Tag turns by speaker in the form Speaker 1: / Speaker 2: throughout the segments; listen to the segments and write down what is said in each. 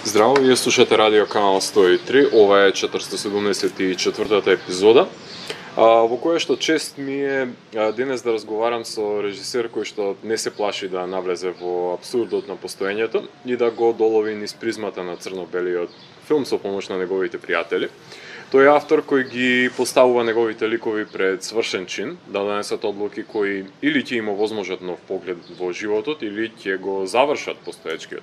Speaker 1: Здраво, вие слушате Радио Канал 103, ова е 474-та епизода, во која што чест ми е денес да разговарам со режисер кој што не се плаши да навлезе во абсурдот на постоењето и да го долови низ призмата на црно-белиот филм со помош на неговите пријатели. Тој е автор кој ги поставува неговите ликови пред свршен чин, да донесат одлуки кои или ќе има возможат нов поглед во животот, или ќе го завршат постоечкиот.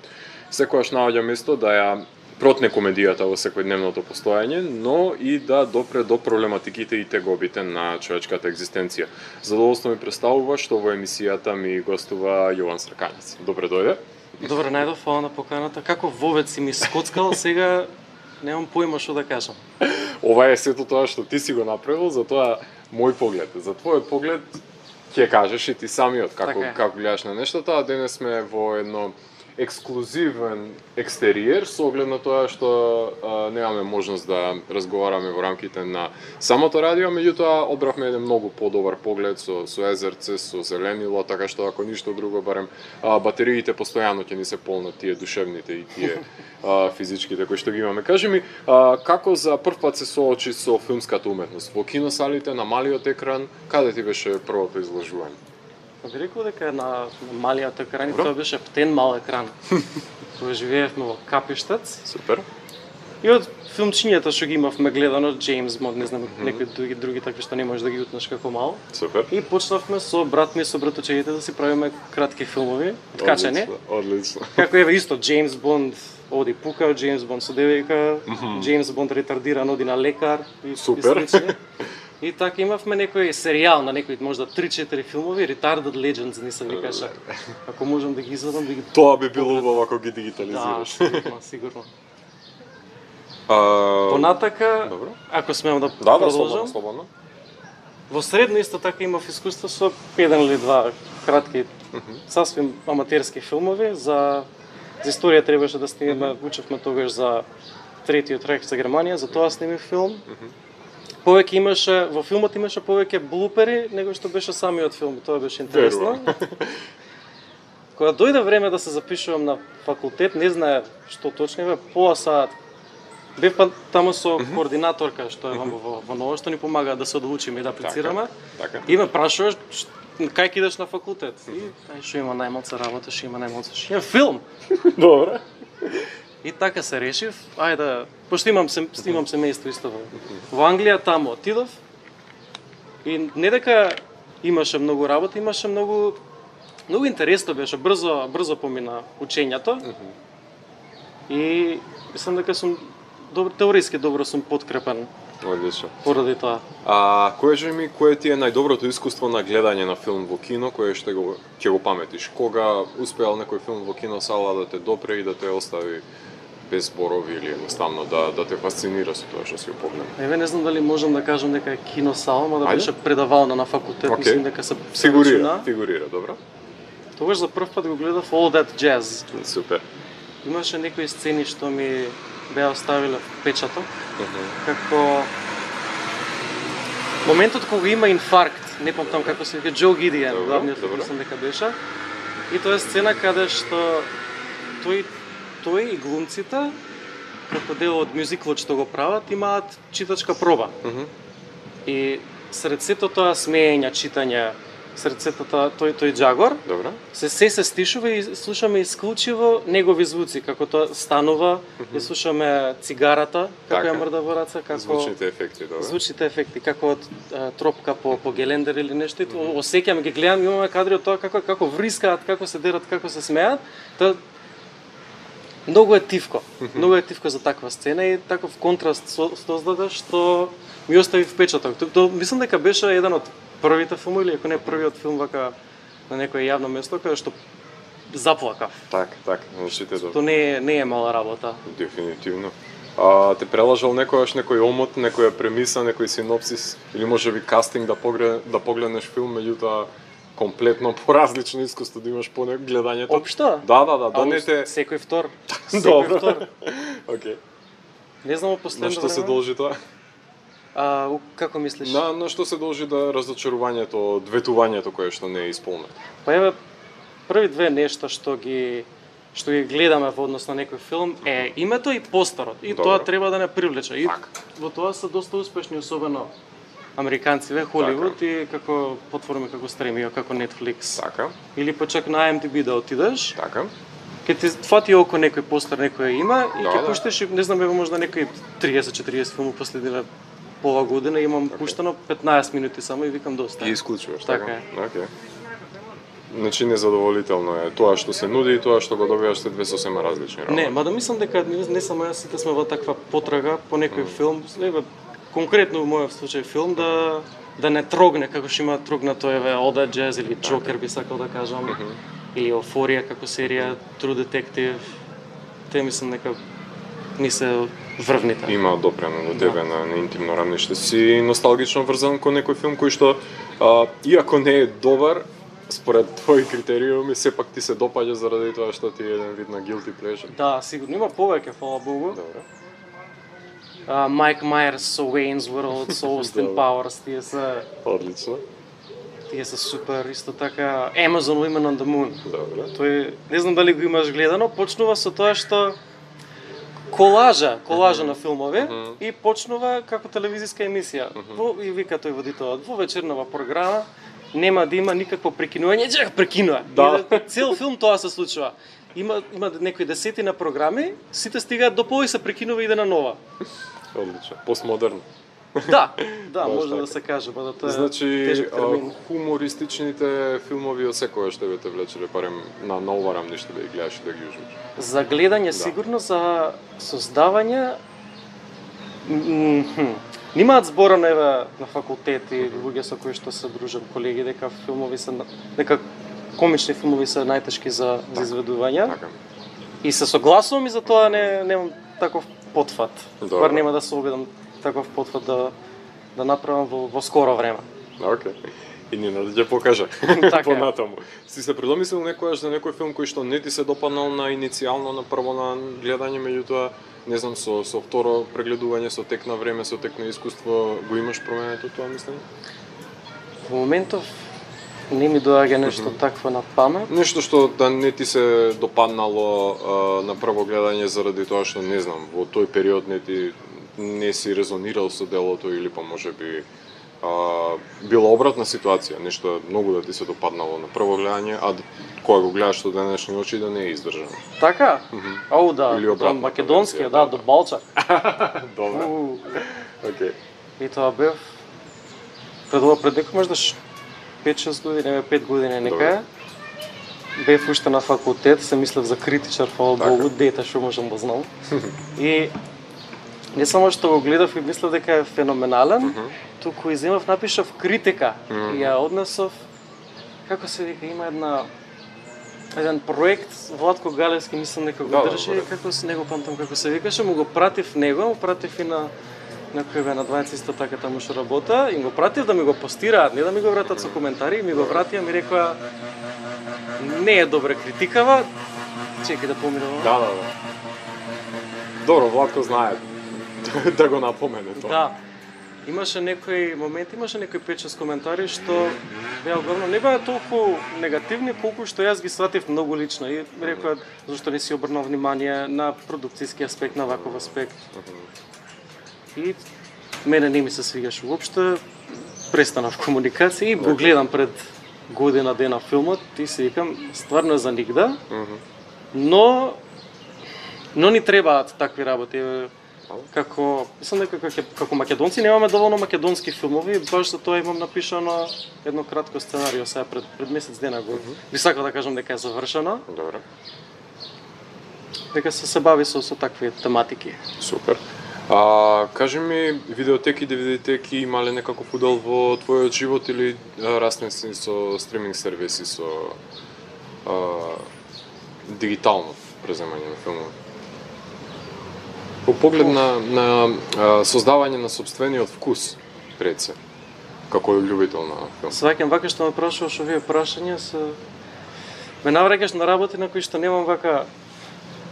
Speaker 1: Секојаш наоѓа место да ја протне комедијата во секојдневното постоење, но и да допре до проблематиките и тегобите на човечката екзистенција. Задоволство ми представува што во емисијата ми гостува Јован Сракањец. Добре дојде.
Speaker 2: Добре, најдов, фала на поканата. Како вовец си ми скоцкал, сега немам појма што да кажам.
Speaker 1: Ова е сето тоа што ти си го направил, затоа мој поглед. За твојот поглед ќе кажеш и ти самиот како гледаш на нештата, а денес сме во едно ексклузивен екстериер со оглед на тоа што немаме можност да разговараме во рамките на самото радио, меѓутоа одбравме еден многу подобар поглед со езерце, со зеленило, така што ако ништо друго барем батериите постојано ќе ни се полнат, тие душевните и тие физичките кои што ги имаме. Кажи ми, како за прв пат се соочи со филмската уметност? Во киносалите, на малиот екран, каде ти беше првото изложување?
Speaker 2: Би рекол дека на малиот екран, тоа беше птен мал екран. Кога живеевме во Капиштец.
Speaker 1: Супер.
Speaker 2: И од филмчињата што ги имавме гледано, Джеймс Бонд, не знам, некои други такви што не можеш да ги утнеш како мал.
Speaker 1: Супер.
Speaker 2: И почнавме со брат ми, со братучеите да си правиме кратки филмови, откачани.
Speaker 1: Одлично.
Speaker 2: Како еве исто Джеймс Бонд оди пукал, Джеймс Бонд со девојка, Джеймс Бонд ретардиран оди на лекар и
Speaker 1: супер.
Speaker 2: И така имавме некој серијал на некои можда 3-4 филмови, Retarded Legends ни се викаше. Ако можам да ги извадам, да ги...
Speaker 1: Тоа би било убаво ако ги дигитализираш.
Speaker 2: Да, сигурно. Понатака, ако смеам да продолжам.
Speaker 1: Слободно.
Speaker 2: Во средно исто така имав искуство со еден или два кратки, сасвим аматерски филмови. За историја требаше да снимаме, учевме тогаш за Третиот рейх за Германија, за тоа сними филм. Повеќе имаше, во филмот имаше повеќе блупери, него што беше самиот филм, тоа беше интересно. Кога дојде време да се запишувам на факултет, не знае што точно е, поаса бев таму со координаторка што е во Ново, што ни помага да се одлучиме и да аплицираме. И ме прашуваш кај ќе идеш на факултет. И што има најмалку работа, што има најмалку, што има филм.
Speaker 1: Добре.
Speaker 2: И така се решив, ајде, пошто имам семејство исто во Англија, таму отидов. И не дека имаше многу работа, имаше многу интересно беше, брзо помина учењето. И мислам дека сум теориски добро сум подкрепен.
Speaker 1: Одлично.
Speaker 2: Поради тоа.
Speaker 1: Кое ти е најдоброто искуство на гледање на филм во кино, кое што ќе го паметиш? Кога успеал некој филм во киносала да те допре и да те остави без зборови или едноставно да те фасцинира со тоа што си го погледнал?
Speaker 2: Еве не знам дали можам да кажам дека е киносала, но да беше предавална на факултет, мислам дека се
Speaker 1: фигурира, добро.
Speaker 2: Тогаш за прв пат го гледав All That Jazz.
Speaker 1: Супер.
Speaker 2: Имаше некои сцени што ми беа оставиле впечаток, како моментот кога има инфаркт, не помнам како се вика, Џо Гидиен, главниот мислам дека беше. И тоа е сцена каде што тој и глумците, како дел од мюзиклот што го прават, имаат читачка проба. И сред сето тоа смеење, читање, сред сето тоа тој џагор, се стишува и слушаме исклучиво негови звуци, како тоа станува, и слушаме цигарата, како ја мрда во раца, како звучните ефекти, како тропка по гелендер или нешто. Осеќам, ги гледам, имаме кадри од тоа како врискаат, како се дерат, како се смеат. Многу е тивко за таква сцена и таков контраст создаде што ми остави впечаток. Мислам дека беше еден од првите филмови, или ако не првиот филм вака на некое јавно место каде што заплакав.
Speaker 1: Така, значите
Speaker 2: Тоа не е мала работа.
Speaker 1: Дефинитивно. Те прелажал некој омот, некоја премиса, некој синопсис или можеби кастинг да погледнеш филм, меѓутоа комплетно поразлично искуство да имаш по гледањето.
Speaker 2: Општо?
Speaker 1: Да не те...
Speaker 2: Секој втор.
Speaker 1: Добро. Окей.
Speaker 2: Не знам последно
Speaker 1: време. На што се должи тоа?
Speaker 2: Како мислиш?
Speaker 1: На што се должи да разочарувањето, ветувањето кое што не е исполнето?
Speaker 2: Па еве, први две нешта што ги што ги гледаме во однос на некој филм е името и постерот. И
Speaker 1: Добро.
Speaker 2: тоа треба да не привлече. И
Speaker 1: Така.
Speaker 2: во тоа се доста успешни, особено американциве, Холивуд и како платформи како стримио, како Netflix.
Speaker 1: Така,
Speaker 2: Или па чак на IMDb да отидеш,
Speaker 1: така.
Speaker 2: ќе ти фати око некој постер, некој има и
Speaker 1: Да,
Speaker 2: ќе
Speaker 1: да.
Speaker 2: пуштиш, и, не знам, ево можда некои 30-40 филми последиле по ова година, имам пуштено 15 минути само и викам доста.
Speaker 1: И исклучуваш,
Speaker 2: Така
Speaker 1: така?
Speaker 2: е.
Speaker 1: Океј. Значи незадоволително е тоа што се нуди и тоа што го добиваш се две сосема различни работи.
Speaker 2: Не, мада мислам дека не само јас, сите сме во таква потрага по некој филм, еве конкретно во мојот случај филм да не трогне како што има трогнато еве Ода Джез или Джокер би сакал да кажам, или Еуфорија како серија, True Detective. Те мислам дека ми се врвните.
Speaker 1: Има допрено до тебе на интимно рамниште си носталгично врзан кон некој филм кој што иако не е добар според твои критериуми сепак ти се допаѓа заради тоа што ти е еден вид на guilty pleasure.
Speaker 2: Да, сигурно има повеќе, фала Богу.
Speaker 1: Добре.
Speaker 2: Майк Мајерс со Wayne's World, со Austin
Speaker 1: Добре.
Speaker 2: Powers,
Speaker 1: Одлично.
Speaker 2: тие се супер, исто така Amazon Women on the Moon.
Speaker 1: Добре.
Speaker 2: Тој, не знам дали го имаш гледано, почнува со тоа што колажа на филмови и почнува како телевизиска емисија. И вика тој водителот, во вечернава програма нема да има никакво прекинување, чак прекинува.
Speaker 1: Да.
Speaker 2: И цел филм тоа се случува. Има некои десетина програми, сите стигаат до пола и се прекинува и иде на нова.
Speaker 1: Одлично. Постмодерно.
Speaker 2: Да,
Speaker 1: Баш
Speaker 2: може да
Speaker 1: така.
Speaker 2: се каже, па да тоа е
Speaker 1: Значи,
Speaker 2: тежок термин.
Speaker 1: хумористичните филмови од секојаш тебе те влечеле, барем на ова рамниште да ги гледаш и да ги уживаш.
Speaker 2: За гледање сигурно, за создавање нимаат зборано еве на факултет и луѓе со кои што се дружам, колеги, дека дека комични филмови се најтешки за изведување.
Speaker 1: Така.
Speaker 2: И се согласувам и за тоа немам таков потфат.
Speaker 1: Добро.
Speaker 2: Бар нема да се обидам таков потфат да направам во скоро време.
Speaker 1: Океј. И Нина да ќе покажа
Speaker 2: Така е.
Speaker 1: понатаму. Си се предомислил некојаш за некој филм кој што не ти се допаднал на иницијално, на прво на гледање, меѓутоа, не знам, со второ прегледување, со тек на време, со тек на искуство, го имаш променето тоа мислење?
Speaker 2: Во моментов не ми доаѓа нешто такво на памет.
Speaker 1: Нешто што да не ти се допаднало на прво гледање заради тоа што не знам, во тој период не си резонирал со делото или па можеби била обратна ситуација, нешто многу да ти се допаднало на прво гледање, а кога го гледаш со денешни очи да не е издржано.
Speaker 2: Така? Ау да,
Speaker 1: Или
Speaker 2: тоа
Speaker 1: обратната
Speaker 2: македонскиот,
Speaker 1: версија,
Speaker 2: да, до Балчак.
Speaker 1: Добре. Океј.
Speaker 2: И тоа бев пред некој можда 5-6 години, 5 години некај. Бев уште на факултет, се мислев за критичар, фала
Speaker 1: Така.
Speaker 2: Богу, дете што можам да знам. И не само што го гледав и мислев дека е феноменален, туку и земав, напишав критика и ја однесов, како се вика, има еден проект, Владко Галевски мислам дека го
Speaker 1: Да,
Speaker 2: држи,
Speaker 1: добре.
Speaker 2: како се него памтам како се викаше, му го пратив него, му пратив и на некој бе на 20 исто така таму што работа и го пратив да ми го постираат, не да ми го вратат со коментари, и ми го вратија, ми рекоа не е добра критикава, чекај да поминам.
Speaker 1: Да. Добро, Владко знае да го напомене тоа.
Speaker 2: Да. Имаше некои моменти, имаше некои 5-6 коментари што беа главно не беа толку негативни колку што јас ги сватив многу лично и рекоа зашто не си обрнал внимание на продукцијски аспект, на ваков аспект. И мене не ми се свигаше уопште, престанав комуникација и го гледам пред година дена филмот и си викам стварно е за нигда. Но ни требаат такви работи. Мислам дека како македонци немаме доволно македонски филмови, баш за тоа имам напишано едно кратко сценарио сега пред месец дена го. Би сакал да кажам дека е завршено.
Speaker 1: Добре.
Speaker 2: Дека се бави со такви тематики.
Speaker 1: Супер. Кажи ми, видеотеки, DVD-теки има ли некаков удел во твојот живот или расне си со стриминг сервиси, со дигитално преземање на филмови? По поглед на создавање на собствениот вкус, пред се, како љубител на филм.
Speaker 2: Сваќам вака што ме прашуваш овие прашања ме навраќаш на работи на кои што немам вака.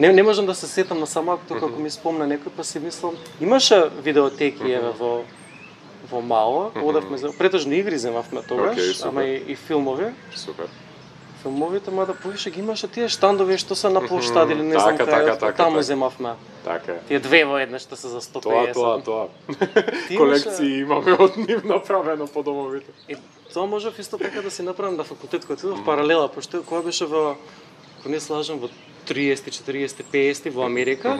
Speaker 2: Не можам да се сетам на самак тука ако ми спомне некој, па си мислам, имаше видеотеки еве во мало, одевме за претежно игри земавме тогаш,
Speaker 1: Океј, супер.
Speaker 2: ама и филмови.
Speaker 1: Супер.
Speaker 2: филмовите, мада повише ги имаше тие штандови што се на площади или не знам
Speaker 1: така,
Speaker 2: таму земавме.
Speaker 1: Така е.
Speaker 2: Тие две во една што се за 150.
Speaker 1: Тоа. Колекции имаме од нив направено по домовите.
Speaker 2: И тоа можев исто така да си направам на факултет кој отидов паралела, пошто кога беше во, ако не слажам, во 30, 40, 50 во Америка,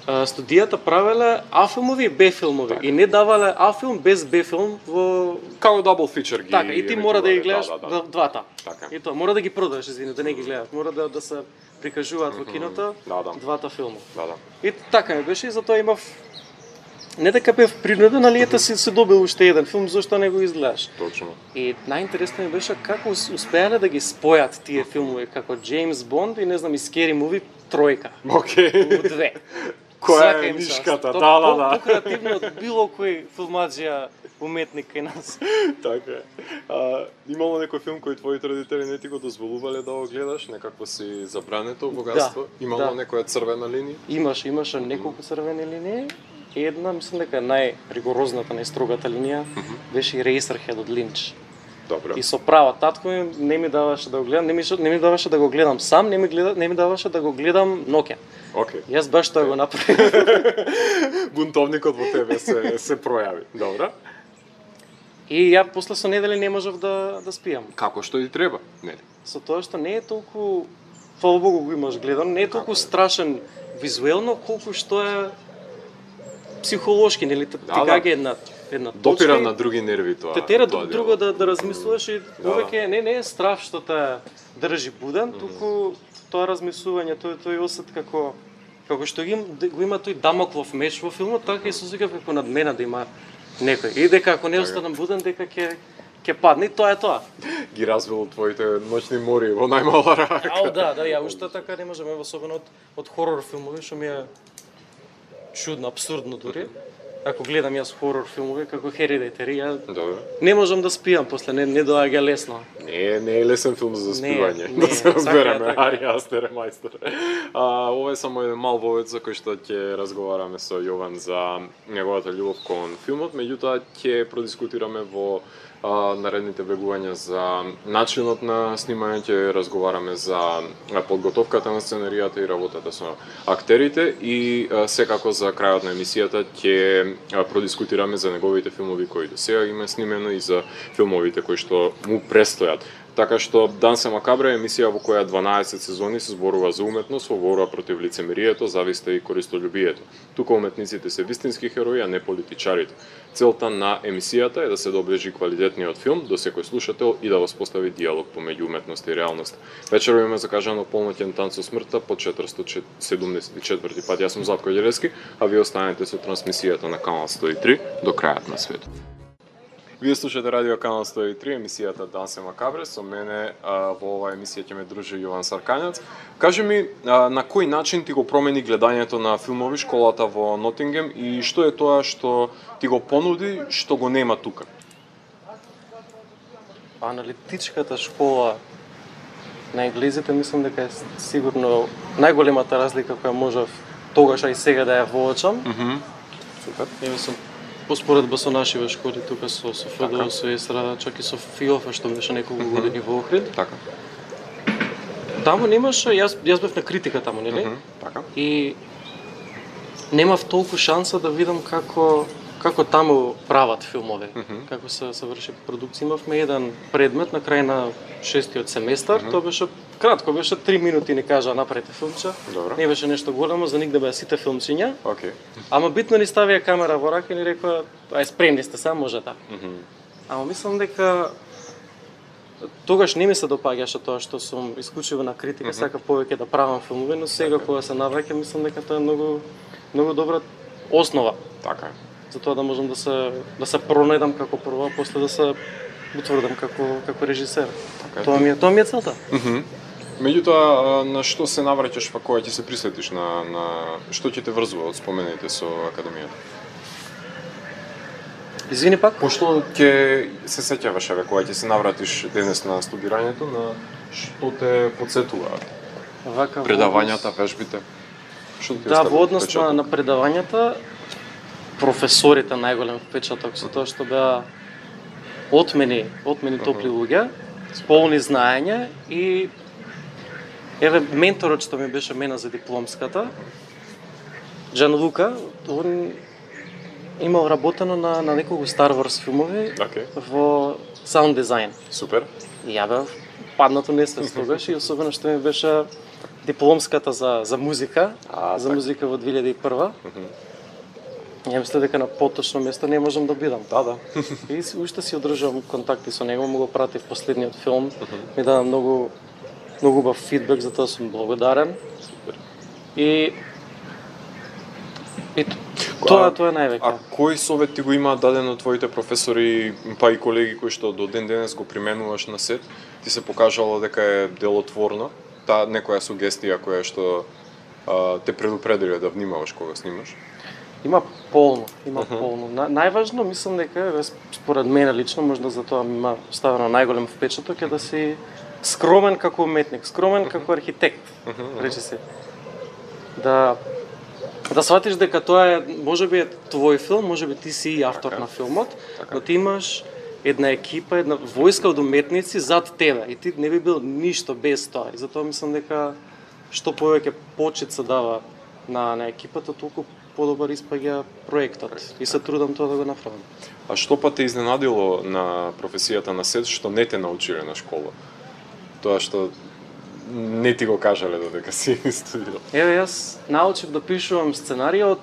Speaker 2: студијата правеле А-филмови и Б-филмови и не давале А-филм без Б-филм во
Speaker 1: Како дабл фичер ги.
Speaker 2: така, и ти мора да ги гледаш
Speaker 1: да.
Speaker 2: двата.
Speaker 1: Така.
Speaker 2: И тоа мора да ги продаваш, извини, да не ги гледаш, мора да се прикажуваат во киното двата филма.
Speaker 1: Да.
Speaker 2: И така ми беше и затоа имав не дека бев принуден, али ете си добил уште еден филм, зашто не го изгледаш.
Speaker 1: Точно.
Speaker 2: И најинтересно ми беше како успеале да ги спојат тие филмови, како Джеймс Бонд и не знам и Скери Муви тројка.
Speaker 1: Океј.
Speaker 2: У две.
Speaker 1: Која е нишката? Да.
Speaker 2: Покреативно од било кој филмаџија уметник кај нас.
Speaker 1: Така е. Имало некој филм кој твоите родители не ти го дозволувале да го гледаш, некакво си забрането богатство? Имало некоја црвена линија?
Speaker 2: Имаше неколку црвени линии. Една, мислам дека најригорозната, најстрогата линија беше и Racerhead од Линч.
Speaker 1: Добро.
Speaker 2: И со права татко ми не ми даваше да го гледам, не ми даваше да го гледам сам, не ми даваше да го гледам ноќе.
Speaker 1: Океј.
Speaker 2: Јас баш тоа го направив.
Speaker 1: Бунтовникот во тебе се пројави. Добро.
Speaker 2: И ја после со недели не можев да спијам.
Speaker 1: Како што и треба, нели?
Speaker 2: Со тоа што не е толку, фала Богу го имаш гледан, не е толку страшен визуелно колку што е психолошки, нели? Ти кај една точка.
Speaker 1: Допира на други нерви тоа.
Speaker 2: Те тера друго да размислуваш и повеќе не е страв што те држи буден, туку тоа размислување, тој осет како што го има тој Дамоклов меч во филмот, така и се осеќав како над мене да има некој. И дека ако не останам буден, дека ќе падне, тоа е тоа.
Speaker 1: Ги развил твоите ночни мори во најмала рака.
Speaker 2: Да, ја уште така не можам, особено од хорор филмови, што ми е чудно, абсурдно дури. Ако гледам јас хорор филмови како Hereditary, ја не можам да спијам после, не доаѓа лесно.
Speaker 1: Не е лесен филм за заспивање, да се разбереме, Ари Астер е мајстор. Ова е само еден мал вовед за кој што ќе разговараме со Јован за неговата љубов кон филмот, меѓутоа ќе продискутираме во наредните влегувања за начинот на снимање, ќе разговараме за подготовката на сценаријата и работата со актерите и секако за крајот на емисијата ќе продискутираме за неговите филмови кои до сега има снимено и за филмовите кои што му престојат. Така што Дансе Макабре е емисија во која 12 сезони се зборува за уметност, во борба против лицемерието, зависта и користолюбието. Тука уметниците се вистински херои, а не политичарите. Целта на емисијата е да се доближи квалитетниот филм до секој слушател и да воспостави диалог помеѓу уметност и реалност. Вечерва имаме закажано полноќен танц со смртта по 474 пат. Јас сум Златко Ѓелевски, а вие останете со трансмисијата на Канал 103 до крајот на светот. Вие слушате Радио Канал 103, емисијата Дансе Макабре, со мене во оваа емисија ќе ме дружи Јован Саркањац. Кажи ми, на кој начин ти го промени гледањето на филмови школата во Нотингем и што е тоа што ти го понуди, што го нема тука?
Speaker 2: Аналитичката школа на енглезите мислам дека е сигурно најголемата разлика која можев тогаш, а и сега да ја воочам.
Speaker 1: Супер.
Speaker 2: Мислам, поспоредба со нашиве школи тука со ФДО, со ЕСРА, чак и со ФИОФ што беше неколку години во Охрид.
Speaker 1: Така.
Speaker 2: Таму немаше, јас бев на критика таму, нели?
Speaker 1: Така.
Speaker 2: И немав толку шанса да видам како таму прават филмови, како се врши продукција. Имавме еден предмет на крај на 6-тиот семестар, тоа беше кратко, беше 3 минути ни кажа направете филмче.
Speaker 1: Добро.
Speaker 2: Не беше нешто големо, за нигде беа сите филмчиња.
Speaker 1: Океј.
Speaker 2: Ама битно ни ставија камера во рака и ни рекоа, ај спремни сте се, можете. Ама мислам дека тогаш не ми се допаѓаше тоа што сум исклучиво на критика, сака повеќе да правам филмови, но сега кога се навраќам мислам дека тоа е многу добра основа.
Speaker 1: Така е.
Speaker 2: За тоа да можам да се пронајдам како прво, а после да се утврдам како режисер.
Speaker 1: Така
Speaker 2: Тоа ми е целта.
Speaker 1: Меѓутоа, на што се навраќаш па кога ќе се присетиш на што ќе те врзува од спомените со академијата?
Speaker 2: Извини пак?
Speaker 1: Пошто ќе се сеќаваш еве кога ќе се навратиш денес на студирањето, на што те потсетуваат? Предавањата, вежбите? Што ти
Speaker 2: во однос на предавањата, професорите најголем впечаток со тоа што беа отмени топли луѓе. полни знаења и еве менторот што ми беше мене за дипломската, Джан Лука, он имал работено на неколку Star Wars филмови во саунд дизајн.
Speaker 1: Супер.
Speaker 2: И ја бев паднато несвест тогаш и особено што ми беше дипломската за музика, за музика во 2001. Ја мислам дека на поточно место не можам да бидам.
Speaker 1: Да.
Speaker 2: И уште си одржувам контакти со него, му го пратив последниот филм, ми даде многу убав фидбек, за тоа сум благодарен.
Speaker 1: Супер.
Speaker 2: И тоа е највеќе.
Speaker 1: А кој совет ти го имаат даден од твоите професори, па и колеги кои што до ден денес го применуваш на сет, ти се покажало дека е делотворно, таа некоја сугестија која што те предупредиле да внимаваш кога снимаш?
Speaker 2: Има полно. Најважно, мислам дека, според мене лично, можда за тоа ми има ставено најголем впечаток е да си скромен како уметник, скромен како архитект, речи се. Да сватиш дека тоа е, можеби е твој филм, можеби ти си и автор на филмот, но ти имаш една екипа, една војска од уметници зад тебе и ти не би бил ништо без тоа. И затоа мислам дека што повеќе почит се дава на екипата, толку подобар испаѓа проектот и се трудам тоа да го направам.
Speaker 1: А што па те изненадило на професијата на сет што не те научиле на школа? Тоа што не ти го кажале додека си студирал?
Speaker 2: Еве, јас научив да пишувам сценарија од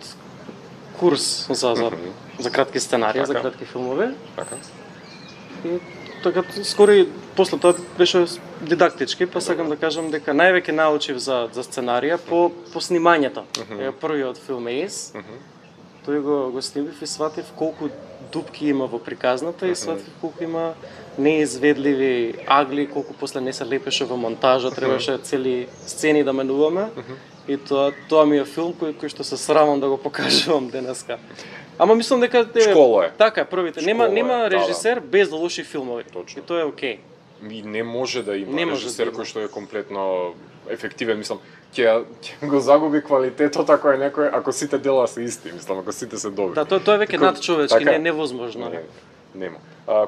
Speaker 2: курс за кратки сценарија, за кратки филмови.
Speaker 1: Така.
Speaker 2: И така скоро и после тоа беше дидактички, па сакам да кажам дека највеќе научив за сценарија по снимањето. Првиот филм Ейс, тој го снимив и сватив колку дупки има во приказната и сватив колку има неизведливи агли, колку после не се лепеше во монтажа, требаше цели сцени да менуваме. И тоа ми е филм кој што се срамам да го покажувам денеска. Ама мислам дека
Speaker 1: школа е.
Speaker 2: Така е, првите. Нема режисер без лоши филмови.
Speaker 1: Точно.
Speaker 2: И тоа е окей.
Speaker 1: И не може да има режисер кој што е комплетно ефективен, мислам, ќе го загуби квалитетот ако сите дела се исти, мислам, ако сите се добри.
Speaker 2: Да, тоа е веќе надчовечки, не е невозможно.
Speaker 1: Нема.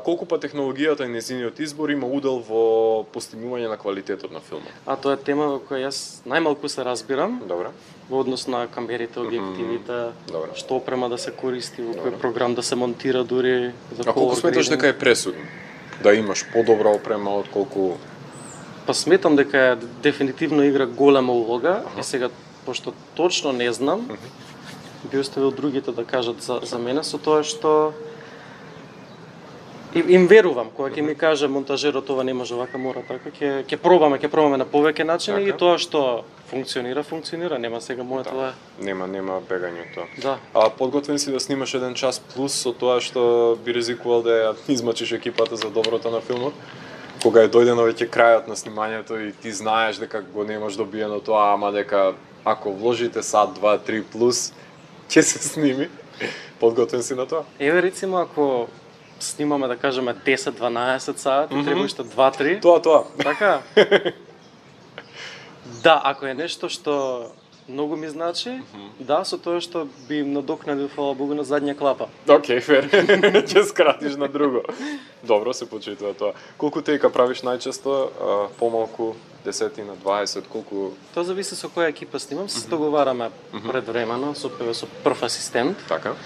Speaker 1: Колку па технологијата и нејзиниот избор има удел во постигнување на квалитетот на филмот?
Speaker 2: Тоа е тема во која јас најмалку се разбирам.
Speaker 1: Добре.
Speaker 2: Во однос на камерите, објективите, што опрема да се користи, во кој програм да се монтира дури за
Speaker 1: колор. А колку сметаш дека е пресудно? Да имаш подобра опрема од колку...
Speaker 2: Па сметам дека дефинитивно игра голема улога и сега, пошто точно не знам, би оставил другите да кажат за мене со тоа што им верувам, кога ќе ми каже монтажерот ова не може вака, мора така, ќе пробаме на повеќе начини и тоа што функционира, нема сега моето
Speaker 1: Нема бегање тоа.
Speaker 2: Да.
Speaker 1: А подготвен си да снимаш еден час плюс со тоа што би ризикувал да ја измачиш екипата за доброто на филмот? Кога е дојдено веќе крајот на снимањето и ти знаеш дека го немаш добиено тоа, ама дека ако вложите сат, 2, 3 плюс, ќе се сними. Подготвен си на тоа?
Speaker 2: Еве рецимо ако снимаме да кажеме 10-12 сати, треба уште 2-3.
Speaker 1: Тоа.
Speaker 2: Така? Да, ако е нешто што многу ми значи, да, со тоа што би им надокнадил, фала Богу, на задња клапа.
Speaker 1: Океј, фер. Ќе скратиш на друго. Добро се почитува тоа. Колку тейка правиш најчесто? Помалку, 10 на 20, колку?
Speaker 2: Тоа зависи со која екипа снимам, се договараме предвремено со прв асистент.
Speaker 1: Така.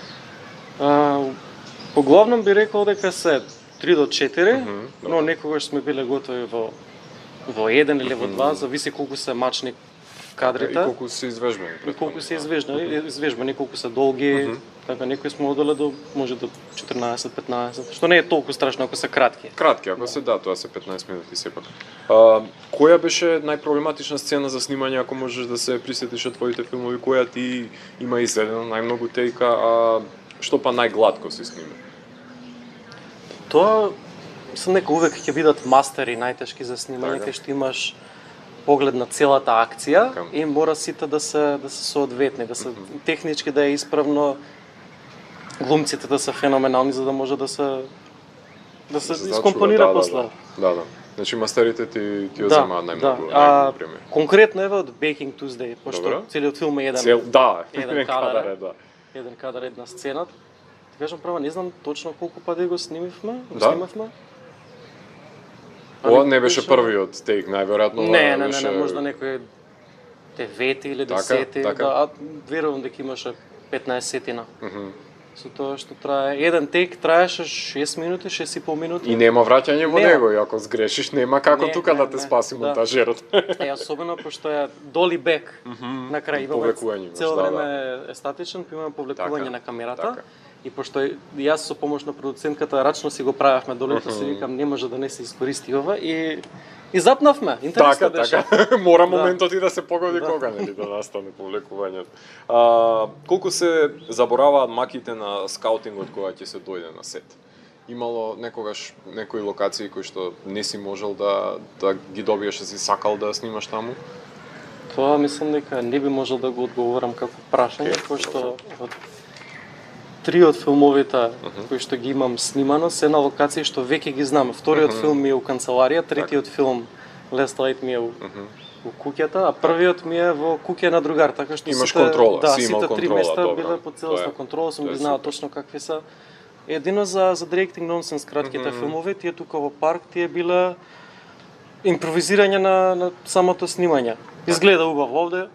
Speaker 2: Поглавном би рекол дека се 3 до 4, но некогаш сме биле готови во 1 или во 2, зависи колку се мачни кадрите.
Speaker 1: И колку се извежбани.
Speaker 2: И колку се извежбани, колку се долги. Така, некои сме одале до, може до 14-15, што не е толку страшно ако се кратки.
Speaker 1: Кратки, ако се тоа се 15 минути сепак. Која беше најпроблематична сцена за снимање, ако можеш да се присетиш од твоите филмови, која ти има изедено најмногу тейка, а што па најгладко се снима?
Speaker 2: Тоа мислам дека увек ќе бидат мастери најтешки за снимање, кај што имаш поглед на целата акција и мора сите да се соодветни, да се технички да е исправно, глумците да се феноменални за да може да се искомпонира после.
Speaker 1: Да. Значи мастерите ти ја земаат најмногу премиер.
Speaker 2: Конкретно еве од Baking Tuesday, пошто целиот филм е еден кадар, една сцена. Ти кажам права, не знам точно колку пати го снимавме.
Speaker 1: Ова не беше првиот тейк, најверојатно
Speaker 2: Не,
Speaker 1: беше...
Speaker 2: можда некој 9 или 10,
Speaker 1: така.
Speaker 2: да, а верувам дека имаше 15-тина. Со тоа што трае, еден тейк траеше 6 минути, 6,5 минути.
Speaker 1: И нема враќање во
Speaker 2: Нема.
Speaker 1: него, и ако сгрешиш, нема како
Speaker 2: Не,
Speaker 1: тука
Speaker 2: не,
Speaker 1: да те
Speaker 2: не,
Speaker 1: спаси
Speaker 2: да.
Speaker 1: монтажерот.
Speaker 2: Особено пошто е доли бек на крај.
Speaker 1: Повлекување имаш,
Speaker 2: Цело
Speaker 1: да,
Speaker 2: време е статичен, па имаме повлекување
Speaker 1: Така,
Speaker 2: на камерата.
Speaker 1: така.
Speaker 2: И пошто јас со помош на продуцентката рачно си го правевме долето, си викам не може да не се искористи ова и запнавме. Интересно беше.
Speaker 1: Така. Мора
Speaker 2: Да.
Speaker 1: моментот и да се погоди кога нели да настане повлекувањето. Колку се забораваат маките на скаутингот кога ќе се дојде на сет? Имало некогаш некои локации кои што не си можел да ги добиеш, си сакал да снимаш таму?
Speaker 2: Тоа мислам дека не би можел да го одговорам како прашање, пошто од 3 од филмовите кои што ги имам снимано се на локации што веќе ги знам. Вториот филм ми е у канцеларија, третиот филм Last Light ми е у куќата, а првиот ми е во куќа на другар, така што
Speaker 1: Имаш
Speaker 2: сите,
Speaker 1: контрола,
Speaker 2: да,
Speaker 1: си имал
Speaker 2: сите 3
Speaker 1: контрола,
Speaker 2: места
Speaker 1: добро.
Speaker 2: биле под целосна
Speaker 1: Тоа е-
Speaker 2: контрола, сум
Speaker 1: тоа е
Speaker 2: ги знал
Speaker 1: супер.
Speaker 2: точно какви се. Едино за Directing Nonsense кратките филмови, тие тука во парк, тие биле импровизирање на самото снимање. Изгледа убаво овде,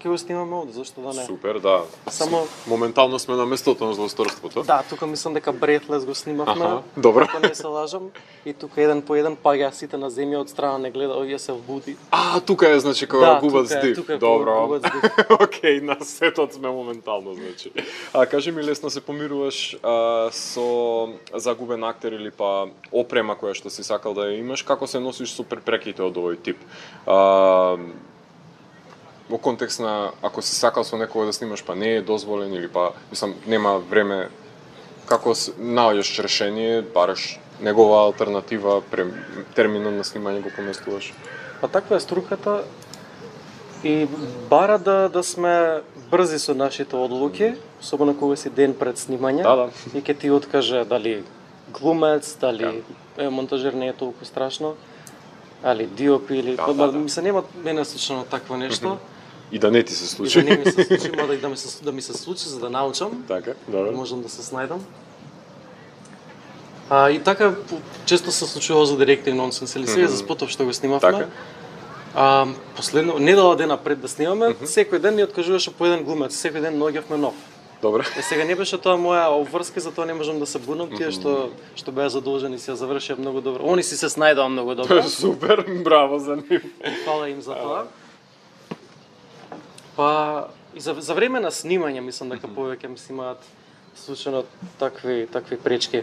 Speaker 2: ќе го снимаме овде, зашто да не?
Speaker 1: Супер, да.
Speaker 2: Само-
Speaker 1: Моментално сме на местото на злосторството.
Speaker 2: Да, тука мислам дека Breathless го снимавме.
Speaker 1: Аха, добро.
Speaker 2: Ако не се лажам. И тука еден по еден паѓа сите на земја од страна не гледа, овие се вбуди.
Speaker 1: Тука е, значи, кога губат
Speaker 2: тука е,
Speaker 1: здив.
Speaker 2: тука е
Speaker 1: Добро.
Speaker 2: кога губат здив.
Speaker 1: Океј, на сетот сме моментално, значи. Кажи ми, лесно се помируваш со загубен актер или па опрема која што си сакал да ја имаш, како се носиш со препреките од овој тип? Во контекст на ако си сакал со некого да снимаш, па не е дозволен или па мислам нема време, како наоѓаш решение, бараш негова алтернатива, терминот на снимање го поместуваш?
Speaker 2: Па таква е струката и бара да сме брзи со нашите одлуки, особено кога си ден пред снимање.
Speaker 1: Да.
Speaker 2: И ќе ти откаже дали глумец, дали монтажер не е толку страшно, али диоп или мисля нема мене слично такво нешто.
Speaker 1: И да не ти се
Speaker 2: И
Speaker 1: случи.
Speaker 2: да не ми се случи, мада и да ми се случи за да научам.
Speaker 1: Така,
Speaker 2: Да
Speaker 1: добро.
Speaker 2: можам да се снајдам. И така често се случува за Directing Nonsense или сега за спотов што го снимавме.
Speaker 1: Така.
Speaker 2: Последно недела дена пред да снимаме, секој ден ни откажуваше по еден глумец, секој ден наоѓавме нов.
Speaker 1: Добро.
Speaker 2: Сега не беше тоа моја обврска, затоа не можам да се бунам, тие што беа задолжени си ја завршија многу добро. Они си се снајдоа многу добро.
Speaker 1: Супер, браво за нив.
Speaker 2: Фала им за тоа. Па и за време на снимање мислам дека повеќе ми се имаат случајно такви пречки.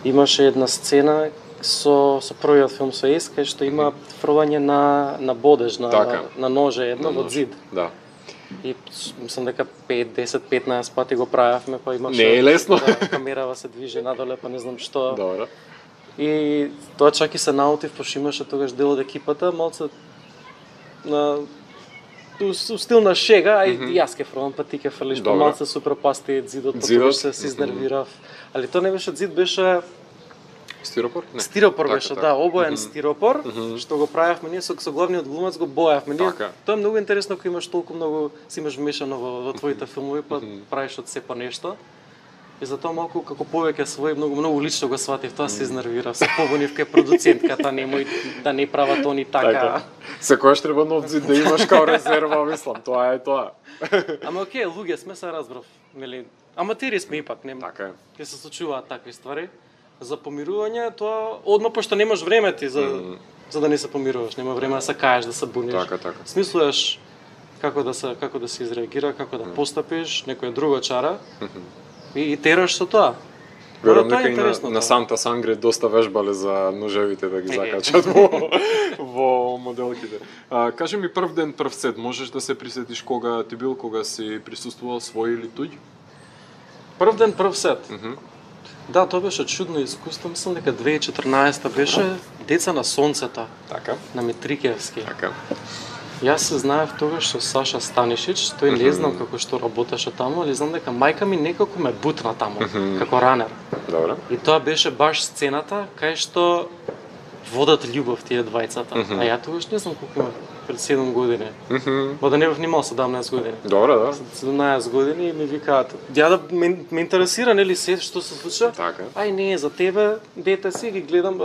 Speaker 2: Имаше една сцена со првиот филм со Ес, кај што има фрлање на бодеж, на ноже едно во зид.
Speaker 1: Да.
Speaker 2: И мислам дека 5, 10, 15 пати го правевме, па имаше...
Speaker 1: Не е лесно.
Speaker 2: Да, камерава се движи надоле, па не знам што.
Speaker 1: Добро.
Speaker 2: И тоа чак и се наутив, пошто имаше тогаш дел од екипата, малце на у стил на шега, а и јас ке фрлам, па ти ке фрлиш, па
Speaker 1: Добро.
Speaker 2: малце се пропасти зидот, па тогаш се изнервирав. Али тоа не беше зид, беше
Speaker 1: Стиропор? Не.
Speaker 2: стиропор
Speaker 1: Така,
Speaker 2: беше,
Speaker 1: така.
Speaker 2: да, обоен стиропор, што го правевме ние со главниот глумец, го боевме. Ние,
Speaker 1: Така.
Speaker 2: тоа е многу интересно кога имаш толку многу, си имаш вмешано во твоите филмови, па правиш од сепа нешто. И затоа малку како повеќе свој многу лично го сватив, тоа се изнервирав, се побунив кај продуцентката, немој да не прават они така.
Speaker 1: Секојаш треба нов зид да имаш као резерва, мислам, тоа е тоа.
Speaker 2: Ама окей, луѓе сме, се разбрав, нели? Аматери сме ипак, нема.
Speaker 1: Така е.
Speaker 2: Ќе се случуваат такви ствари. За помирување, тоа одма пошто немаш време ти за да не се помируваш, нема време да се каеш, да се буниш.
Speaker 1: Така.
Speaker 2: Смислуваш како да се изреагира, како да постапиш, некоја друга чара. И тераш со тоа.
Speaker 1: Верувам
Speaker 2: Тоа е
Speaker 1: дека и
Speaker 2: интересно,
Speaker 1: на
Speaker 2: тоа.
Speaker 1: Санта Сангре доста вежбале за ножевите да ги закачат во моделките. Кажи ми прв ден, прв сет, можеш да се присетиш кога ти бил, кога си присуствувал свој или туѓ?
Speaker 2: Прв ден, прв сет. Да, тоа беше чудно искуство, мислам дека 2014 беше Деца на сонцето
Speaker 1: Така.
Speaker 2: на Митрикевски.
Speaker 1: Така.
Speaker 2: Јас се знаев тогаш со Саша Станишич, тој не знам како што работеше таму, али знам дека мајка ми некако ме бутна таму, како ранер.
Speaker 1: Добро.
Speaker 2: И тоа беше баш сцената кај што водат љубов тие двајцата. А ја тогаш не знам колку имав, пред 7 години. Ба да не бев нимал 17 години.
Speaker 1: Добро, да.
Speaker 2: 17 години и ми викаат, ја да ме интересира нели се што се случува.
Speaker 1: Така.
Speaker 2: Ај не, за тебе, дете си, ги гледам,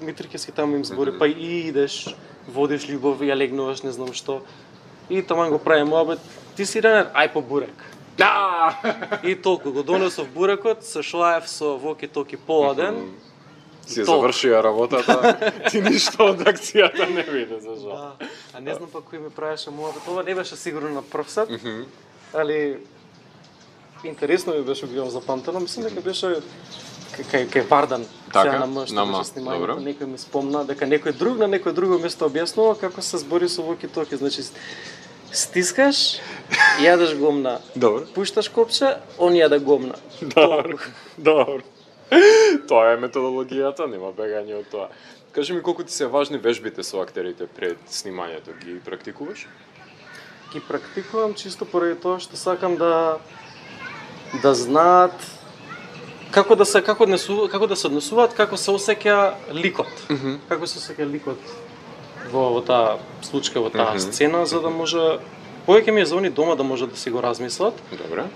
Speaker 2: Митрикевски таму им збори, па и идеш, водиш љубов, ја легнуваш, не знам што. И таман го прави муабет, ти си Ренер, ај по бурек.
Speaker 1: Да!
Speaker 2: И толку го донесов бурекот, се шоаев со воки-токи поладен.
Speaker 1: Си завршија работата, ти ништо од акцијата не виде, за жал.
Speaker 2: Да. А не знам па кој ми правеше муабет, ова не беше сигурно на прв сет, али интересно ми беше го запамтено, мислам дека беше кај Вардан, сега на мъж, што беше снимањето, некој ми спомна дека некој друг на некој друго место објаснува како се збори со воки-токи, значи стискаш, јадеш гомна, пушташ копче, он јаде гомна.
Speaker 1: Добро. Тоа е методологијата, нема бегање од тоа. Кажи ми колку ти се важни вежбите со актерите пред снимањето, ги практикуваш?
Speaker 2: Ги практикувам чисто поради тоа што сакам да знаат како да се однесуваат, како се осеќа ликот. Како се осеќа ликот во таа случка, во таа сцена, за да може повеќе ми е за они дома да може да си го размислат.
Speaker 1: Добре.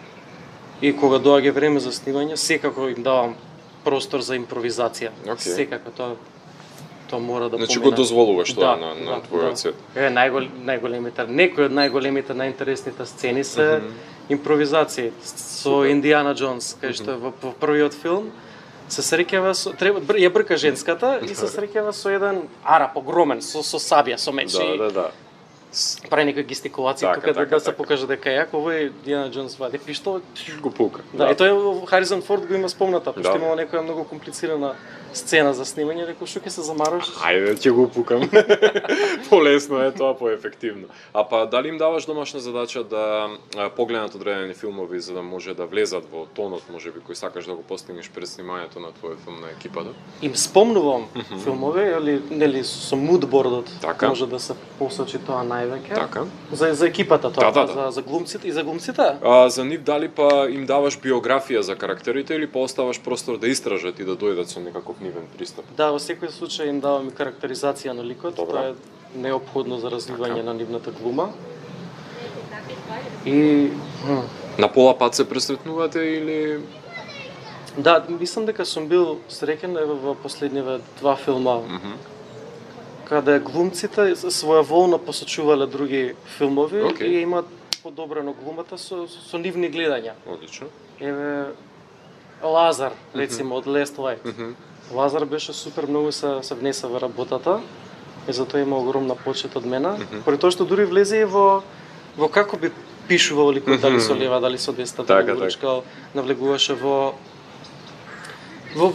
Speaker 2: И кога доаѓа време за снимање, секако им давам простор за импровизација. Секако тоа мора да помине.
Speaker 1: Значи го дозволуваш тоа на твојот сет.
Speaker 2: Најголемите, некои од најголемите, најинтересните сцени се импровизации. Со Индиана Джонс, кај што во првиот филм се среќава со ја брка женската и се среќава со еден арап огромен со сабја, со меч.
Speaker 1: Да.
Speaker 2: Прави некои гестикулации тука да се покаже дека е јак, овој Индиана Джонс вади пиштол,
Speaker 1: го пука.
Speaker 2: Да, и тој Харисон Форд го има спомната, пошто имало некоја многу комплицирана сцена за снимање, рекол што ќе се замараш?
Speaker 1: Ајде, ќе го пукам. Полесно е тоа, поефективно. А па дали им даваш домашна задача да погледнат одредени филмови за да може да влезат во тонот, можеби кој сакаш да го постигнеш пред снимањето на твојот филм на екипата?
Speaker 2: Им спомнувам филмови, нели со мудбордот може да се посочи тоа највеќе.
Speaker 1: Така.
Speaker 2: За екипата тоа, за глумците и за глумците?
Speaker 1: За нив дали па им даваш биографија за карактерите или па оставаш простор да истражат и да дојдат со некаков нивен пристап?
Speaker 2: Да, во секој случај им давам и карактеризација на ликот, тоа е неопходно за развивање на нивната глума. И
Speaker 1: на пола пат се пресретнувате или
Speaker 2: Да, мислам дека сум бил среќен во последниве два филма. Каде глумците своеволно посочувале други филмови и имаат подобрено глумата со нивни гледања.
Speaker 1: Одлично.
Speaker 2: Еве Лазар, рецимо, од Last Light. Лазар беше супер, многу се внесе во работата и затоа има огромна почит од мене. Поради тоа што дури влезе и во како би пишувал ликот, дали со лева, дали со десна, дали уручкал, навлегуваше во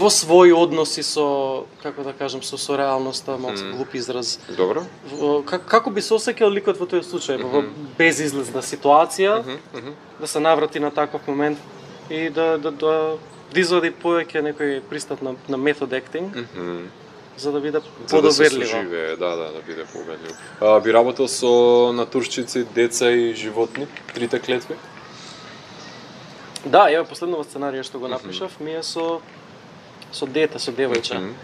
Speaker 2: своји односи со, како да кажем, со реалноста, малку глуп израз.
Speaker 1: Добро.
Speaker 2: Како би се осеќал ликот во тој случај, во безизлезна ситуација, да се наврати на таков момент и да извади повеќе некој пристап на метод актинг, за да биде подоверливо.
Speaker 1: За да се соживее, да биде победливо. Би работел со натуршчици, деца и животни, трите клетви?
Speaker 2: Да, еве последнова сценарија што го напишав, ми е со дете, со девојче.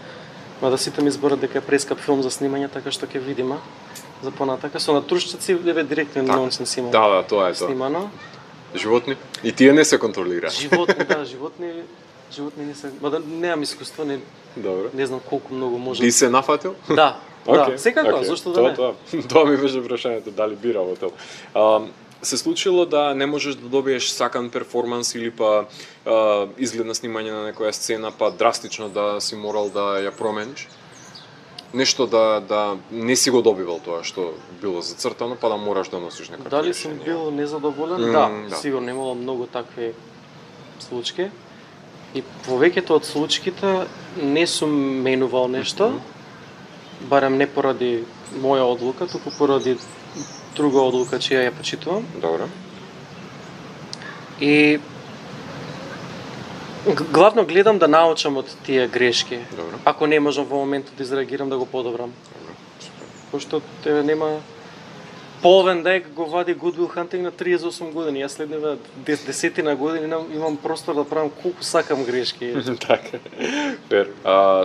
Speaker 2: Мада сите ми зборат дека е прескап филм за снимање, така што ќе видиме за понатака. Со натуршчици, еве директно нонсенс има.
Speaker 1: Да, тоа е тоа.
Speaker 2: Снимано.
Speaker 1: Животни? И тие не се контролира.
Speaker 2: Животни не се, мада немам искуство, не знам колку многу може.
Speaker 1: Ти се нафатил?
Speaker 2: Да, секако, зошто да не?
Speaker 1: Тоа ми беше прашањето, дали би работел. Се случило да не можеш да добиеш сакан перформанс или па изглед на снимање на некоја сцена, па драстично да си морал да ја промениш? Нешто да не си го добивал тоа што било зацртано, па да мораш да носиш некоја.
Speaker 2: Дали сум бил незадоволен? Да, сигурно имало многу такви случаи. И повеќето од случаите не сум менувал нешто, барем не поради моја одлука, туку поради друга одлука чија ја почитувам.
Speaker 1: Добро.
Speaker 2: И главно гледам да научам од тие грешки.
Speaker 1: Добро.
Speaker 2: Ако не можам во моментот да изреагирам, да го подобрам.
Speaker 1: Добро.
Speaker 2: Пошто нема половен дек го вади Good Will Hunting на 38 години. Јас следниве десетина години имам простор да правам колку сакам грешки.
Speaker 1: Така. Фер.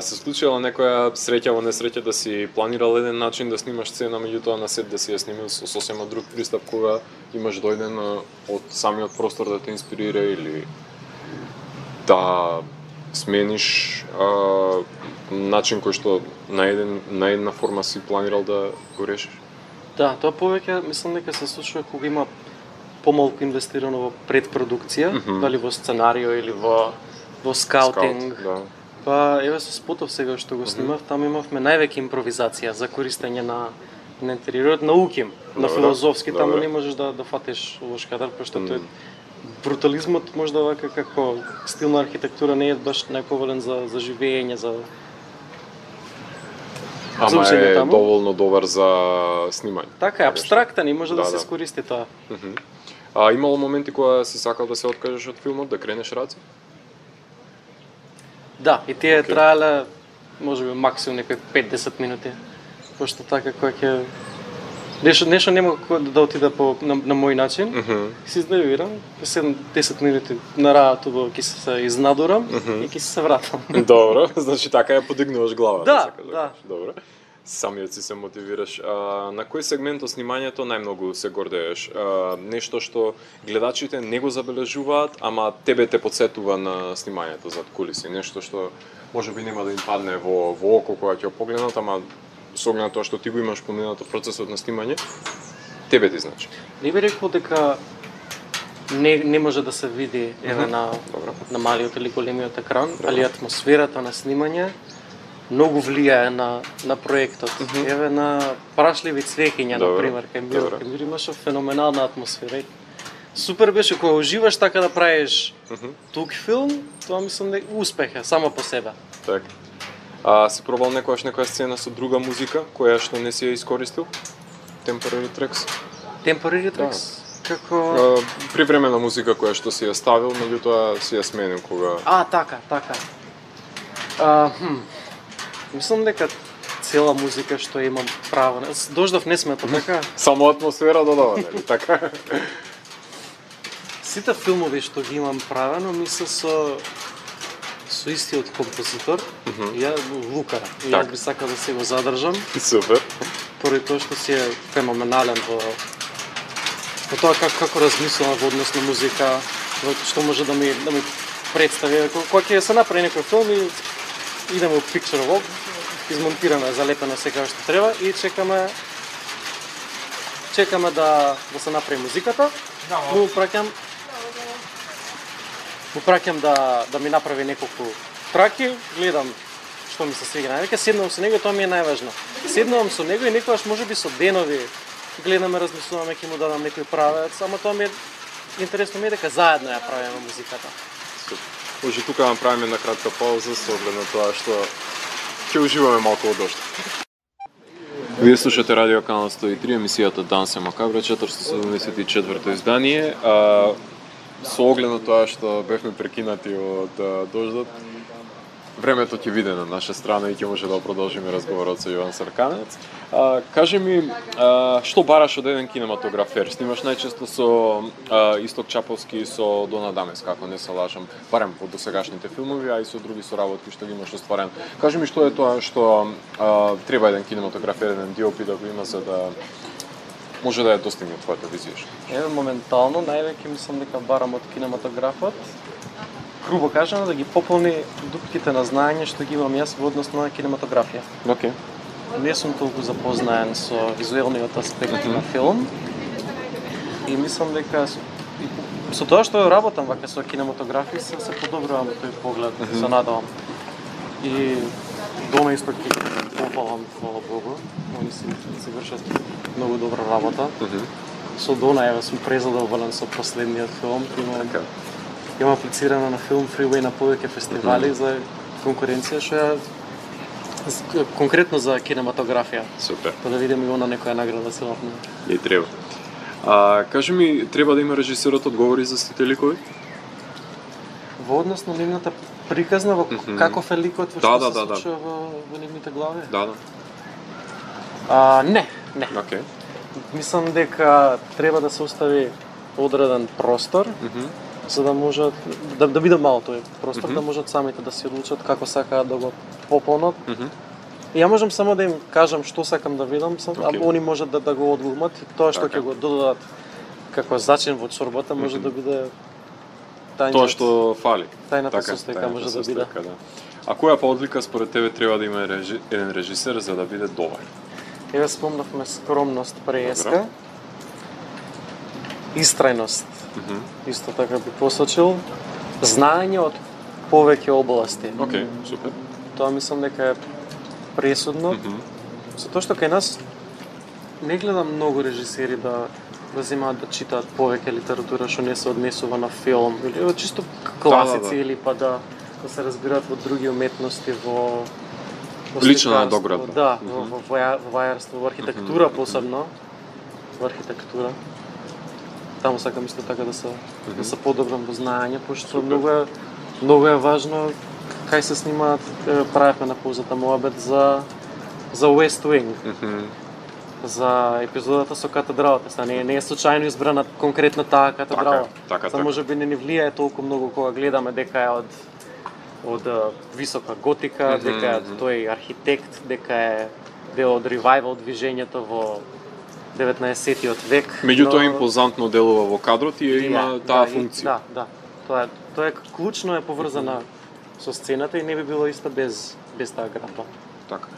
Speaker 1: Се случила некоја среќа во несреќа да си планирал еден начин да снимаш сцена, меѓутоа на сет да си ја снимил со сосема друг пристап кога имаш дојден од самиот простор да те инспирира или да смениш начин кој што на една форма си планирал да го решиш?
Speaker 2: Да, тоа повеќе мислам дека се случува кога има помалку инвестирано во предпродукција, дали во сценарио или во скаутинг.
Speaker 1: Да.
Speaker 2: Па еве со спотов сега што го снимав, таму имавме највеќе импровизација за користење на интериорот, на уким, на филозофски, таму не можеш да фатиш лош кадар, пошто тој брутализмот можда вака како стил на архитектура не е баш најповолен за живење, за
Speaker 1: Ама е доволно добар за снимање.
Speaker 2: Така е, абстрактен и може да се искористи тоа.
Speaker 1: А имало моменти кога си сакал да се откажеш од филмот, да кренеш раци?
Speaker 2: Да, и тие траеле можеби максимум некои 5-10 минути. Пошто така кој ќе нешто нема да отиде на мој начин, се изнервирам, 7-10 минути на работа ќе се изнадурам и ќе се вратам.
Speaker 1: Добро, значи така ја подигнуваш глава.
Speaker 2: Да.
Speaker 1: Добро. Самиот си се мотивираш. На кој сегмент од снимањето најмногу се гордееш? Нешто што гледачите не го забележуваат, ама тебе те потсетува на снимањето зад кулиси, нешто што можеби нема да им падне во око кога ќе погледнат, ама со оглед на тоа што ти го имаш поминато процесот на снимање, тебе ти значи.
Speaker 2: Не би рекол дека не може да се види еве на малиот или големиот екран, али атмосферата на снимање многу влијае на проектот. Еве на Прашливи цвеќиња, например, кај имаше феноменална атмосфера. Супер беше кога уживаш така да правиш тук филм, тоа мислам дека успех е само по себе.
Speaker 1: Така. Си пробал некоја сцена со друга музика која што не си ја искористил? Temporary tracks?
Speaker 2: Temporary tracks? Како
Speaker 1: привремена музика која што си ја ставил, меѓутоа си ја сменил кога.
Speaker 2: Така. Мислам дека цела музика што имам право. Дождов не смета, така?
Speaker 1: Само атмосфера додава, нели така?
Speaker 2: Сите филмови што ги имам правено, мисля со истиот композитор, Лука. Јас би сакал да се го задржам.
Speaker 1: Супер.
Speaker 2: Поради тоа што си е феноменален во тоа како размислува во однос на музика, што може да ми представи. Кога ќе се направи некој филм и идеме во Picture Walk, измонтирано, залепено се како што треба и чекаме да се направи музиката. Му праќам да ми направи неколку траки, гледам што ми се свига највеќе, седнувам со него, тоа ми е најважно. Седнувам со него и некогаш можеби со денови гледаме, размислуваме, ќе му дадам некој правец, ама тоа ми е интересно ми е дека заедно ја правиме музиката.
Speaker 1: Може тука да направиме една кратка пауза со оглед на тоа што ќе уживаме малку од дожд. Вие слушате Радио Канал 103, емисијата Данс е Макабра, 474-то издание. Со оглед на тоа што бевме прекинати од дождот, времето ќе биде на наша страна и ќе може да продолжиме разговорот со Јован Сарканец. Кажи ми, што бараш од еден кинематографер? Снимаш најчесто со Исток Чаповски и со Дона Дамес, како не се лажам, барем од досегашните филмови, а и со други соработки што ги имаш остварен. Кажи ми што е тоа што треба еден кинематографер, еден DOP да го има за да може да ја достигне твојата визија?
Speaker 2: Еве моментално највеќе мислам дека барам од кинематографот, грубо кажано, да ги пополни дупките на знаење што ги имам јас во однос на кинематографија.
Speaker 1: Океј.
Speaker 2: Не сум толку запознаен со визуелниот аспект на филм и мислам дека со тоа што работам вака со кинематографија се подобрувам тој поглед, се надевам. И Дона исто ќе пофалам, фала Богу, они си вршат многу добра работа. Со Дона еве сум презадоволен со последниот филм, имам аплицирано на филм Freeway на повеќе фестивали за конкуренција што е конкретно за кинематографија.
Speaker 1: Супер.
Speaker 2: Па да видиме и она некоја награда се лапне.
Speaker 1: И треба. Кажи ми, треба да има режисерот одговори за сите ликови?
Speaker 2: Во однос на нивната приказна, во каков е ликот, во што се случува во нивните глави?
Speaker 1: Да.
Speaker 2: Не.
Speaker 1: Океј.
Speaker 2: Мислам дека треба да се остави одреден простор, за да можат да биде мал тој простор, да можат самите да се одлучат како сакаат да го пополнат. И ја можам само да им кажам што сакам да видам, а они можат да го одглумат и тоа што ќе го додадат како зачин во чорбата може да биде
Speaker 1: Тоа што фали.
Speaker 2: Тајната состојка може да биде.
Speaker 1: Да. А која па одлика според тебе треба да има еден режисер за да биде добар?
Speaker 2: Еве спомнавме скромност преска. Истрајност. Исто така би посочил. Знаење од повеќе области.
Speaker 1: Океј, супер.
Speaker 2: Тоа мислам дека е пресудно. Затоа што кај нас не гледам многу режисери да земаат да читаат повеќе литература што не се однесува на филм или чисто класици или па да се разбираат во други уметности, во
Speaker 1: лична надоградба.
Speaker 2: Да, во вајарство, во архитектура посебно. Во архитектура. Таму сакам исто така да се подобрам во знаење, пошто многу е важно кај се снимаат. Правевме на паузата моабет за West Wing. За епизодата со катедралата. Не е случајно избрана конкретно таа катедрала.
Speaker 1: Така.
Speaker 2: Може би не ни влијае толку многу кога гледаме дека е од висока готика, дека е тој архитект, дека е дел од ревајвал движењето во 19-тиот век.
Speaker 1: Меѓутоа импозантно делува во кадрот и има таа функција.
Speaker 2: Да. Тоа е клучно е поврзана со сцената и не би било иста без таа градба.
Speaker 1: Така.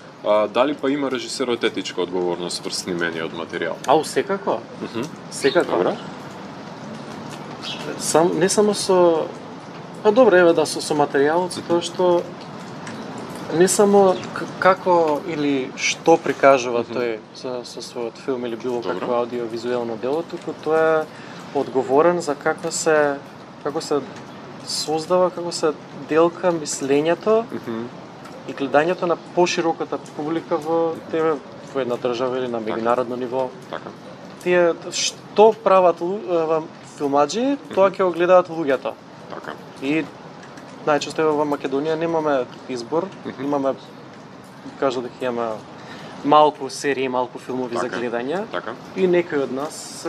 Speaker 1: Дали па има режисерот етичка одговорност врз снимениот материјал?
Speaker 2: Секако. Секако.
Speaker 1: Добра.
Speaker 2: Не само со добре, еве со материјалот, тоа што не само како или што прикажува тој со својот филм или било какво аудиовизуелно дело, туку тоа е одговорен за како се создава, како се делка мислењето и гледањето на пошироката публика во една држава или на меѓународно ниво.
Speaker 1: Така.
Speaker 2: Тие што прават филмаџи, тоа ќе го гледаат луѓето.
Speaker 1: Така.
Speaker 2: И најчесто во Македонија немаме избор, имаме, кажа дека имаме малку серии, малку филмови за гледање.
Speaker 1: Така.
Speaker 2: И некои од нас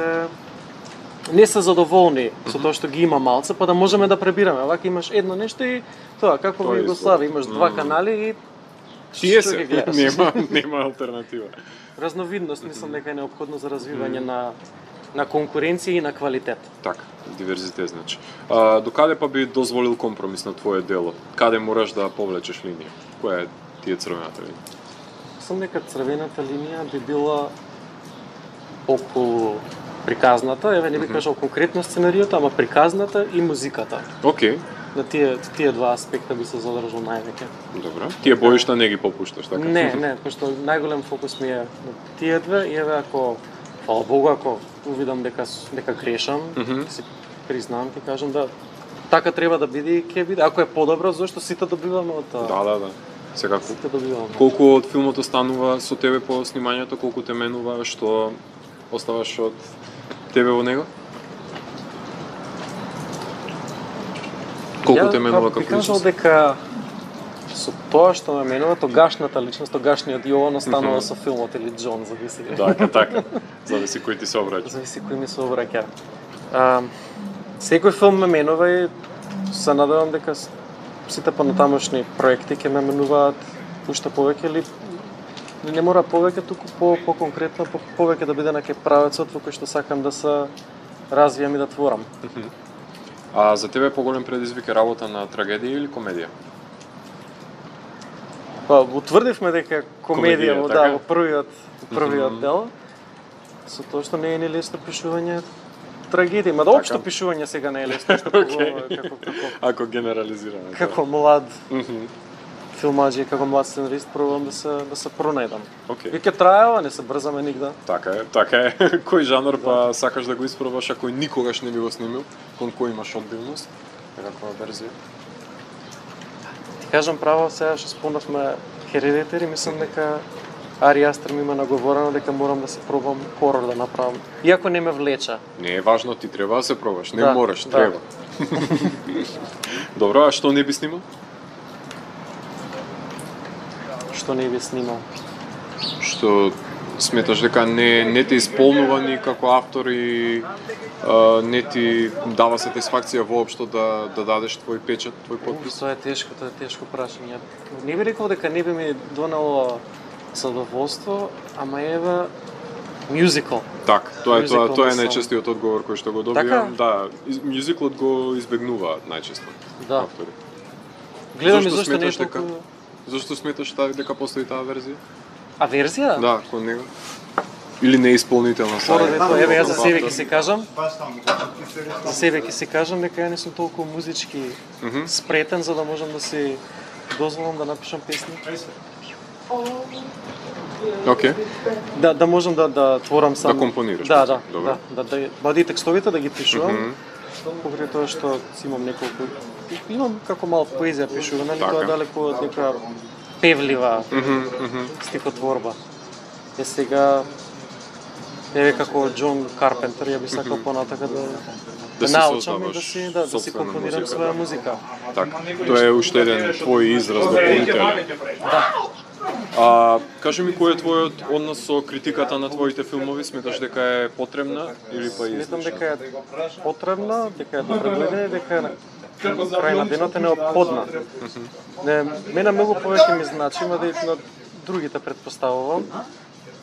Speaker 2: не се задоволни со тоа што ги има малце, па да можеме да пребираме. Вака имаш едно нешто и тоа, како во Југославија, имаш два канали и
Speaker 1: тие се, нема алтернатива.
Speaker 2: Разновидност мислам дека е неопходно за развивање на конкуренција и на квалитет.
Speaker 1: Така, диверзитет значи. Докаде па би дозволил компромис на твое дело? Каде мораш да повлечеш линија? Која е тие црвената линија?
Speaker 2: Мислам дека црвената линија би била околу приказната, еве не би кажал конкретно сценариото, ама приказната и музиката.
Speaker 1: Океј.
Speaker 2: На тие два аспекта би се задржал највеќе.
Speaker 1: Добро. Тие боишта не ги попушташ, така?
Speaker 2: Не, пошто најголем фокус ми е на тие две и еве ако фала Богу, ако увидам дека грешам, си признавам, ти кажам да така треба да биде и ќе биде. Ако е подобро, зашто сите добиваме од тоа?
Speaker 1: Да. Секако.
Speaker 2: Сите добиваме.
Speaker 1: Колку од филмот останува со тебе по снимањето, колку те менува, што оставаш од тебе во него? Колку те менува како личност?
Speaker 2: Ја кажал дека со тоа што ме менува, тогашната личност, тогашниот Јован останува со филмот или Џон, зависи.
Speaker 1: Така. Зависи кој ти се обраќа.
Speaker 2: Зависи кој ми се обраќа. Секој филм ме менува и се надевам дека сите понатамошни проекти ќе ме менуваат уште повеќе или не мора повеќе, туку по-конкретно, повеќе да биде на кај правецот во кој што сакам да се развијам и да творам.
Speaker 1: А за тебе поголем предизвик е работа на трагедија или комедија?
Speaker 2: Па, утврдивме дека комедија
Speaker 1: така?
Speaker 2: во првиот дел, со тоа што не е ни лесно пишување трагедија, ма да општо пишување сега не е лесно, што
Speaker 1: ако генерализираме.
Speaker 2: Како млад филмаџи, како млад сценарист, пробувам да се пронајдам. Веќе траева, не се брзаме нигде.
Speaker 1: Така е. Кој жанр па сакаш да го испробаш, а кој никогаш не би го снимил, кон кој имаш одбивност? Каква верзија?
Speaker 2: Ти кажам право, сега што спомнавме Hereditary, мислам дека Ари Астер ми има наговорено дека морам да се пробам хорор да направам. Иако не ме влеча.
Speaker 1: Не е важно, ти треба да се пробаш, не мораш, треба. Добро, а што не би снимал?
Speaker 2: Што не би снимал?
Speaker 1: Што сметаш дека не те исполнува ни како автор и не ти дава сатисфакција воопшто да дадеш твој печат, твој подпис?
Speaker 2: Тоа е тешко прашање. Не би рекол дека не би ми донело задоволство, ама еве мюзикл.
Speaker 1: Так, тоа е
Speaker 2: мюзикл
Speaker 1: најчестиот одговор кој што го
Speaker 2: Така?
Speaker 1: добивам. Да, мюзиклот го избегнуваат најчесто.
Speaker 2: Да.
Speaker 1: Автори.
Speaker 2: Гледам и
Speaker 1: Зошто
Speaker 2: зашто не е
Speaker 1: сметаш дека-
Speaker 2: толку...
Speaker 1: Зошто сметаш дека постои таа верзија?
Speaker 2: А верзија?
Speaker 1: Да, кон него. Или неисполнителна
Speaker 2: Поради тоа, еве јас за себе ќе
Speaker 1: автор.
Speaker 2: се кажам. За себе ќе се кажам дека ја не сум толку музички спретен за да можам да си дозволам да напишам песни.
Speaker 1: Океј.
Speaker 2: Да можам да творам сам.
Speaker 1: Да компонираш,
Speaker 2: Да,
Speaker 1: добро.
Speaker 2: да и текстовите да ги пишувам. Покрај тоа што си имам неколку имам како мал поезија пишувана, али
Speaker 1: Така.
Speaker 2: тоа далеку од нека певлива стихотворба. Е сега еве како Џон Карпентер, ја би сакал понатака да
Speaker 1: си
Speaker 2: научам и
Speaker 1: создаваш
Speaker 2: да си
Speaker 1: сопствена
Speaker 2: компонирам
Speaker 1: музика,
Speaker 2: своја
Speaker 1: да.
Speaker 2: музика.
Speaker 1: Така. Тоа е уште еден твој израз дополнителен.
Speaker 2: Да.
Speaker 1: Кажи ми кој е твојот однос со критиката на твоите филмови? Сметаш дека е потребна или па
Speaker 2: Сметам
Speaker 1: излишна?
Speaker 2: дека е потребна, дека е добре гледана и дека е на крај на денот е неопходна. Мене многу повеќе ми значи, ма да и на другите предпоставувам,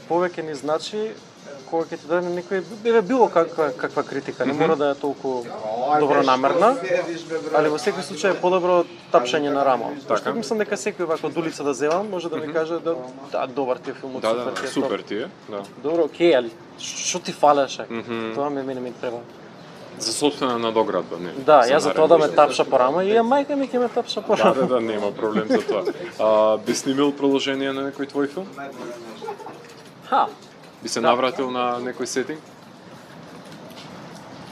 Speaker 2: повеќе ни значи кога ќе ти даде некој било каква критика, не мора да е толку добронамерна, али во секој случај е подобро од тапшање на рамо. Пошто мислам дека секој вака од улица да земам може да ми каже да добар ти е филмот,
Speaker 1: Да,
Speaker 2: ти е
Speaker 1: супер
Speaker 2: топ.
Speaker 1: ти е. Да.
Speaker 2: Добро, окей, али што ти фалеше? Тоа мене ми треба.
Speaker 1: За собствена надоградба, не.
Speaker 2: Да, јас за тоа да ме тапша по рама и мајка ми ќе ме тапша по рама.
Speaker 1: Да, нема проблем за тоа. Би снимил продолжение на некој твој филм?
Speaker 2: Ха,
Speaker 1: Би се навратил на некој сетинг?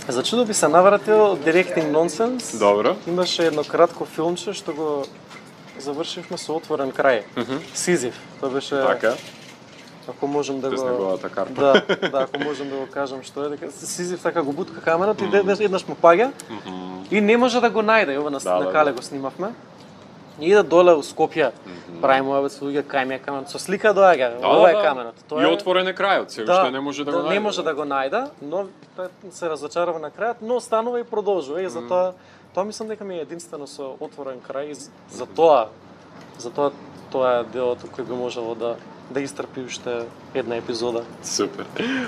Speaker 2: за чудо би се навратил Directing Nonsense.
Speaker 1: Добро.
Speaker 2: Имаше едно кратко филмче што го завршивме со отворен крај. Сизиф. Тоа беше
Speaker 1: Така,
Speaker 2: ако можам да
Speaker 1: без
Speaker 2: го
Speaker 1: неговата карта.
Speaker 2: Да, ако можам да го кажам што е, дека Сизиф така го бутка камерата и еднаш му паѓа и не може да го најде. Ова на Кале го снимавме. И да доле у Скопје, правиме овие луѓе кај ми е каменот, со слика доаѓа, ова е каменот.
Speaker 1: И отворен е крајот, се уште не може да го најде.
Speaker 2: Не може да го најде, но се разочарува на крајот, но останува и продолжува и затоа тоа мислам дека ми е единствено со отворен крај и затоа тоа е делото кој би можело да истрпи уште една епизода.
Speaker 1: Супер.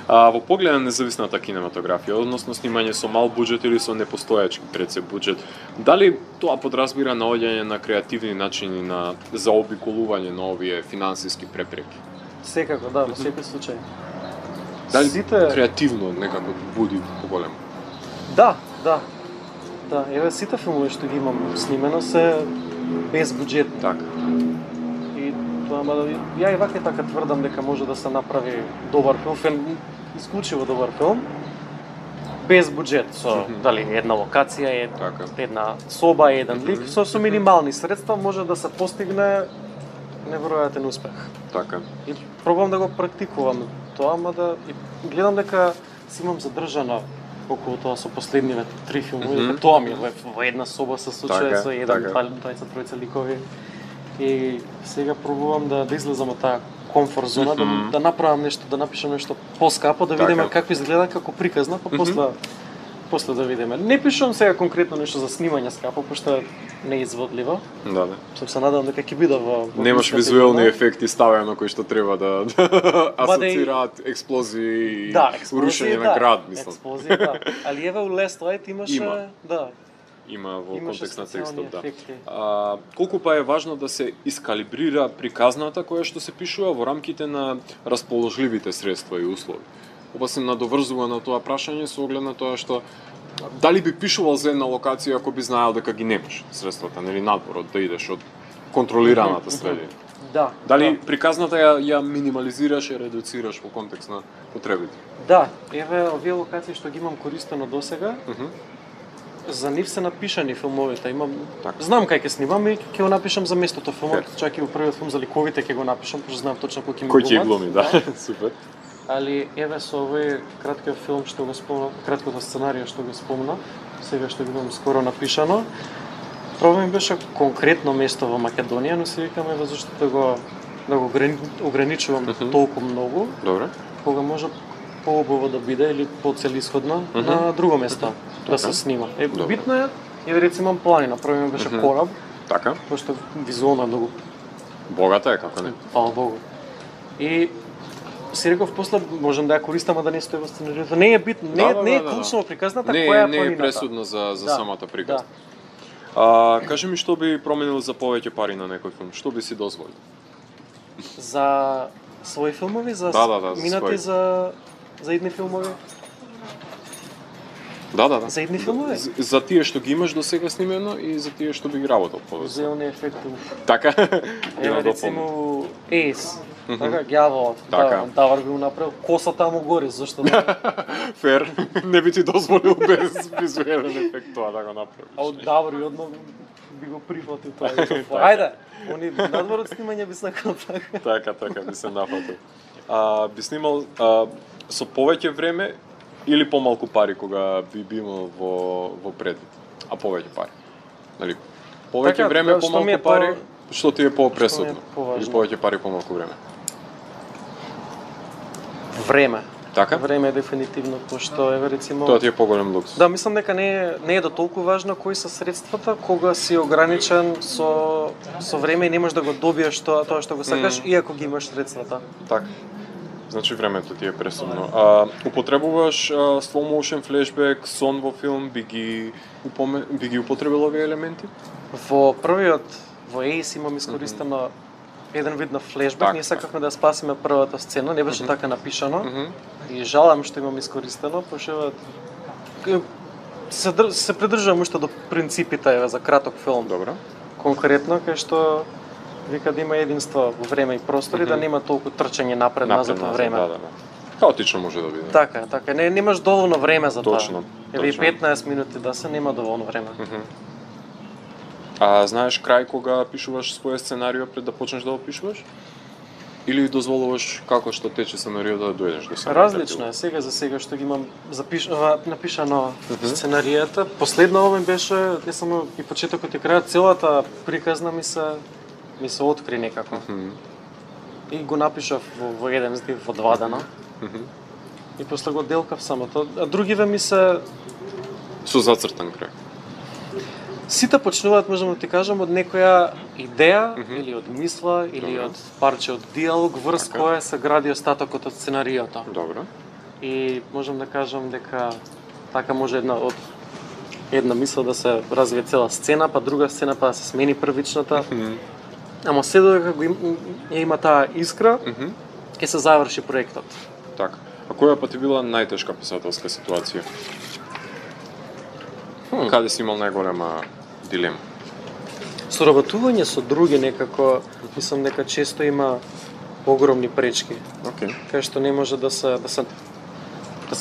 Speaker 1: Во поглед на независната кинематографија, односно снимање со мал буџет или со непостојачки пред се буџет, дали тоа подразбира наоѓање на креативни начини на заобиколување на овие финансиски препреки?
Speaker 2: Секако, да, во секој случај.
Speaker 1: Дали креативно некако буди поголемо?
Speaker 2: Да. Еве сите филмови што ги имам снимено се без буџет.
Speaker 1: Така.
Speaker 2: И тоа, ја и вака така тврдам дека може да се направи добар филм, исклучиво добар филм, без буџет, со дали една локација, една соба, еден лик, со минимални средства може да се постигне неверојатен успех.
Speaker 1: Така.
Speaker 2: И пробувам да го практикувам тоа, ама да и гледам дека си имам задржано околу тоа со последниве 3 филмови, дека тоа ми е во една соба се случува со еден, двајца, тројца ликови. И сега пробувам да излезам од таа комфорт зона, да направам нешто, да напишам нешто поскапо, да видиме како изгледа како приказна, па после да видиме. Не пишувам сега конкретно нешто за снимање скапо, пошто не е изводливо.
Speaker 1: Да.
Speaker 2: Сум се надевам дека ќе биде во
Speaker 1: немаш визуелни ефекти ставено кои што треба да асоцираат експлозии и урушење на град, мислам.
Speaker 2: Експлозии, да. Али еве у Last Light имаше, да.
Speaker 1: Има во контекст на текстот, да. Колку па е важно да се искалибрира приказната која што се пишува во рамките на расположливите средства и услови? Ова се надоврзува на тоа прашање со оглед на тоа што дали би пишувал за една локација ако би знаел дека ги немаш средствата, нели надворот да идеш од контролираната средина?
Speaker 2: Да.
Speaker 1: Дали приказната ја минимализираш и редуцираш во контекст на потребите?
Speaker 2: Да, еве овие локации што ги имам користено досега, за нив се напишани филмовите. Знам кај ќе снимам и ќе го напишам за местото филмот, чак и во првиот филм за ликовите ќе го напишам, пошто знам точно кој ќе ми
Speaker 1: глуми, да. Супер.
Speaker 2: Али еве со овој краткиот филм што го спомнав, краткото сценарија што го спомнав, сега што го имам скоро напишано, проблем беше конкретно место во Македонија, но се викаме зашто да го ограничувам толку многу.
Speaker 1: Добре.
Speaker 2: Кога може поубаво да биде или поцелисходно на друго место да се снима. Битно е, еве рецимо имам планина, првиот беше кораб.
Speaker 1: Така.
Speaker 2: Пошто визуално многу
Speaker 1: богата е, како не?
Speaker 2: Фала Богу. И си реков после можам да ја користам, а да не стои во сценариото. Не е битно, не е клучно приказната, која е планината.
Speaker 1: Не е пресудно за самата приказна.
Speaker 2: Да.
Speaker 1: Кажи ми што би променил за повеќе пари на некој филм? Што би си дозволил?
Speaker 2: За своји филмови, за минати за идни филмови?
Speaker 1: Да.
Speaker 2: За идни филмови?
Speaker 1: За тие што ги имаш до сега снимено и за тие што би ги работел повеќе.
Speaker 2: Зелни ефекти.
Speaker 1: Така?
Speaker 2: Еве рецимо Ейс. Така, ѓаволот.
Speaker 1: Така.
Speaker 2: Давар би го направил, косата му гори, зашто да?
Speaker 1: Фер, не би ти дозволил без визуелен ефект тоа да го направиш.
Speaker 2: А од Давар и одно би го прифатил тоа. Ајде, они надвор од снимање би сакал така.
Speaker 1: Така, би се нафатил. Би снимал со повеќе време или помалку пари кога би имал во предвид, а повеќе пари. Нали, повеќе
Speaker 2: Така,
Speaker 1: време,
Speaker 2: што
Speaker 1: помалку
Speaker 2: ми е
Speaker 1: пари, што ти е по-пресудно?
Speaker 2: поважно?
Speaker 1: Или повеќе пари, помалку време?
Speaker 2: Време.
Speaker 1: Така?
Speaker 2: Време е дефинитивно, пошто еве рецимо.
Speaker 1: Тоа ти е поголем луксус.
Speaker 2: Да, мислам дека не е до толку важно кои се средствата, кога си ограничен со време и не можеш да го добиеш тоа што го сакаш, иако ги имаш средствата.
Speaker 1: Така. Значи времето ти е пресудно. Употребуваш slow motion, flashback, сон во филм, би ги употребил овие елементи?
Speaker 2: Во првиот, во Ace имам искористено еден вид на флешбек, ние сакавме да спасиме првата сцена, не беше така напишано. И жалам што имам искористено, пошто се придржувам уште до принципите еве за краток филм.
Speaker 1: Добро.
Speaker 2: Конкретно кај што вика да има единство во време и простори, да нема толку трчање напред-назад во време.
Speaker 1: Да. Хаотично може да биде.
Speaker 2: Така, немаш доволно време за тоа.
Speaker 1: Точно.
Speaker 2: Еве 15 минути да се нема доволно време.
Speaker 1: Знаеш крај кога пишуваш своје сценарио пред да почнеш да го пишуваш? Или дозволуваш како што тече сценариото да дојдеш до сега?
Speaker 2: Различно е, сега за сега што ги имам напишано сценаријата. Последно ова беше, не само и почетокот и крајот, целата приказна ми се откри некако. И го напишав во еден здив во 2 дена. И после го делкав самото. А другиве ми се
Speaker 1: со зацртан крај.
Speaker 2: Сите почнуваат, можам да ти кажам, од некоја идеја, или од мисла, или од парче од диалог, врз која се гради остатокот од сценариото.
Speaker 1: Добро.
Speaker 2: И можам да кажам дека така може една мисла да се развие цела сцена, па друга сцена, па да се смени првичната. Ама се додека има таа искра, ќе се заврши проектот.
Speaker 1: Така. А која па ти била најтешка писателска ситуација? Каде си имал најголема дилема?
Speaker 2: Соработување со други некако, мислам дека често има огромни пречки. Кај што не може да се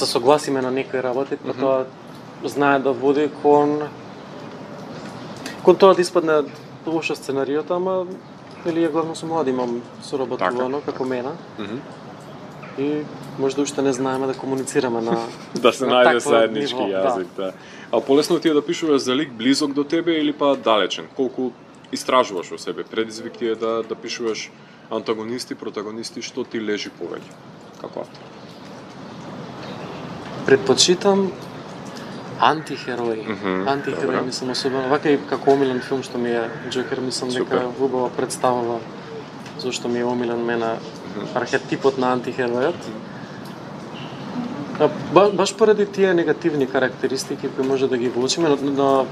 Speaker 2: согласиме на некои работи, па тоа знае да води кон тоа да испадне лошо сценариото, ама или ја главно со млади имам соработувано како мене. И може да уште не знаеме да комуницираме на
Speaker 1: да се најде заеднички јазик, да. А полесно ти е да пишуваш за лик близок до тебе или па далечен? Колку истражуваш во себе? Предизвик ти е да пишуваш антагонисти, протагонисти, што ти лежи повеќе? Како автор?
Speaker 2: Предпочитам антихерои. Антихерои мислам особено, вака и како омилен филм што ми е Джокер, мислам дека убаво представува зашто ми е омилен мене архетипот на антихеројот. Баш поради тие негативни карактеристики кои може да ги влучиме, но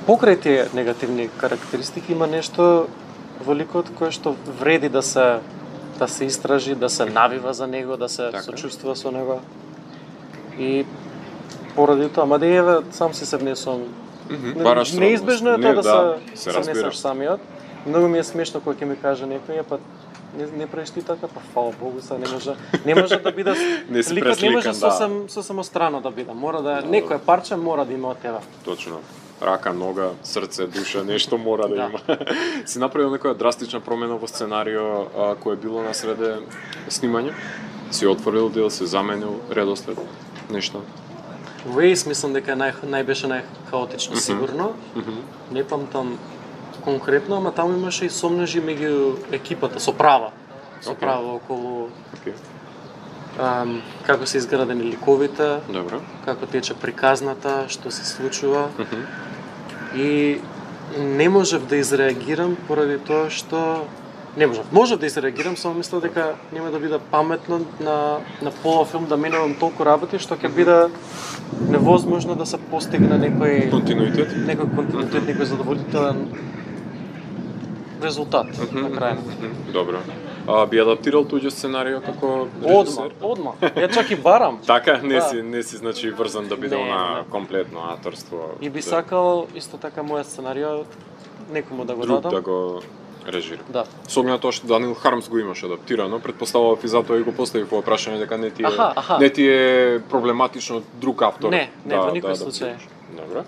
Speaker 2: покрај тие негативни карактеристики има нешто во ликот кое што вреди да се истражи, да се навива за него, да се сочувствува со него. И поради тоа, ама да еве сам си се внесувам. Неизбежно е тоа да се внесеш самиот. Многу ми е смешно кога ќе ми каже некој, па не правиш ти така, па фала Богу, се не може да биде ликот, не може сосем страно да биде. Мора да некој парче мора да има од тебе.
Speaker 1: Точно. Рака, нога, срце, душа, нешто мора да има. Си направил некоја драстична промена во сценарио кое било на среде снимање? Си отворил дел, се заменил редослед, нешто?
Speaker 2: Во Ace мислам дека беше најхаотично сигурно. Не памтам конкретно, ама таму имаше и сомнежи меѓу екипата, со права околу како се изградени ликовите, како тече приказната, што се случува. И не можев да изреагирам поради тоа што Не можам. Можам да изреагирам, само мислам дека нема да биде паметно на пола филм да менувам толку работи што ќе биде невозможно да се постигне некој
Speaker 1: Континуитет?
Speaker 2: некој задоволителен резултат на крајот.
Speaker 1: Добро. Би адаптирал туѓо сценарио како режисер?
Speaker 2: Одма. Ја чак и барам.
Speaker 1: Така, не
Speaker 2: Да.
Speaker 1: си значи врзан да биде
Speaker 2: Не,
Speaker 1: на
Speaker 2: не.
Speaker 1: комплетно авторство.
Speaker 2: И би сакал исто така мојот сценарио некому да го
Speaker 1: друг
Speaker 2: дадам.
Speaker 1: да го режира.
Speaker 2: Да.
Speaker 1: Со оглед на тоа што Даниел Хармс го имаше адаптирано, претпоставував и затоа и го поставив во прашање дека не ти е проблематично друг автор.
Speaker 2: Не, во никој случај.
Speaker 1: Добро.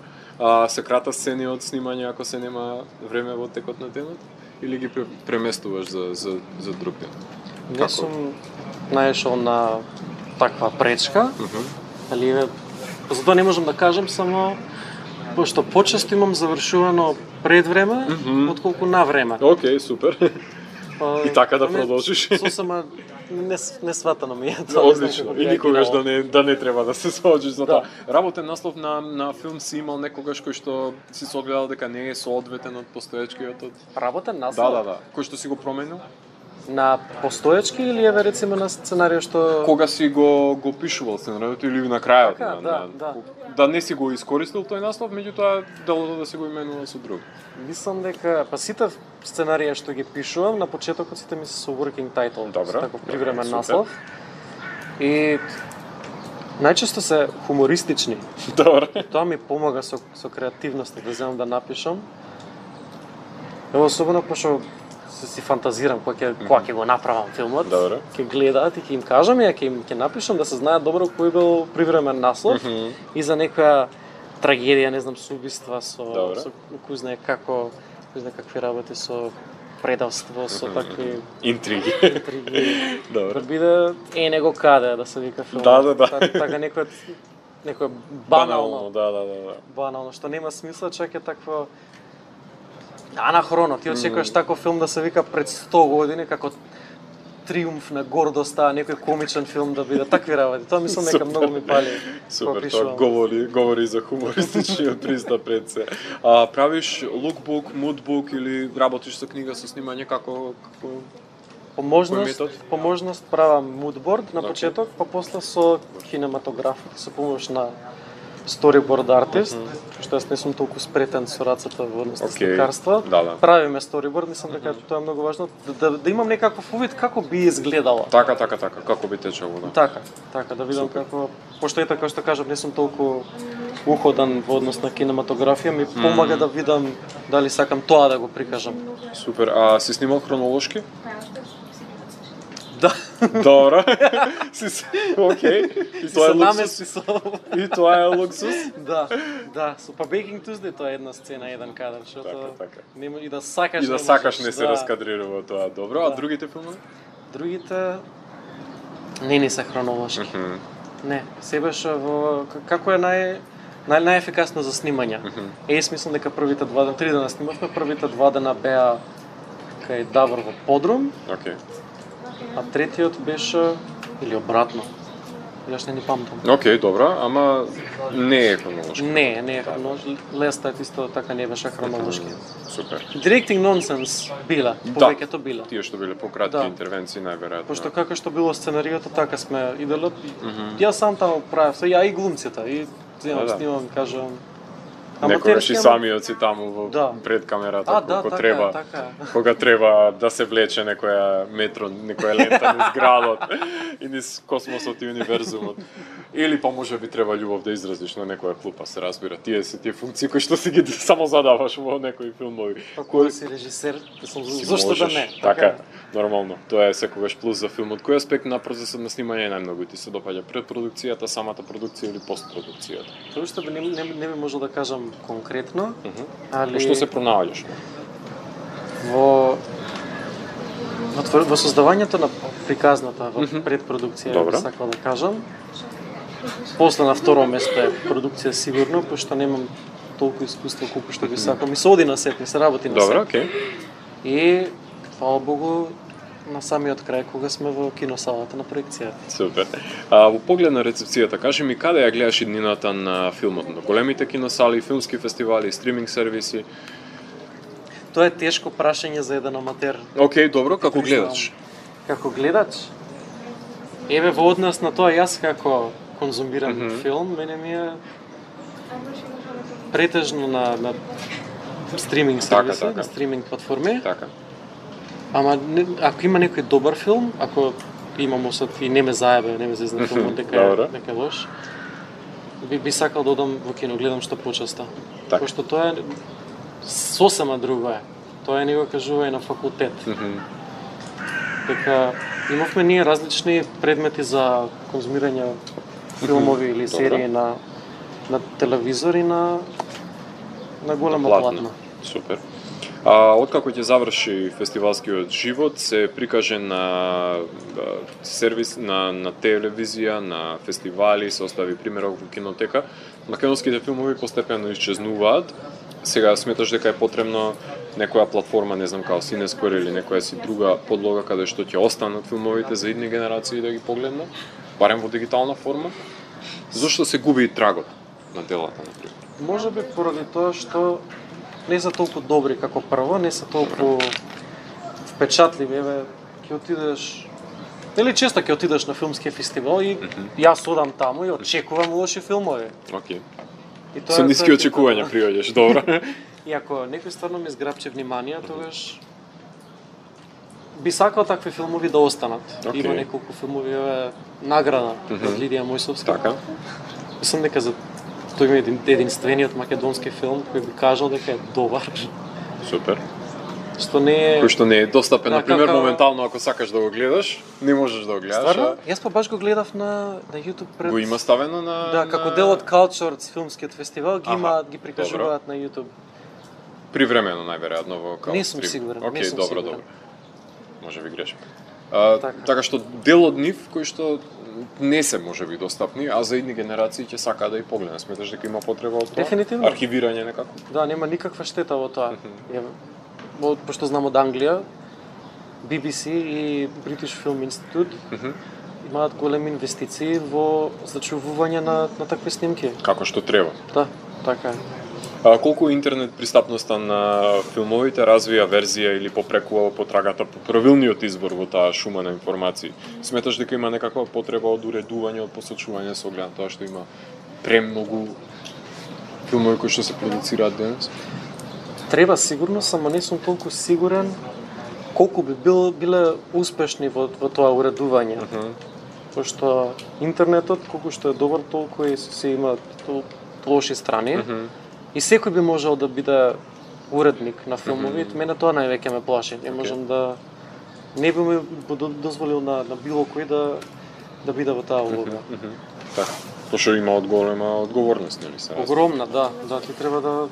Speaker 1: Се крата сцени од снимање ако се нема време во текот на денот или ги преместуваш за друг ден?
Speaker 2: Не сум наишол на таква пречка. Али затоа не можам да кажам само пошто почесто имам завршувано пред време отколку на време.
Speaker 1: Океј, супер. И така да продолжиш.
Speaker 2: Сосема не сватано ми е тоа.
Speaker 1: Одлично. И никогаш да не треба да се соочиш за тоа. Работен наслов на филм си имал некогаш кој што си согледал дека не е соодветен од постоечкиот од...
Speaker 2: Работен наслов?
Speaker 1: Да. Кој што си го променил?
Speaker 2: На постоечки или еве рецимо на сценарио што
Speaker 1: Кога си го пишувал сценариото или на крајот?
Speaker 2: Така, да.
Speaker 1: Да не си го искористил тој наслов, меѓутоа делото да си го именува со друг.
Speaker 2: Мислам дека сите сценарија што ги пишувам на почетокот сите ми се со working title,
Speaker 1: Добро,
Speaker 2: со таков привремен
Speaker 1: супер.
Speaker 2: наслов. И најчесто се хумористични.
Speaker 1: Добро.
Speaker 2: Тоа ми помага со креативноста да земам да напишам. Ево особено пошто си фантазирам кога ќе го направам филмот.
Speaker 1: Добро.
Speaker 2: Ќе гледаат и ќе им кажам и ќе напишам да се знаат добро кој бил привремен наслов и за некоја трагедија, не знам, со убиства, со кој знае како, кој знае какви работи со предавство, со такви
Speaker 1: интриги. Добро.
Speaker 2: Да биде него каде да се вика филм.
Speaker 1: Да.
Speaker 2: Така некој банално.
Speaker 1: Да.
Speaker 2: Банално, што нема смисла, чак е такво анахроно. Ти очекуваш таков филм да се вика пред 100 години како триумф на гордоста, некој комичен филм да биде такви работи. Тоа мислам дека многу ми пали.
Speaker 1: Супер, тоа говори за хумористичниот пристап пред се. Правиш лукбук, мудбук или работиш со книга со снимање како
Speaker 2: по можност правам мудборд на почеток, па после со кинематографија, со помош на storyboard артист, што јас не сум толку спретен со рацете во однос на сликарство.
Speaker 1: Да.
Speaker 2: Правиме storyboard, мислам дека тоа е многу важно да имам некаков увид како би изгледало.
Speaker 1: Така, како би течело, да.
Speaker 2: Така да видам како, пошто ета како што кажам, не сум толку уходен во однос на кинематографија, ми помага да видам дали сакам тоа да го прикажам.
Speaker 1: Супер, си снимал хронолошки?
Speaker 2: Да.
Speaker 1: Добро. Океј. И тоа е луксус. И тоа е луксус?
Speaker 2: Да. Со па Baking Tuesday тоа е една сцена, еден кадар, што
Speaker 1: така.
Speaker 2: Нема и да сакаш.
Speaker 1: И да сакаш не се раскадрирува тоа. Добро, а другите филмови?
Speaker 2: Другите не се хронолошки. Не, се беше во како е најефикасно за снимање. Мислам дека првите 2 3 дена снимавме, првите 2 дена беа кај Давор во подрум.
Speaker 1: Океј.
Speaker 2: А третиот беше или обратно. Јас не памтам.
Speaker 1: Океј, добро, ама не е хронолошки.
Speaker 2: Не е хронолошки. Лестат исто така не беше хронолошки.
Speaker 1: Супер.
Speaker 2: Directing nonsense биле, повеќето биле.
Speaker 1: Тие што биле пократки интервенции најверојатно.
Speaker 2: Пошто како што било сценариото, така сме иделе. Јас сам таму правев, ја и глумците, и снимам, кажам.
Speaker 1: Некогаш и самиот си таму во пред камерата, кога треба да се влече некоја метро, некоја лента низ градот и низ космосот и универзумот. Или па може би треба љубов да изразиш на некоја клупа, се разбира. Тие се тие функции кои што си ги само задаваш во некои филмови.
Speaker 2: Па кога си режисер, зошто да не?
Speaker 1: Така, нормално. Тоа е секогаш плюс за филмот. Кој аспект на процесот на снимање најмногу ти се допаѓа? Предпродукцијата, самата продукција или постпродукцијата?
Speaker 2: Тоа што не би можел да кажам конкретно, али
Speaker 1: што се пронаоѓаш?
Speaker 2: Во создавањето на приказната во предпродукција, би сакал да кажам. После на второ место е продукција сигурно, пошто немам толку искуство колку што би сакал. Ми се оди на сет, ми се работи на сет.
Speaker 1: Добро, океј.
Speaker 2: И фала Богу на самиот крај кога сме во киносалата на проекција.
Speaker 1: Супер. Во поглед на рецепцијата, кажи ми каде ја гледаш иднината на филмот? На големите киносали, филмски фестивали, стриминг сервиси?
Speaker 2: Тоа е тешко прашање за еден аматер.
Speaker 1: Океј, добро, како гледач?
Speaker 2: Како гледач? Еве во однос на тоа јас како конзумирам филм, мене ми е претежно на стриминг сервиси, на стриминг платформи.
Speaker 1: Така.
Speaker 2: Ама ако има некој добар филм, ако имам осет и не ме заебе, не ме зезна филмот дека е лош, би сакал да одам во кино, гледам што почеста. Пошто тоа е сосема друго е. Тоа е него кажува и на факултет. Дека имавме ние различни предмети за конзумирање филмови или серии на телевизор и на голема платна.
Speaker 1: Супер. Откако ќе заврши фестивалскиот живот, се прикаже на сервис, на телевизија, на фестивали, се остави примерок во кинотека. Македонските филмови постепено исчезнуваат. Сега сметаш дека е потребно некоја платформа, не знам, као Cinesquare или некоја си друга подлога каде што ќе останат филмовите за идни генерации да ги погледнат, барем во дигитална форма? Зошто се губи трагот на делата, например?
Speaker 2: Можеби поради тоа што не се толку добри како прво, не се толку впечатливи. Еве, ќе отидеш, или често ќе отидеш на филмски фестивал и јас одам таму и очекувам лоши филмови.
Speaker 1: Океј. Со ниски очекувања приоѓаш, добро.
Speaker 2: И ако некој стварно ми зграбче внимание, тогаш би сакал такви филмови да останат. Има неколку филмови, еве, награда од Лидија Мојсовска.
Speaker 1: Така.
Speaker 2: Мислам дека за тој ми е единствениот македонски филм кој би кажал дека е добар.
Speaker 1: Супер.
Speaker 2: Што не е...
Speaker 1: Кој што не е достапен, например, моментално ако сакаш да го гледаш, не можеш да го гледаш.
Speaker 2: Стварно? Јас па баш го гледав на YouTube пред...
Speaker 1: Го има ставено на...
Speaker 2: Да, како дел од Culture, филмскиот фестивал, ги прикажуваат на YouTube.
Speaker 1: Привремено најверојатно во Culture.
Speaker 2: Не сум сигурен.
Speaker 1: Океј, добро. Може би грешам. Така што дел од нив кои што не се можеби достапни, а за идни генерации ќе сака да и погледнат. Сметаш дека има потреба од тоа?
Speaker 2: Дефинитивно.
Speaker 1: Архивирање некако?
Speaker 2: Да, нема никаква штета во тоа. Пошто знам од Англија, BBC и British Film Institute имаат големи инвестиции во зачувување на такви снимки.
Speaker 1: Како што треба.
Speaker 2: Да, така е.
Speaker 1: Колку интернет пристапноста на филмовите развија верзија или попрекува потрагата по правилниот избор во таа шума на информации? Сметаш дека има некаква потреба од уредување, од посочување со оглед на тоа што има премногу филмови кои што се продуцираат денес?
Speaker 2: Треба сигурно, само не сум толку сигурен колку би биле успешни во тоа уредување. Пошто интернетот, колку што е добар, толку и се има лоши страни. И секој би можел да биде уредник на филмови, мене тоа највеќе ме плаши. Не можам да... Не би ми дозволил на било кој да биде во таа улога.
Speaker 1: Така, пошто има голема одговорност, нели се?
Speaker 2: Огромна, да. Ти треба да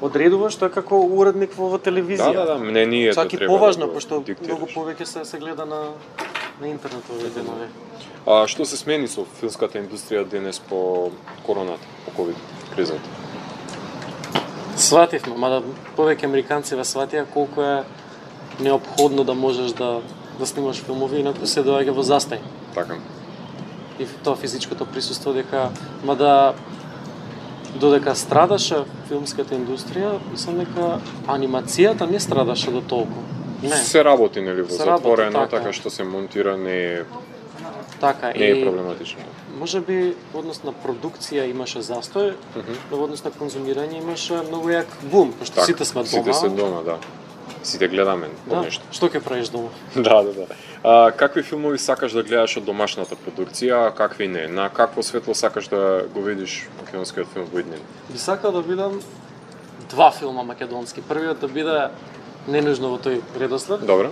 Speaker 2: одредуваш тоа како уредник во телевизија.
Speaker 1: Да, мнението
Speaker 2: чак и
Speaker 1: треба
Speaker 2: поважно,
Speaker 1: да
Speaker 2: пошто
Speaker 1: диктираш.
Speaker 2: многу повеќе се гледа на интернет овие денови.
Speaker 1: Што се смени со филмската индустрија денес по короната, по ковид кризата?
Speaker 2: Свативме, мада повеќе американци сватија колку е неопходно да можеш да снимаш филмови, инаку се доаѓа во застај.
Speaker 1: Така.
Speaker 2: И тоа физичкото присуство дека, мада додека страдаше филмската индустрија, мислам дека анимацијата не страдаше до толку. Не.
Speaker 1: Се работи, нели, во затворено,
Speaker 2: така
Speaker 1: што се монтира, не е
Speaker 2: не
Speaker 1: е проблематично.
Speaker 2: Може би во однос на продукција имаше застој, но во однос на конзумирање имаше многу јак бум, пошто сите сме дома.
Speaker 1: Сите се дома, да. Сите гледаме по нешто.
Speaker 2: Што ќе правиш дома?
Speaker 1: Да. Какви филмови сакаш да гледаш од домашната продукција, а какви не? На какво светло сакаш да го видиш македонскиот филм во иднина?
Speaker 2: Би сакал да видам два филма македонски. Првиот да биде не нужно во тој редослед.
Speaker 1: Добро.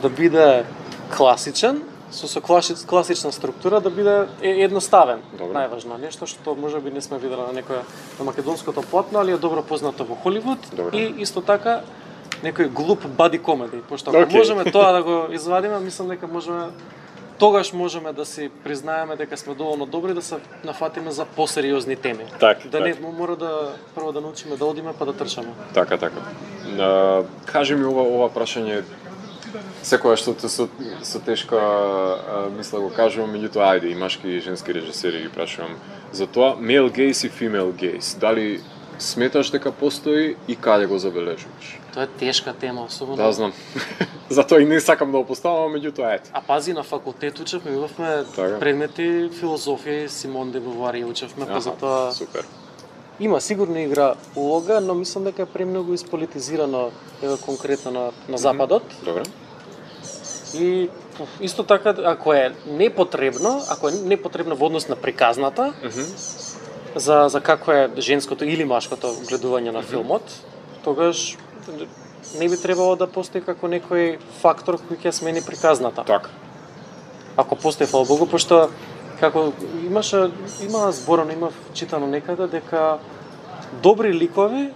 Speaker 1: Да
Speaker 2: биде класичен, со класична структура, да биде едноставен.
Speaker 1: Добро.
Speaker 2: Најважно, нешто што можеби не сме виделе на некоја на македонското платно, али е добро познато во Холивуд.
Speaker 1: Добро.
Speaker 2: И исто така некој глуп бади комеди, пошто ако можеме тоа да го извадиме, мислам дека тогаш можеме да си признаеме дека сме доволно добри да се нафатиме за посериозни теми. Не мора прво да научиме да одиме па да трчаме.
Speaker 1: Така. Кажи ми ова прашање секоја што со тешка мисла го кажувам, меѓутоа ајде и машки и женски режисери ги прашувам за тоа, male gaze и female gaze. Дали сметаш дека постои и каде го забележуваш?
Speaker 2: Тоа е тешка тема, особено.
Speaker 1: Да, знам. Затоа и не сакам да го поставам, меѓутоа ете.
Speaker 2: А пази, на факултет учевме, имавме
Speaker 1: Така.
Speaker 2: предмети филозофија и Симон де Бовари учевме, па затоа
Speaker 1: Супер.
Speaker 2: има сигурно игра улога, но мислам дека е премногу исполитизирано еве конкретно на западот.
Speaker 1: Добре.
Speaker 2: И исто така, ако е непотребно во однос на приказната, за какво е женското или машкото гледување на филмот, тогаш не би требало да постои како некој фактор кој ќе смени приказната.
Speaker 1: Така.
Speaker 2: Ако постои, фала Богу, пошто како има зборано, има читано некаде дека добри ликови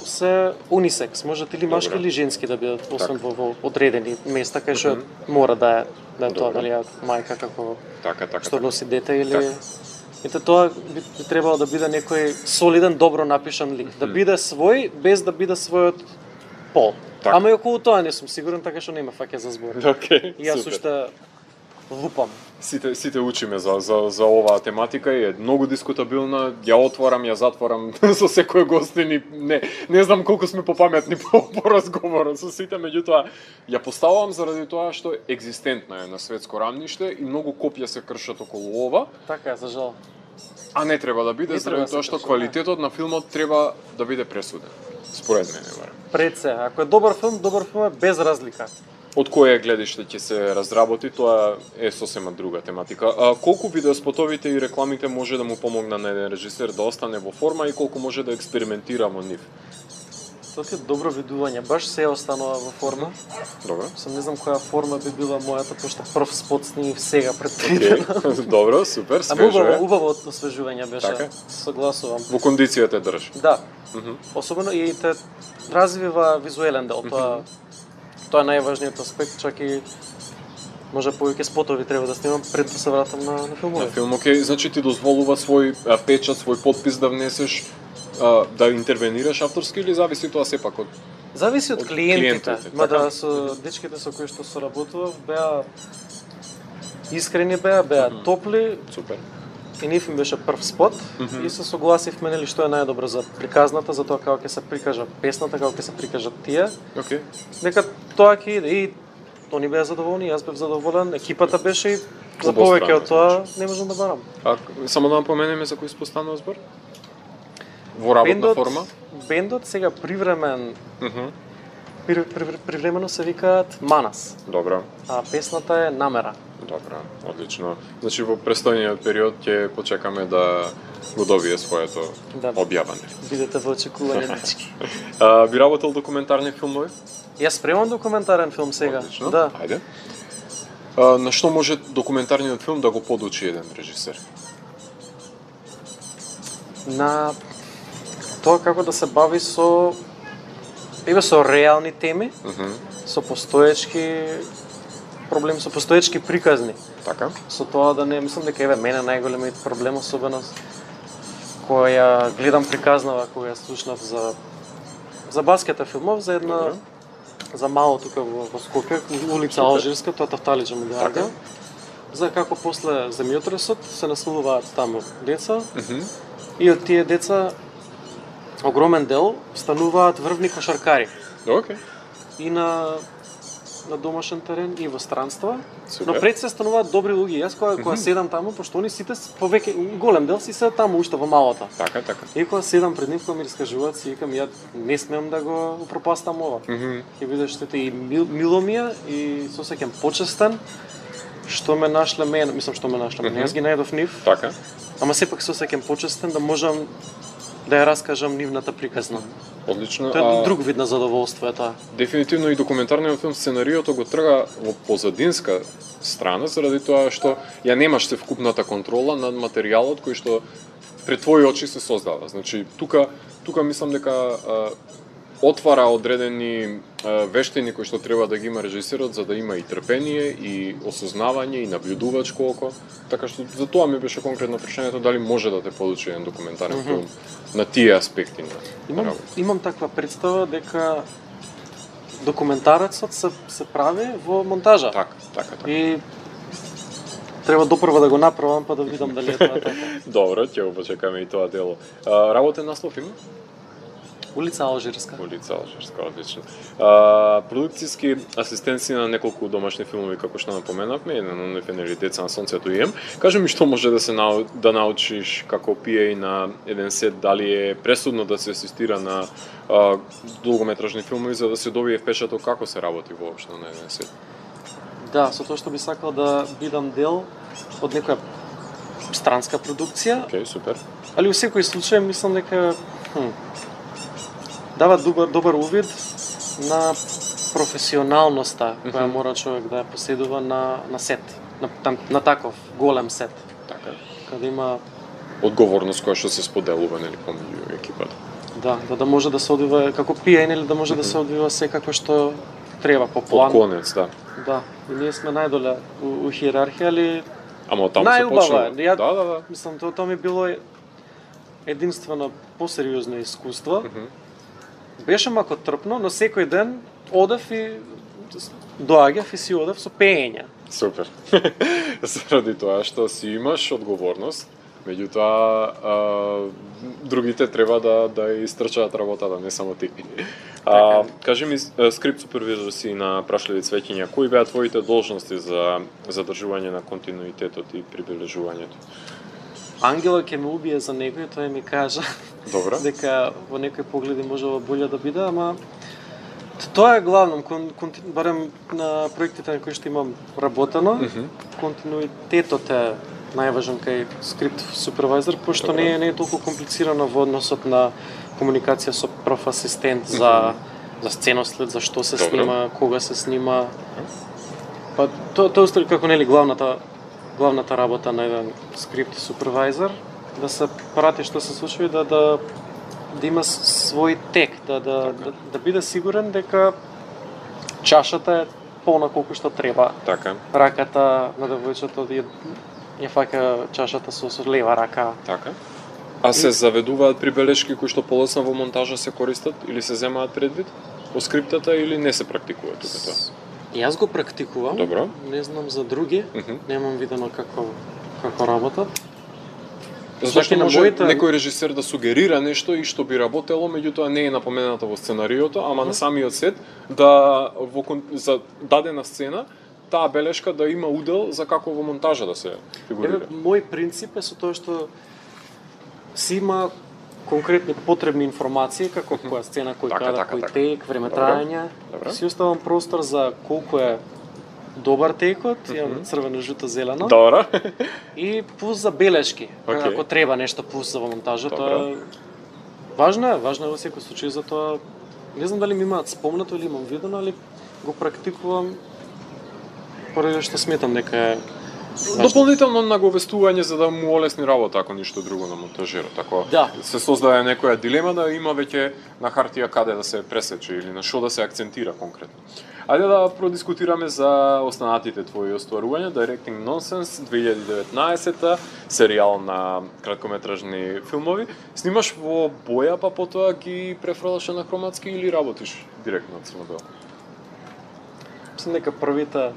Speaker 2: се унисекс, можат или машки или женски да бидат, освен во одредени места кај што мора да е тоа, дали мајка како што носи дете или Ете тоа би требало да биде некој солиден, добро напишан лик, да биде свој без да биде својот пол.
Speaker 1: Так.
Speaker 2: Ама и околу тоа не сум сигурен, така што нема фаќа за збор.
Speaker 1: Океј,
Speaker 2: И јас
Speaker 1: супер.
Speaker 2: уште лупам.
Speaker 1: Сите учиме за оваа тематика и е многу дискутабилна. Ја отворам, ја затворам со секој гостин и не знам колку сме попаметни по разговорот со сите, меѓутоа ја поставувам заради тоа што екзистентна е на светско рамниште и многу копја се кршат околу ова,
Speaker 2: Така е, за жал.
Speaker 1: а не треба да биде
Speaker 2: Не треба
Speaker 1: заради
Speaker 2: да
Speaker 1: тоа
Speaker 2: се
Speaker 1: што
Speaker 2: крши,
Speaker 1: квалитетот на филмот треба да биде пресуден. Според мене, барем.
Speaker 2: Пред се, ако е добар филм е без разлика.
Speaker 1: Од кое гледиште ќе се разработи, тоа е сосема друга тематика. А колку видеоспотовите и рекламите може да му помогна на еден режисер да остане во форма и колку може да експериментира во нив?
Speaker 2: Тоа е добро видување, баш се останува во форма.
Speaker 1: Добро.
Speaker 2: Сам не знам која форма би била мојата, пошто прв спот снимив сега пред 3 дена.
Speaker 1: Добро, супер,
Speaker 2: Ама
Speaker 1: свежо е.
Speaker 2: убаво освежување беше.
Speaker 1: Така?
Speaker 2: Согласувам.
Speaker 1: Во кондиција те држи.
Speaker 2: Да. Особено и те развива визуелен дел. Тоа е најважниот аспект, чак и може повеќе спотови треба да снимам пред да се вратам на
Speaker 1: На
Speaker 2: филмови.
Speaker 1: филм, окей, значи ти дозволува свој печат, свој подпис да внесеш, да интервенираш авторски или зависи тоа сепак од
Speaker 2: Зависи од клиентите,
Speaker 1: клиентите,
Speaker 2: мада
Speaker 1: така?
Speaker 2: со дечките со кои што соработував беа искрени беа топли,
Speaker 1: супер.
Speaker 2: и нив им беше прв спот и се согласивме нели што е најдобро за приказната, за тоа како ќе се прикажа песната, како ќе се прикажат тие.
Speaker 1: Окей.
Speaker 2: Дека тоа ќе иде и они беа задоволни, јас бев задоволен, екипата беше и за
Speaker 1: Обоstrано,
Speaker 2: повеќе од тоа не можам да барам.
Speaker 1: А само да напоменеме за кој спостанува збор? Во работна форма?
Speaker 2: Бендот сега привремен привремено се викаат Манас,
Speaker 1: Добро.
Speaker 2: а песната е Намера.
Speaker 1: Добро, одлично. Значи во престојниот период ќе почекаме да го добие своето
Speaker 2: Да.
Speaker 1: објавање.
Speaker 2: Бидете во очекување, дечки.
Speaker 1: Би работел документарни филмови?
Speaker 2: Јас спремам документарен филм сега.
Speaker 1: Одлично.
Speaker 2: Да.
Speaker 1: Ајде. На што може документарниот филм да го подучи еден режисер?
Speaker 2: На тоа како да се бави со реални теми, со постоечки проблем, со постоечки приказни.
Speaker 1: Така?
Speaker 2: Со тоа да не мислам дека еве мене најголемиот проблем, особено која гледам приказнава кога ја слушнав за баскета филмов, за една
Speaker 1: Добре.
Speaker 2: за мало тука во Скопје, улица Алжирска, тоа Тафталиџа му
Speaker 1: Така.
Speaker 2: доаѓа. За како после земјотресот се населуваат таму деца и од тие деца огромен дел стануваат врвни кошаркари
Speaker 1: Океј.
Speaker 2: и на домашен терен и во странства.
Speaker 1: Супер.
Speaker 2: Но пред се стануваат добри луѓе. Јас кога седам таму, пошто они сите повеќе голем дел си се таму уште во малото.
Speaker 1: Така, така.
Speaker 2: И кога седам пред нив, кога ми раскажуваат, си викам ја не смеам да го упропастам ова. Ќе бидеш штета и мило ми е и се осеќам почестен што ме нашле мене, мислам што ме нашле мене. Јас ги најдов нив,
Speaker 1: Така.
Speaker 2: ама сепак се осеќам почестен да можам да ја раскажам нивната приказна.
Speaker 1: Одлично.
Speaker 2: Тоа е друг вид на задоволство е тоа.
Speaker 1: Дефинитивно и документарниот филм сценариото го трга во позадинска страна заради тоа што ја немаш севкупната контрола над материјалот кој што пред твои очи се создава. Значи тука мислам дека отвара одредени вештини кои што треба да ги има режисерот за да има и трпение и осознавање и наблюдувачко око. Така што за тоа ми беше конкретно прашањето дали може да те подучи еден документарен филм на тие аспекти на работа.
Speaker 2: Имам таква представа дека документарецот се прави во монтажа.
Speaker 1: Така.
Speaker 2: И треба допрва да го направам па да видам дали е тоа така.
Speaker 1: Добро, ќе го почекаме и тоа дело. Работен наслов има?
Speaker 2: Улица Алжирска.
Speaker 1: Улица Алжирска, одлично. Продукцијски асистенци на неколку домашни филмови, како што напоменавме, еден од нив е нели Деца на сонцето и ем. Кажи ми што може да научиш како PA на еден сет, дали е пресудно да се асистира на долгометражни филмови за да се добие впечаток како се работи воопшто на еден сет?
Speaker 2: Да, со тоа што би сакал да бидам дел од некоја странска продукција.
Speaker 1: Океј, супер.
Speaker 2: Али во секој случај мислам дека дава добар увид на професионалноста која мора човек да ја поседува на сет, на таков голем сет.
Speaker 1: Така.
Speaker 2: Каде има
Speaker 1: одговорност која што се споделува нели помеѓу екипата.
Speaker 2: Да може да се одвива како PA, нели да може да се одвива секако што треба по план.
Speaker 1: По конец, да.
Speaker 2: Да, и ние сме најдоле у хиерархија, али
Speaker 1: ама таму се почнува. Да.
Speaker 2: Мислам, тоа ми било единствено посериозно искуство. Беше мако трпно, но секој ден одев и доаѓав и си одев со пеење.
Speaker 1: Супер. Заради тоа што си имаш одговорност, меѓутоа другите треба да истрчаат работата, не само ти. Кажи ми, скрипт супервизор си на Прашливи цвеќиња, кои беа твоите должности за задржување на континуитетот и прибележувањето?
Speaker 2: Ангела ќе ме убие за некој, тој ми кажа.
Speaker 1: Добро.
Speaker 2: Дека во некои погледи можела боле да биде, ама тоа е главно, барем на проектите на кои што имам работено, континуитетот е најважен кај скрипт супервизор, пошто не е толку комплицирано во односот на комуникација со проф асистент за сценослед, за што се снима, кога се снима. Па тоа устари како нели главната работа на еден скрипт супервизор, да се прати што се случува и да има свој тек, да биде сигурен дека чашата е полна колку што треба.
Speaker 1: Така.
Speaker 2: Раката на девојчето ја фаќа чашата со лева рака.
Speaker 1: Така. А се заведуваат прибелешки кои што полесно во монтажа се користат или се земаат предвид во скриптата или не се практикува тука тоа?
Speaker 2: Јас го практикувам.
Speaker 1: Добро.
Speaker 2: Не знам за други. Немам видено како работат.
Speaker 1: Зашто може некој режисер да сугерира нешто и што би работело, меѓутоа не е напоменато во сценариото, ама на самиот сет да за дадена сцена таа белешка да има удел за како во монтажа да се фигурира.
Speaker 2: Мој принцип е со тоа што си има конкретни потребни информации, како која сцена, кој кадар, кој тек, време трајање. Си оставам простор за колку е добар текот, имам црвено, жуто, зелено.
Speaker 1: Добро.
Speaker 2: И плюс за белешки, ако треба нешто плюс во монтажата. Важно е во секој случај, затоа не знам дали ми имаат спомнато или имам видено, али го практикувам поради што сметам дека е
Speaker 1: дополнително наговестување за да му олесни работа, ако ништо друго на монтажерот. Ако се создаде некоја дилема да има веќе на хартија каде да се пресече или на што да се акцентира конкретно. Ајде да продискутираме за останатите твои остварувања. Directing Nonsense 2019, серијал на краткометражни филмови. Снимаш во боја, па потоа ги префрлаш на хроматски или работиш директно на црно-бел?
Speaker 2: Мислам дека првите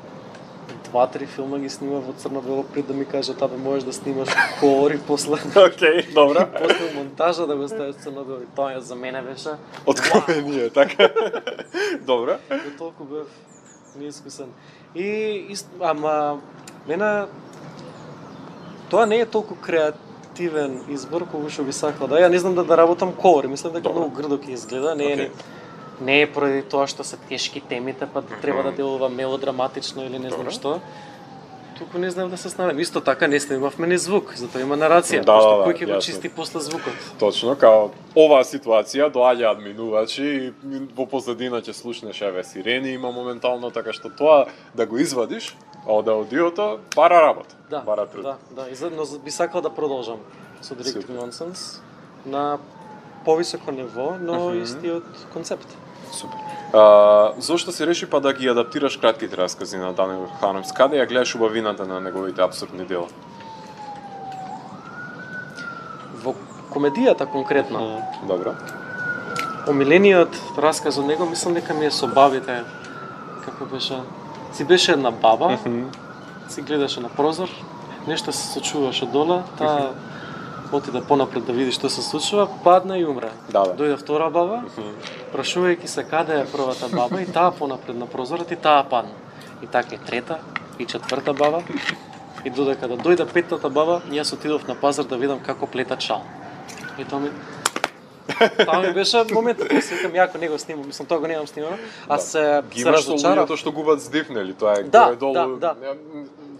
Speaker 2: 2-3 филма ги снима во црно-бело пред да ми кажат абе можеш да снимаш колор и после.
Speaker 1: Океј, добро.
Speaker 2: После монтажа да го ставиш црно-бело и тоа за мене беше
Speaker 1: откровение, така. Добро.
Speaker 2: До толку бев неискусен. Ама мене тоа не е толку креативен избор колку што би сакала да. Ја не знам да работам колор, мислам дека многу грдо ќе изгледа, не е поради тоа што се тешки темите, па треба да делува мелодраматично или не знам што. Туку не знам да се снајдам. Исто така не снимавме ни звук, затоа има нарација, што кој ќе го чисти после звукот.
Speaker 1: Точно, као оваа ситуација доаѓаат минувачи и во позадина ќе слушнеш еве сирени има моментално, така што тоа да го извадиш од аудиото пара работа. Пара труд.
Speaker 2: Да, но би сакал да продолжам со Directing Nonsense на повисоко ниво, но истиот концепт.
Speaker 1: Супер. Зошто се реши па да ги адаптираш кратките раскази на Даниел Хармс? Каде ја гледаш убавината на неговите апсурдни дела?
Speaker 2: Во комедијата конкретно.
Speaker 1: Добро.
Speaker 2: Омилениот расказ од него мислам дека ми е со бабите. Како беше? Си беше една баба, си гледаше на прозор нешто се случуваше доле, таа отиде понапред да види што се случува, падна и умре.
Speaker 1: Да.
Speaker 2: Дојде втора баба, прашувајќи се каде е првата баба, и таа понапред на прозорот, и таа падна. И така и трета, и четврта баба. И додека да дојде петтата баба, јас отидов на пазар да видам како плетат шал. И тоа ми беше моментот, се викам, јако него снимам, мислам, тоа го немам снимано. Аз се разочарав.
Speaker 1: Тоа што губат здив, нели? Тоа е горе-долу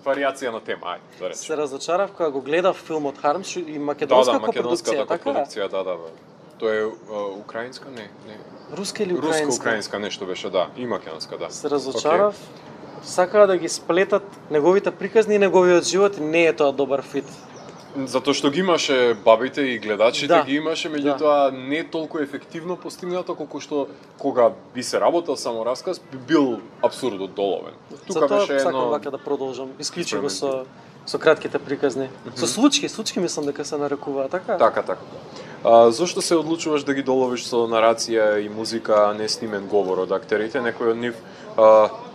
Speaker 1: варијација на тема, ајде, да речем.
Speaker 2: Се разочарав кога го гледав филмот Хармс и македонска копродукција, така?
Speaker 1: Да. Тоа е украинска, не.
Speaker 2: Руска или украинска?
Speaker 1: Руска-украинска нешто беше, да, и македонска, да.
Speaker 2: Се разочарав. Сакаа да ги сплетат неговите приказни и неговиот живот, и не е тоа добар фит.
Speaker 1: Затоа што ги имаше бабите и гледачите, ги имаше, меѓутоа не толку ефективно постигнато колку што кога би се работел само расказ, би бил абсурдот доловен.
Speaker 2: Тука беше сакам вака да продолжам, исклучиво со кратките приказни. Со случки мислам дека се нарекува, така?
Speaker 1: Така. Зошто се одлучуваш да ги доловиш со нарација и музика, а не снимен говор од актерите? Некои од нив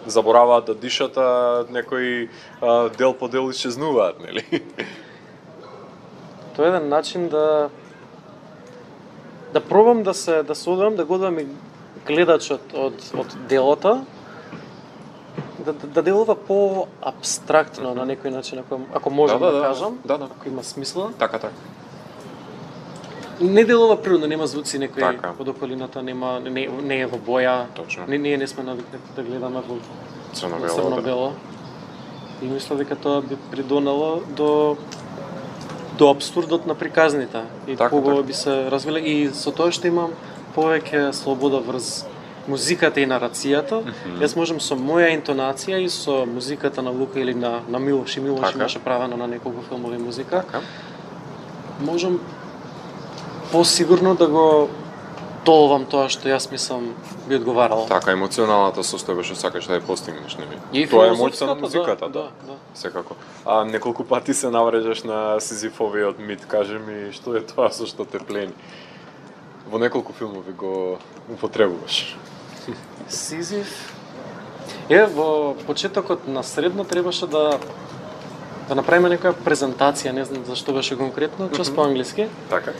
Speaker 1: забораваат да дишат, а некои дел по дел исчезнуваат, нели?
Speaker 2: Тоа е еден начин да пробам да се одвам, да го одвам и гледачот од делото, да делува по-абстрактно на некој начин, ако можам да кажам, ако има смисла.
Speaker 1: Така.
Speaker 2: Не делува природно, нема звуци некои од околината, не е во боја.
Speaker 1: Точно.
Speaker 2: Ние не сме навикнати да гледаме во
Speaker 1: црно-бело.
Speaker 2: И мисля дека тоа би придонело до абсурдот на приказните и побоја би се развиле, и со тоа што имам повеќе слобода врз музиката и нарацијата. Јас можам со моја интонација и со музиката на Лука или на Милош, имаше правено на неколку филмови музика. Можам посигурно да го доловам тоа што јас мислам би одговарало.
Speaker 1: Така, емоционалната состојба што сакаш да ја постигнеш, нели?
Speaker 2: И
Speaker 1: тоа е моќта на музиката,
Speaker 2: да.
Speaker 1: Секако. А неколку пати се наврежаш на Сизифовиот мит, кажи ми што е тоа со што те плени? Во неколку филмови го употребуваш.
Speaker 2: Сизиф во почетокот на средно требаше да направиме некоја презентација, не знам зашто беше конкретно, час по англиски.
Speaker 1: Така.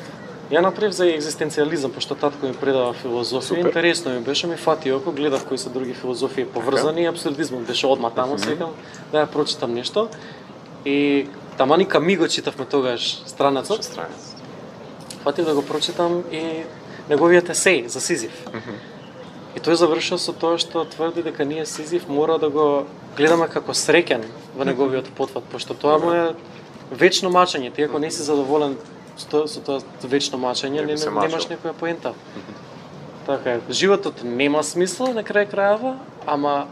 Speaker 2: Ја направив за екзистенцијализам, пошто татко ми предава филозофија. Интересно ми беше, ми фати око, гледав кои се други филозофии поврзани, и абсурдизмот беше одма таму, секам да ја прочитам нешто. И тамани Камиго читавме тогаш странецот. Фатив да го прочитам и неговиот есеј за Сизиф. И тој завршил со тоа што тврди дека ние Сизиф мора да го гледаме како среќен во неговиот потват, пошто тоа му е вечно мачење. Ти ако не си задоволен со тоа вечно мачење, немаш некоја поента. Така е, животот нема смисла на крај крајава, ама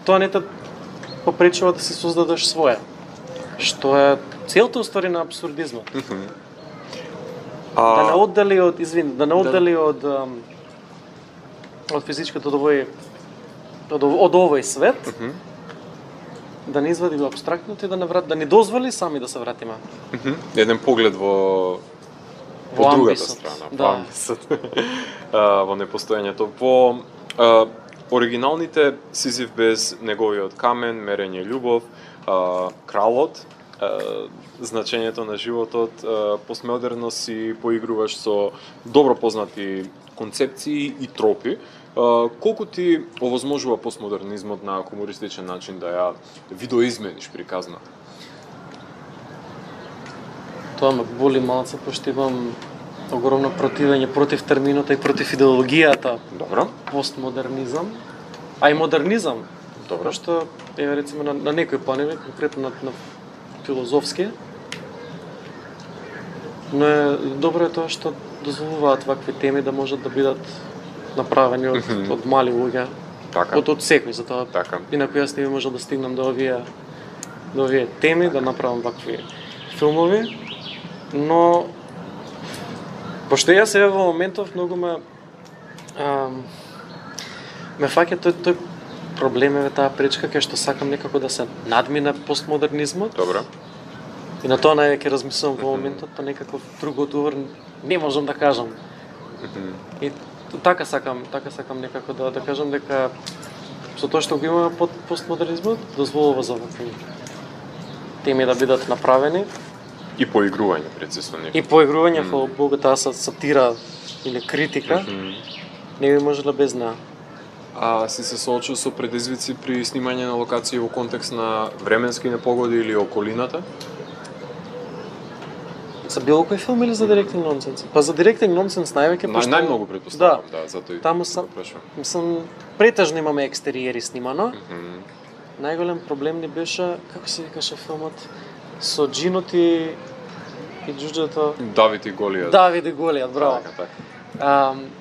Speaker 2: тоа не те попречува да си создадеш своја. Што е целта уствари на абсурдизмот. Да не оддали од од физичкото од овој свет, да не извади го абстрактното и да не дозволи сами да се вратиме.
Speaker 1: Еден поглед во другата страна, во амбисот, во непостојањето. Во оригиналните Сизиф без неговиот камен, Мерење љубов, Кралот, значењето на животот, постмодерно си поигруваш со добро познати концепции и тропи. Колку ти овозможува постмодернизмот на хумористичен начин да ја видоизмениш приказна?
Speaker 2: Тоа ме боли малце, пошто имам огромно противење против термината и против идеологијата.
Speaker 1: Добро.
Speaker 2: Постмодернизам, а и модернизам.
Speaker 1: Добро.
Speaker 2: Што е рецимо на некој планови, конкретно на филозофски. Но добро е тоа што дозволуваат вакви теми да можат да бидат направени од мали луѓе.
Speaker 1: Така.
Speaker 2: Од секој, затоа инаку јас не би можел да стигнам до овие теми, да направам вакви филмови. Но пошто јас сега во моментов многу ме фаќа тој проблем е таа пречка кај што сакам некако да се надмине постмодернизмот.
Speaker 1: Добро.
Speaker 2: И на тоа највеќе размислувам во моментот, па некаков друг одговор не можам да кажам. И така сакам некако да кажам дека со тоа што го има постмодернизмот дозволува за вакви теми да бидат направени.
Speaker 1: И поигрување прецизно некој.
Speaker 2: И поигрување, фала Богу, таа сатира или критика, не би можела без неа.
Speaker 1: А си се соочил со предизвици при снимање на локации во контекст на временски непогоди или околината?
Speaker 2: За било кој филм или за директинг нонсенс? Па за директинг нонсенс највеќе пошто
Speaker 1: Најмногу претпоставувам, да, затоа и
Speaker 2: таму сам претежно имаме екстериери снимано. Најголем проблем ни беше, како се викаше филмот, со Джинот и џуџето.
Speaker 1: Давид и Голијат.
Speaker 2: Давид и Голијат, браво.
Speaker 1: Така.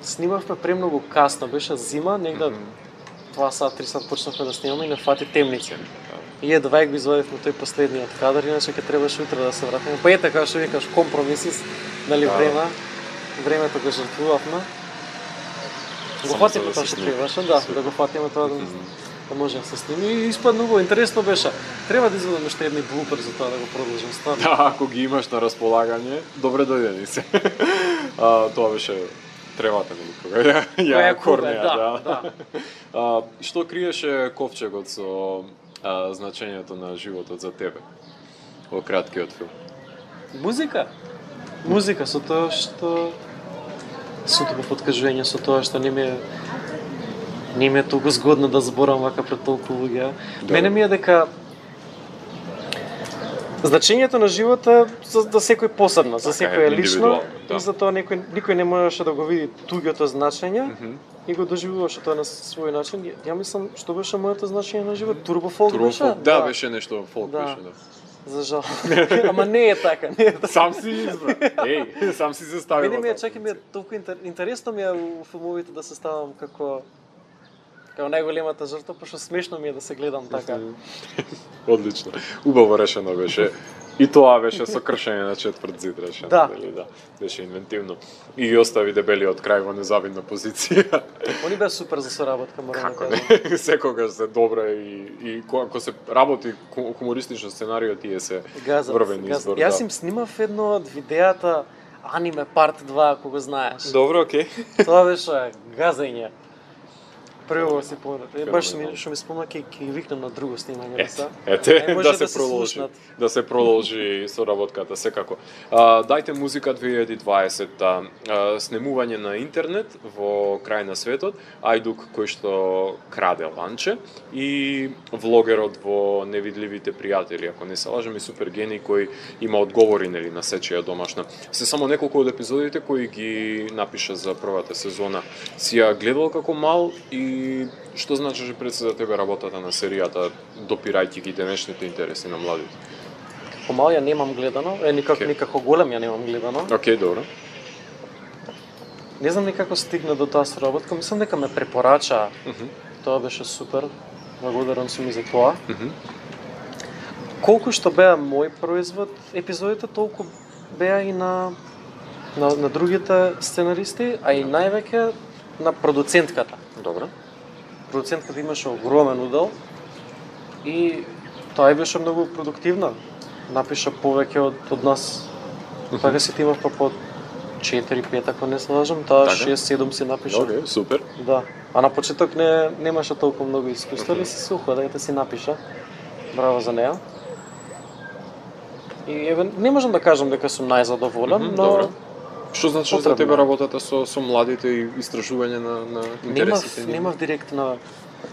Speaker 2: Снимавме премногу касно, беше зима, негде 2 сат, 3 сат почнавме да снимаме и не фати темници. И едва го извадивме тој последниот кадар, иначе ќе требаше утре да се вратиме. Па ете, како што викаш, компромиси, нали, времето го жртвувавме. Го фатиме тоа што требаше, да го фатиме тоа да може да се сними и испадна убаво, интересно беше. Треба да извадиме уште едни блупер за тоа да го продолжим стварно.
Speaker 1: Да, ако ги имаш на располагање, добре дојдени се. Тоа беше тревата ми кога ја корнеа, да. Што криеше ковчегот со значењето на животот за тебе во краткиот филм?
Speaker 2: Музика со тоа што сутово подкажување со тоа што не ми е толку згодно да зборам вака пред толку луѓе. Мене ми е дека значењето на живота за секој посебно, за секој е лично, и затоа никој не можеше да го види туѓото значење и го доживуваше тоа на свој начин. Ја мислам, што беше моето значење на живот? Турбофолк беше?
Speaker 1: Да, беше нешто фолк беше, да.
Speaker 2: За жал. Ама не е така,
Speaker 1: Сам си избра. Сам си се ставил.
Speaker 2: Мене ми е, чаки ми е толку интересно ми е у филмовите да се ставам како најголемата жртва, пошто смешно ми е да се гледам така.
Speaker 1: Одлично. Убаво решено беше. И тоа беше со кршење на четврт зид решено,
Speaker 2: да.
Speaker 1: Беше инвентивно. И ги остави дебелиот крај во незавидна позиција.
Speaker 2: Они беа супер за соработка, морам да кажам.
Speaker 1: Секогаш се добра и кога се работи хумористично сценарио, тие се врвен избор.
Speaker 2: Јас им снимав едно од видеата Аниме Part 2, ако го знаеш.
Speaker 1: Добро, окей.
Speaker 2: Тоа беше газење. Прво си помнете. Баш што ми спомна ќе викнам на друго снимање
Speaker 1: да се продолжи соработката секако. Дајте музика 2020, снимување на интернет во крај на светот, Ајдук кој што краде ланче и влогерот во Невидливите пријатели, ако не се лажам, и Супергени кој има одговори нели на сечија домашна. Се само неколку од епизодите кои ги напиша за првата сезона. Си ја гледал како мал и што значеше пред се за тебе работата на серијата, допирајќи ги денешните интереси на младите?
Speaker 2: Како мал ја немам гледано, никако голем ја немам гледано.
Speaker 1: Океј, добро.
Speaker 2: Не знам никако стигна до таа соработка, мислам дека ме препорача. Тоа беше супер. Благодарен сум и за тоа. Колку што беа мој производ епизодите, толку беа и на другите сценаристи, а и највеќе на продуцентката.
Speaker 1: Добро.
Speaker 2: Продуцентката имаше огромен удел и тоа беше многу продуктивна. Напиша повеќе од нас. Така си имав па по 4-5, ако не се лажам, таа 6-7 си напиша.
Speaker 1: Океј, супер.
Speaker 2: Да. А на почеток немаше толку многу искуство, ali се сухо да си напиша. Браво за неа. И не можам да кажам дека сум најзадоволен, но
Speaker 1: што значи за тебе работата со младите и истражување на интересите?
Speaker 2: Немав директна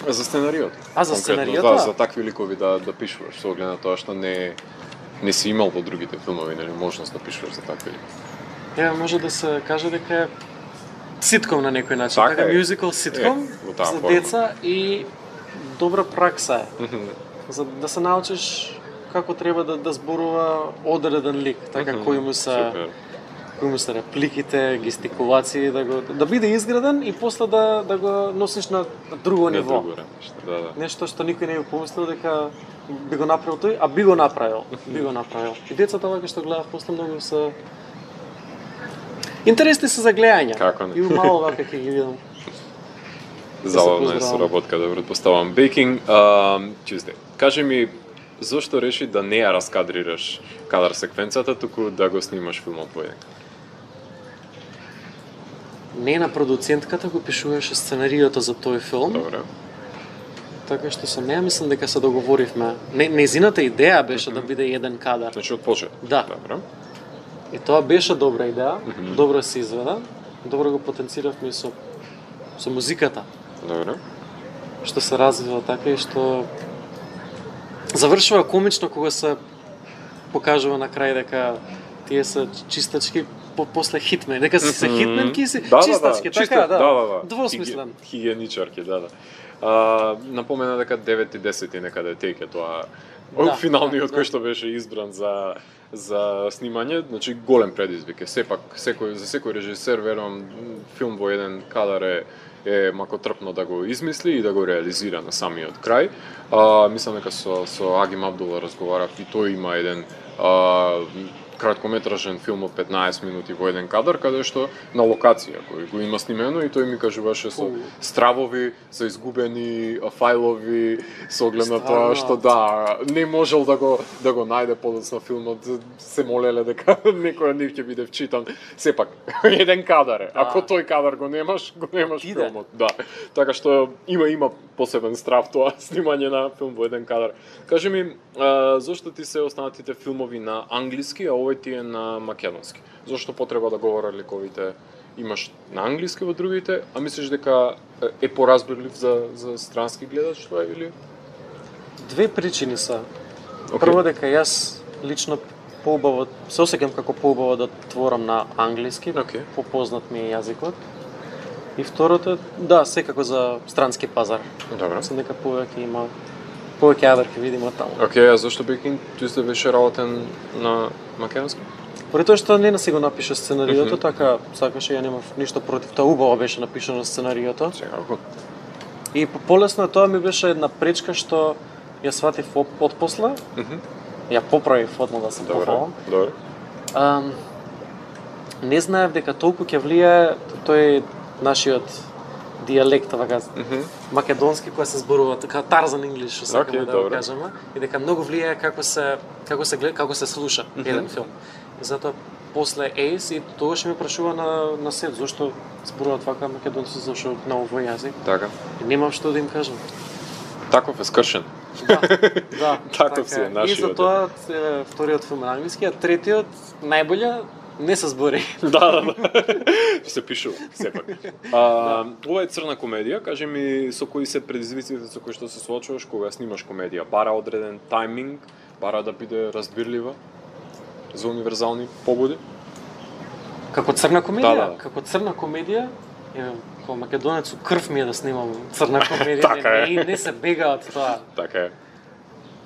Speaker 1: за сценариот.
Speaker 2: За сценариото?
Speaker 1: Да, за такви ликови да пишуваш, со оглед на тоа што не си имал во другите филмови, нели можност да пишуваш за такви ликови.
Speaker 2: Може да се каже дека е ситком на некој начин, така мюзикал ситком за деца и добра пракса е. За да се научиш како треба да зборува одреден лик, така кој му се репликите, гестикулации, да биде изграден и после да го носиш на друго ниво. Нешто што никој не би помислил дека би го направил тој, а би го направил. И децата вака што гледав после многу се интересни се за гледање. И мало вака ќе ги видам.
Speaker 1: Забавна е соработка, да претпоставам. Baking Tuesday. Кажи ми, зошто реши да не ја раскадрираш кадар секвенцата, туку да го снимаш филмот поеден?
Speaker 2: Не на продуцентката го пишуваше сценариото за тој филм.
Speaker 1: Добре.
Speaker 2: Така што со неа мислам дека се договоривме. Незината идеја беше да биде еден кадар.
Speaker 1: Значи од почет.
Speaker 2: Да.
Speaker 1: Добро.
Speaker 2: И тоа беше добра идеја, добро се изведа, добро го потенциравме и со музиката.
Speaker 1: Добро.
Speaker 2: Што се развива така и што завршува комично кога се покажува на крај дека тие се чистачки после хитмен, дека се хитменки си чистачки, така да. Двосмислен.
Speaker 1: Хигиеничарки, да. Напомена дека 9 и 10 некаде теќе тоа финалниот кој што беше избран за снимање, значи голем предизвик е. Сепак за секој режисер верувам филм во еден кадар е макотрпно да го измисли и да го реализира на самиот крај. Мислам дека со Агим Абдула разговарав и тој има еден краткометражен филм од 15 минути во еден кадар, каде што на локација кој го има снимено и тој ми кажуваше со стравови, со изгубени фајлови, со оглед на тоа што не можел да го најде подоцна филмот, се молеле дека некој од нив ќе биде вчитан. Сепак еден кадар е. Ако тој кадар го немаш филмот. Да. Така што има посебен страв тоа снимање на филм во еден кадар. Кажи ми, зошто ти се останатите филмови на англиски, а овој ти е на македонски? Зошто потреба да говорат ликовите имаш на англиски во другите, а мислиш дека е поразбирлив за странски гледач тоа или?
Speaker 2: Две причини се. Прво дека јас лично поубаво се осеќам како поубаво да творам на англиски, попознат ми е јазикот. И второто, секако за странски пазар.
Speaker 1: Добро.
Speaker 2: Мислам дека повеќе јадер ќе видиме таму.
Speaker 1: Океј, а зашто Бекин ти беше работен на македонски?
Speaker 2: Поради тоа што не си го напиша сценариото, така сакаше, ја немав ништо против тоа, убаво беше напишано сценариото.
Speaker 1: Секако.
Speaker 2: И полесно тоа ми беше една пречка што ја сватив отпосле. Ја поправив одма да се похвалам.
Speaker 1: Добро.
Speaker 2: Не знаев дека толку ќе влијае тој нашиот дијалект, вака македонски кој се зборува така Тарзан Инглиш, што сакаме да го кажеме, и дека многу влијае како се гледа, како се слуша еден филм. И затоа после Ейс и тогаш ми прашува на сет зошто зборуваат вака македонци, зашто на овој јазик.
Speaker 1: Така.
Speaker 2: И немам што да им кажам.
Speaker 1: Таков е скршен.
Speaker 2: Да.
Speaker 1: Таков си е нашиот.
Speaker 2: И затоа вториот филм на англиски, а третиот најбоље не се збори.
Speaker 1: Да. Се пишува, сепак. Ова е црна комедија, кажи ми со кои се предизвиците со кои што се соочуваш кога снимаш комедија? Бара одреден тајминг, бара да биде разбирлива за универзални побуди?
Speaker 2: Како црна комедија?
Speaker 1: Да.
Speaker 2: Како црна комедија, како македонец крв ми е да снимам црна комедија,
Speaker 1: Така
Speaker 2: не се бега од тоа.
Speaker 1: Така е.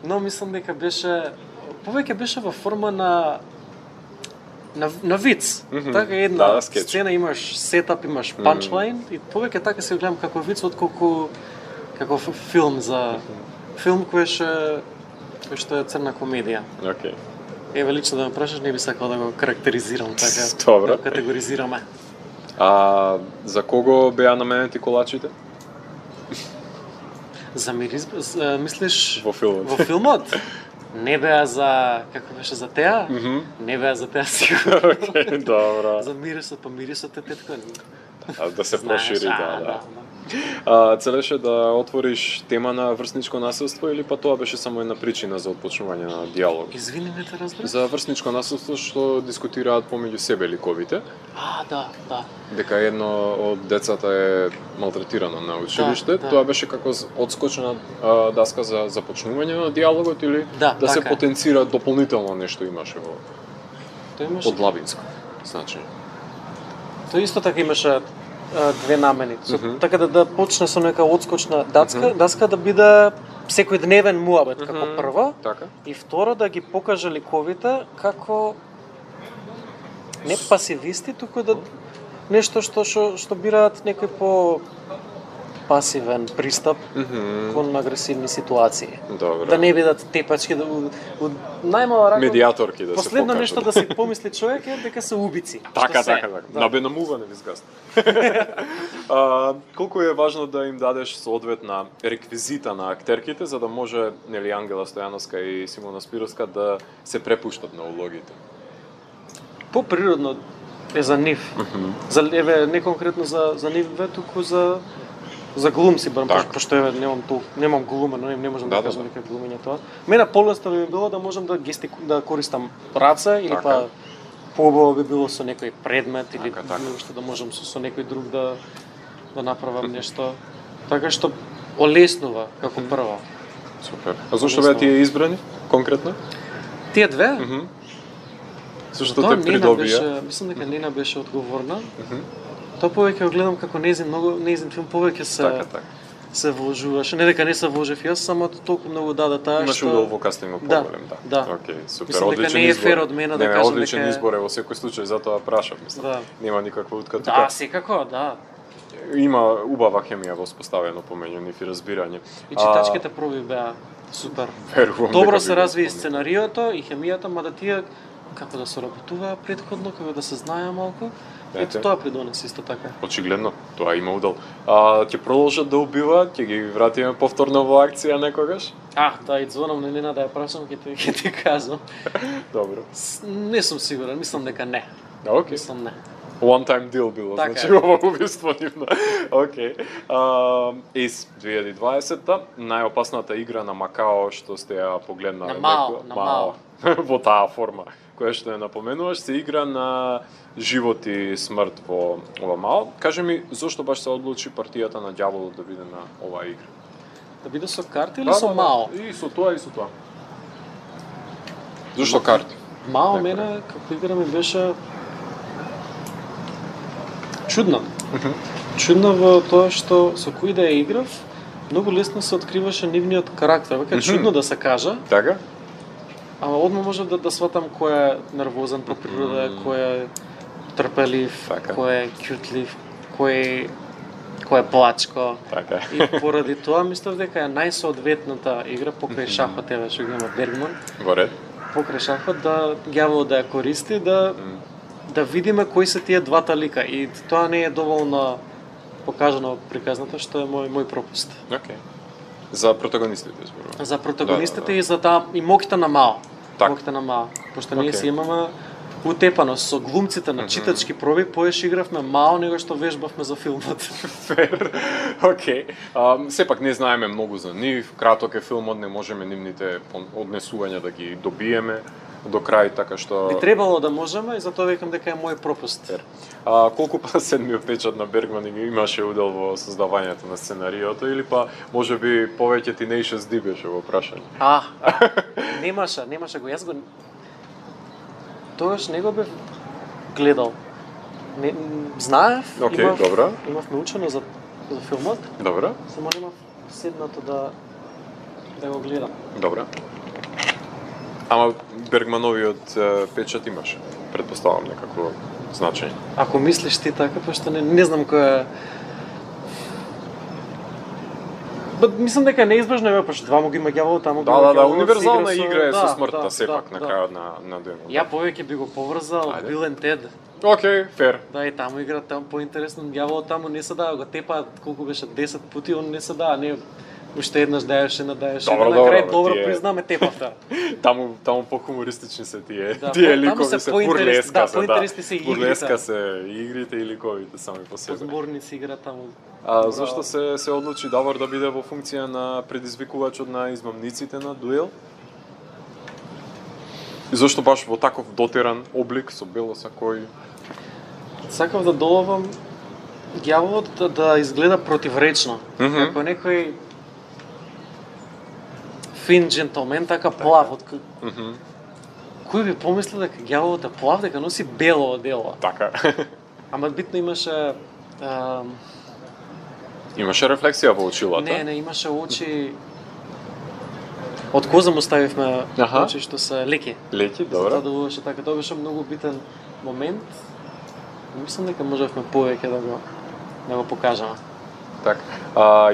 Speaker 2: Но мислам дека повеќе беше во форма на виц. Така една сцена имаш сетап, имаш панчлайн и повеќе така се гледам како виц отколку како филм за филм кој што е црна комедија.
Speaker 1: Океј.
Speaker 2: Еве лично да ме прашаш, не би сакал да го карактеризирам така.
Speaker 1: Добро.
Speaker 2: Да категоризираме.
Speaker 1: За кого беа наменети колачите?
Speaker 2: За мирис, мислиш
Speaker 1: во филмот?
Speaker 2: Во филмот? Не беа за, како беше, за теа? Не беа за теа сигурно.
Speaker 1: Океј, добро.
Speaker 2: За мирисот, па мирисот е тетко.
Speaker 1: Да се прошири, да. Целеше да отвориш тема на врсничко насилство или па тоа беше само една причина за отпочнување на диалог?
Speaker 2: Извини, не те разбрав.
Speaker 1: За врсничко насилство што дискутираат помеѓу себе ликовите.
Speaker 2: Да.
Speaker 1: Дека едно од децата е малтретирано на училиште. Тоа беше како одскочна даска за започнување на диалогот или да се потенцира дополнително нешто имаше во подлабинско значење?
Speaker 2: Тоа исто така имаше две намени. Така да почне со нека одскочна даска да биде секојдневен муабет како прво.
Speaker 1: Така.
Speaker 2: И второ да ги покаже ликовите како не пасивисти, туку да нешто што бираат некој по пасивен пристап кон агресивни ситуации.
Speaker 1: Добро.
Speaker 2: Да не бидат тепачки, најмала рака.
Speaker 1: Медијаторки да се покажат.
Speaker 2: Последно нешто да си помисли човек е дека се убици.
Speaker 1: Така. Набенамуване ви згаст. Колку е важно да им дадеш соодветна реквизита на актерките за да може нели Ангела Стојановска и Симона Спировска да се препуштат на улогите?
Speaker 2: Поприродно е за нив. За не конкретно за нив, туку за за глумци, барем
Speaker 1: Так.
Speaker 2: пошто еве немам глумено, не можам да
Speaker 1: Да,
Speaker 2: кажам
Speaker 1: да.
Speaker 2: дека глумење тоа. Мене полесно би било да можам да користам раце или
Speaker 1: Така.
Speaker 2: па поубаво би било со некој предмет или
Speaker 1: Така, така.
Speaker 2: што да можам со некој друг да направам нешто така што олеснува како прво.
Speaker 1: Супер. А зошто беа тие избрани конкретно?
Speaker 2: Тие две?
Speaker 1: Мгм. Зошто
Speaker 2: Тоа
Speaker 1: те
Speaker 2: Нена
Speaker 1: придобија?
Speaker 2: беше, мислам дека Нена беше одговорна. Тоа повеќе го гледам како нејзин филм повеќе се вложуваше. Не дека не се вложев јас, само толку многу даде таа
Speaker 1: Имаш удел во кастингот поголем, да.
Speaker 2: Да.
Speaker 1: Океј, супер.
Speaker 2: Мислам дека
Speaker 1: Одличен
Speaker 2: не е
Speaker 1: избор.
Speaker 2: фер од мене да
Speaker 1: Не,
Speaker 2: кажам
Speaker 1: одличен
Speaker 2: дека
Speaker 1: избор е во секој случај, затоа прашав, мислам.
Speaker 2: Да.
Speaker 1: Нема никаква утка
Speaker 2: Да,
Speaker 1: тука.
Speaker 2: секако, да.
Speaker 1: Има убава хемија воспоставено помеѓу нив и разбирање.
Speaker 2: И читачките проби беа супер.
Speaker 1: Верувам
Speaker 2: Добро
Speaker 1: дека
Speaker 2: се
Speaker 1: би го
Speaker 2: разви и
Speaker 1: спомнил.
Speaker 2: сценариото и хемијата, мада тие како да соработуваа претходно, како да се знаеа малку. Ето
Speaker 1: Ете.
Speaker 2: тоа придонесе исто така.
Speaker 1: Очигледно, тоа има удел. Ќе продолжат да убиваат, ќе ги вратиме повторно во акција некогаш?
Speaker 2: Да, и звонам на Нена да ја прашам, ќе ти кажам.
Speaker 1: Добро.
Speaker 2: Не сум сигурен, мислам дека не.
Speaker 1: Океј.
Speaker 2: Мислам не.
Speaker 1: One time deal било,
Speaker 2: Така
Speaker 1: значи
Speaker 2: е.
Speaker 1: ова убиство нивно. Океј. Из 2020-та, најопасната игра на Макао што сте ја погледнале.
Speaker 2: На Мао,
Speaker 1: некој-
Speaker 2: на Мао.
Speaker 1: Во таа форма, која што ја напоменуваш, се игра на живот и смрт во ова Мао. Кажи ми, зошто баш се одлучи партијата на ѓаволот да биде на оваа игра?
Speaker 2: Да биде со карти или со Мао?
Speaker 1: И со тоа, и со тоа. Зошто карти?
Speaker 2: Мао
Speaker 1: Некој.
Speaker 2: мене како игра ми беше чудна. Чудна во тоа што со кој да ја играв, многу лесно се откриваше нивниот карактер. Вака е чудно да се кажа,
Speaker 1: Така?
Speaker 2: ама одма можев да сватам кој е нервозен по природа, кој е трпелив,
Speaker 1: Така.
Speaker 2: кој е кјутлив, кој е плачко.
Speaker 1: Така.
Speaker 2: И поради тоа мислев дека е најсоодветната игра покрај шахот, еве што го има Бергман,
Speaker 1: Во ред.
Speaker 2: покрај шахот да ѓаволот да ја користи, да видиме кои се тие двата лика и тоа не е доволно покажано приказната, што е мој пропуст.
Speaker 1: Океј. За протагонистите зборувам.
Speaker 2: За протагонистите
Speaker 1: Да.
Speaker 2: и за таа и моките на Мао.
Speaker 1: Так.
Speaker 2: Моките на Мао. Пошто ние
Speaker 1: Океј.
Speaker 2: си имаме утепано со глумците на читачки проби, поеш игравме Мао него што вежбавме за филмот.
Speaker 1: Фер. Океј. Сепак не знаеме многу за нив, краток е филмот, не можеме нивните однесувања да ги добиеме до крај, така што...
Speaker 2: Би требало да можеме и затоа викам дека е мој пропуст.
Speaker 1: Фер. Колку па седмиот печат на Бергман имаше удел во создавањето на сценариото или па можеби повеќе Tenacious D беше во прашање?
Speaker 2: Немаше го, јас го... Тогаш не го бев гледал. Знаев,
Speaker 1: Океј, добро.
Speaker 2: имав научено за филмот,
Speaker 1: Добро.
Speaker 2: само немав седнато да го гледам.
Speaker 1: Добро. Ама Бергмановиот печат имаше, предпоставам некако значење.
Speaker 2: Ако мислиш ти така, пошто не знам кој е... Мислам дека неизбежно е, пошто два му ги има ѓаволот, таму го има
Speaker 1: Да,
Speaker 2: ѓаволот,
Speaker 1: универзална
Speaker 2: се
Speaker 1: игра е со
Speaker 2: да,
Speaker 1: смртта
Speaker 2: да,
Speaker 1: сепак
Speaker 2: да,
Speaker 1: на
Speaker 2: да.
Speaker 1: крајот на денот.
Speaker 2: Ја повеќе би го поврзал
Speaker 1: Ајде.
Speaker 2: Бил and Тед.
Speaker 1: Океј, фер.
Speaker 2: Да, и таму игра таму поинтересно, ѓаволот таму не се дава, го тепаат колку беше 10 пати, он не се дава, не уште еднаш даеше, на
Speaker 1: Добро,
Speaker 2: на крај
Speaker 1: добро,
Speaker 2: добро
Speaker 1: тие-
Speaker 2: признаме тепавта.
Speaker 1: Таму по-хумористични се тие
Speaker 2: Да,
Speaker 1: тие
Speaker 2: таму
Speaker 1: ликови
Speaker 2: се
Speaker 1: се
Speaker 2: поинтересни,
Speaker 1: бурлеска
Speaker 2: да,
Speaker 1: се,
Speaker 2: поинтересни се игрите.
Speaker 1: Бурлеска се игрите и ликовите сами по себе.
Speaker 2: Зборници игра таму.
Speaker 1: Зошто се одлучи Давор да биде во функција на предизвикувачот на измамниците на дуел? И зошто баш во таков дотеран облик со бело сакој?
Speaker 2: Сакав да доловам ѓаволот да изгледа противречно. Како некој фин джентълмен, така плав. Кој би помислил дека ѓаволот е плав, дека носи бело одело.
Speaker 1: Така.
Speaker 2: Ама битно имаше...
Speaker 1: Имаше рефлексија во очилата?
Speaker 2: Не, имаше очи... Од коза му ставивме
Speaker 1: Аха.
Speaker 2: очи што се леки.
Speaker 1: Леки,
Speaker 2: Затоа
Speaker 1: добро.
Speaker 2: делуваше така. Тоа беше многу битен момент. Мислам дека можевме повеќе да го покажеме.
Speaker 1: Така.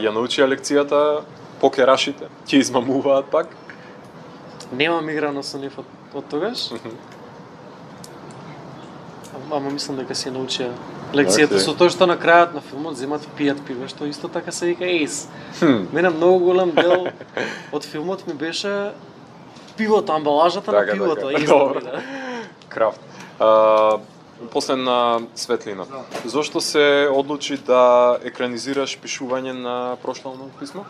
Speaker 1: Ја научија лекцијата покерашите? Ќе измамуваат пак?
Speaker 2: Немам играно со нив од тогаш. Ама мислам дека си научија лекцијата
Speaker 1: Океј.
Speaker 2: со тоа што на крајот на филмот земат пијат пиво, што исто така се вика ейс. Мене многу голем дел од филмот ми беше пивото, амбалажата на
Speaker 1: Така,
Speaker 2: пивото,
Speaker 1: така.
Speaker 2: ейс.
Speaker 1: Добро. Крафт. последна светлина. Зошто се одлучи да екранизираш пишување на прошлално писмо?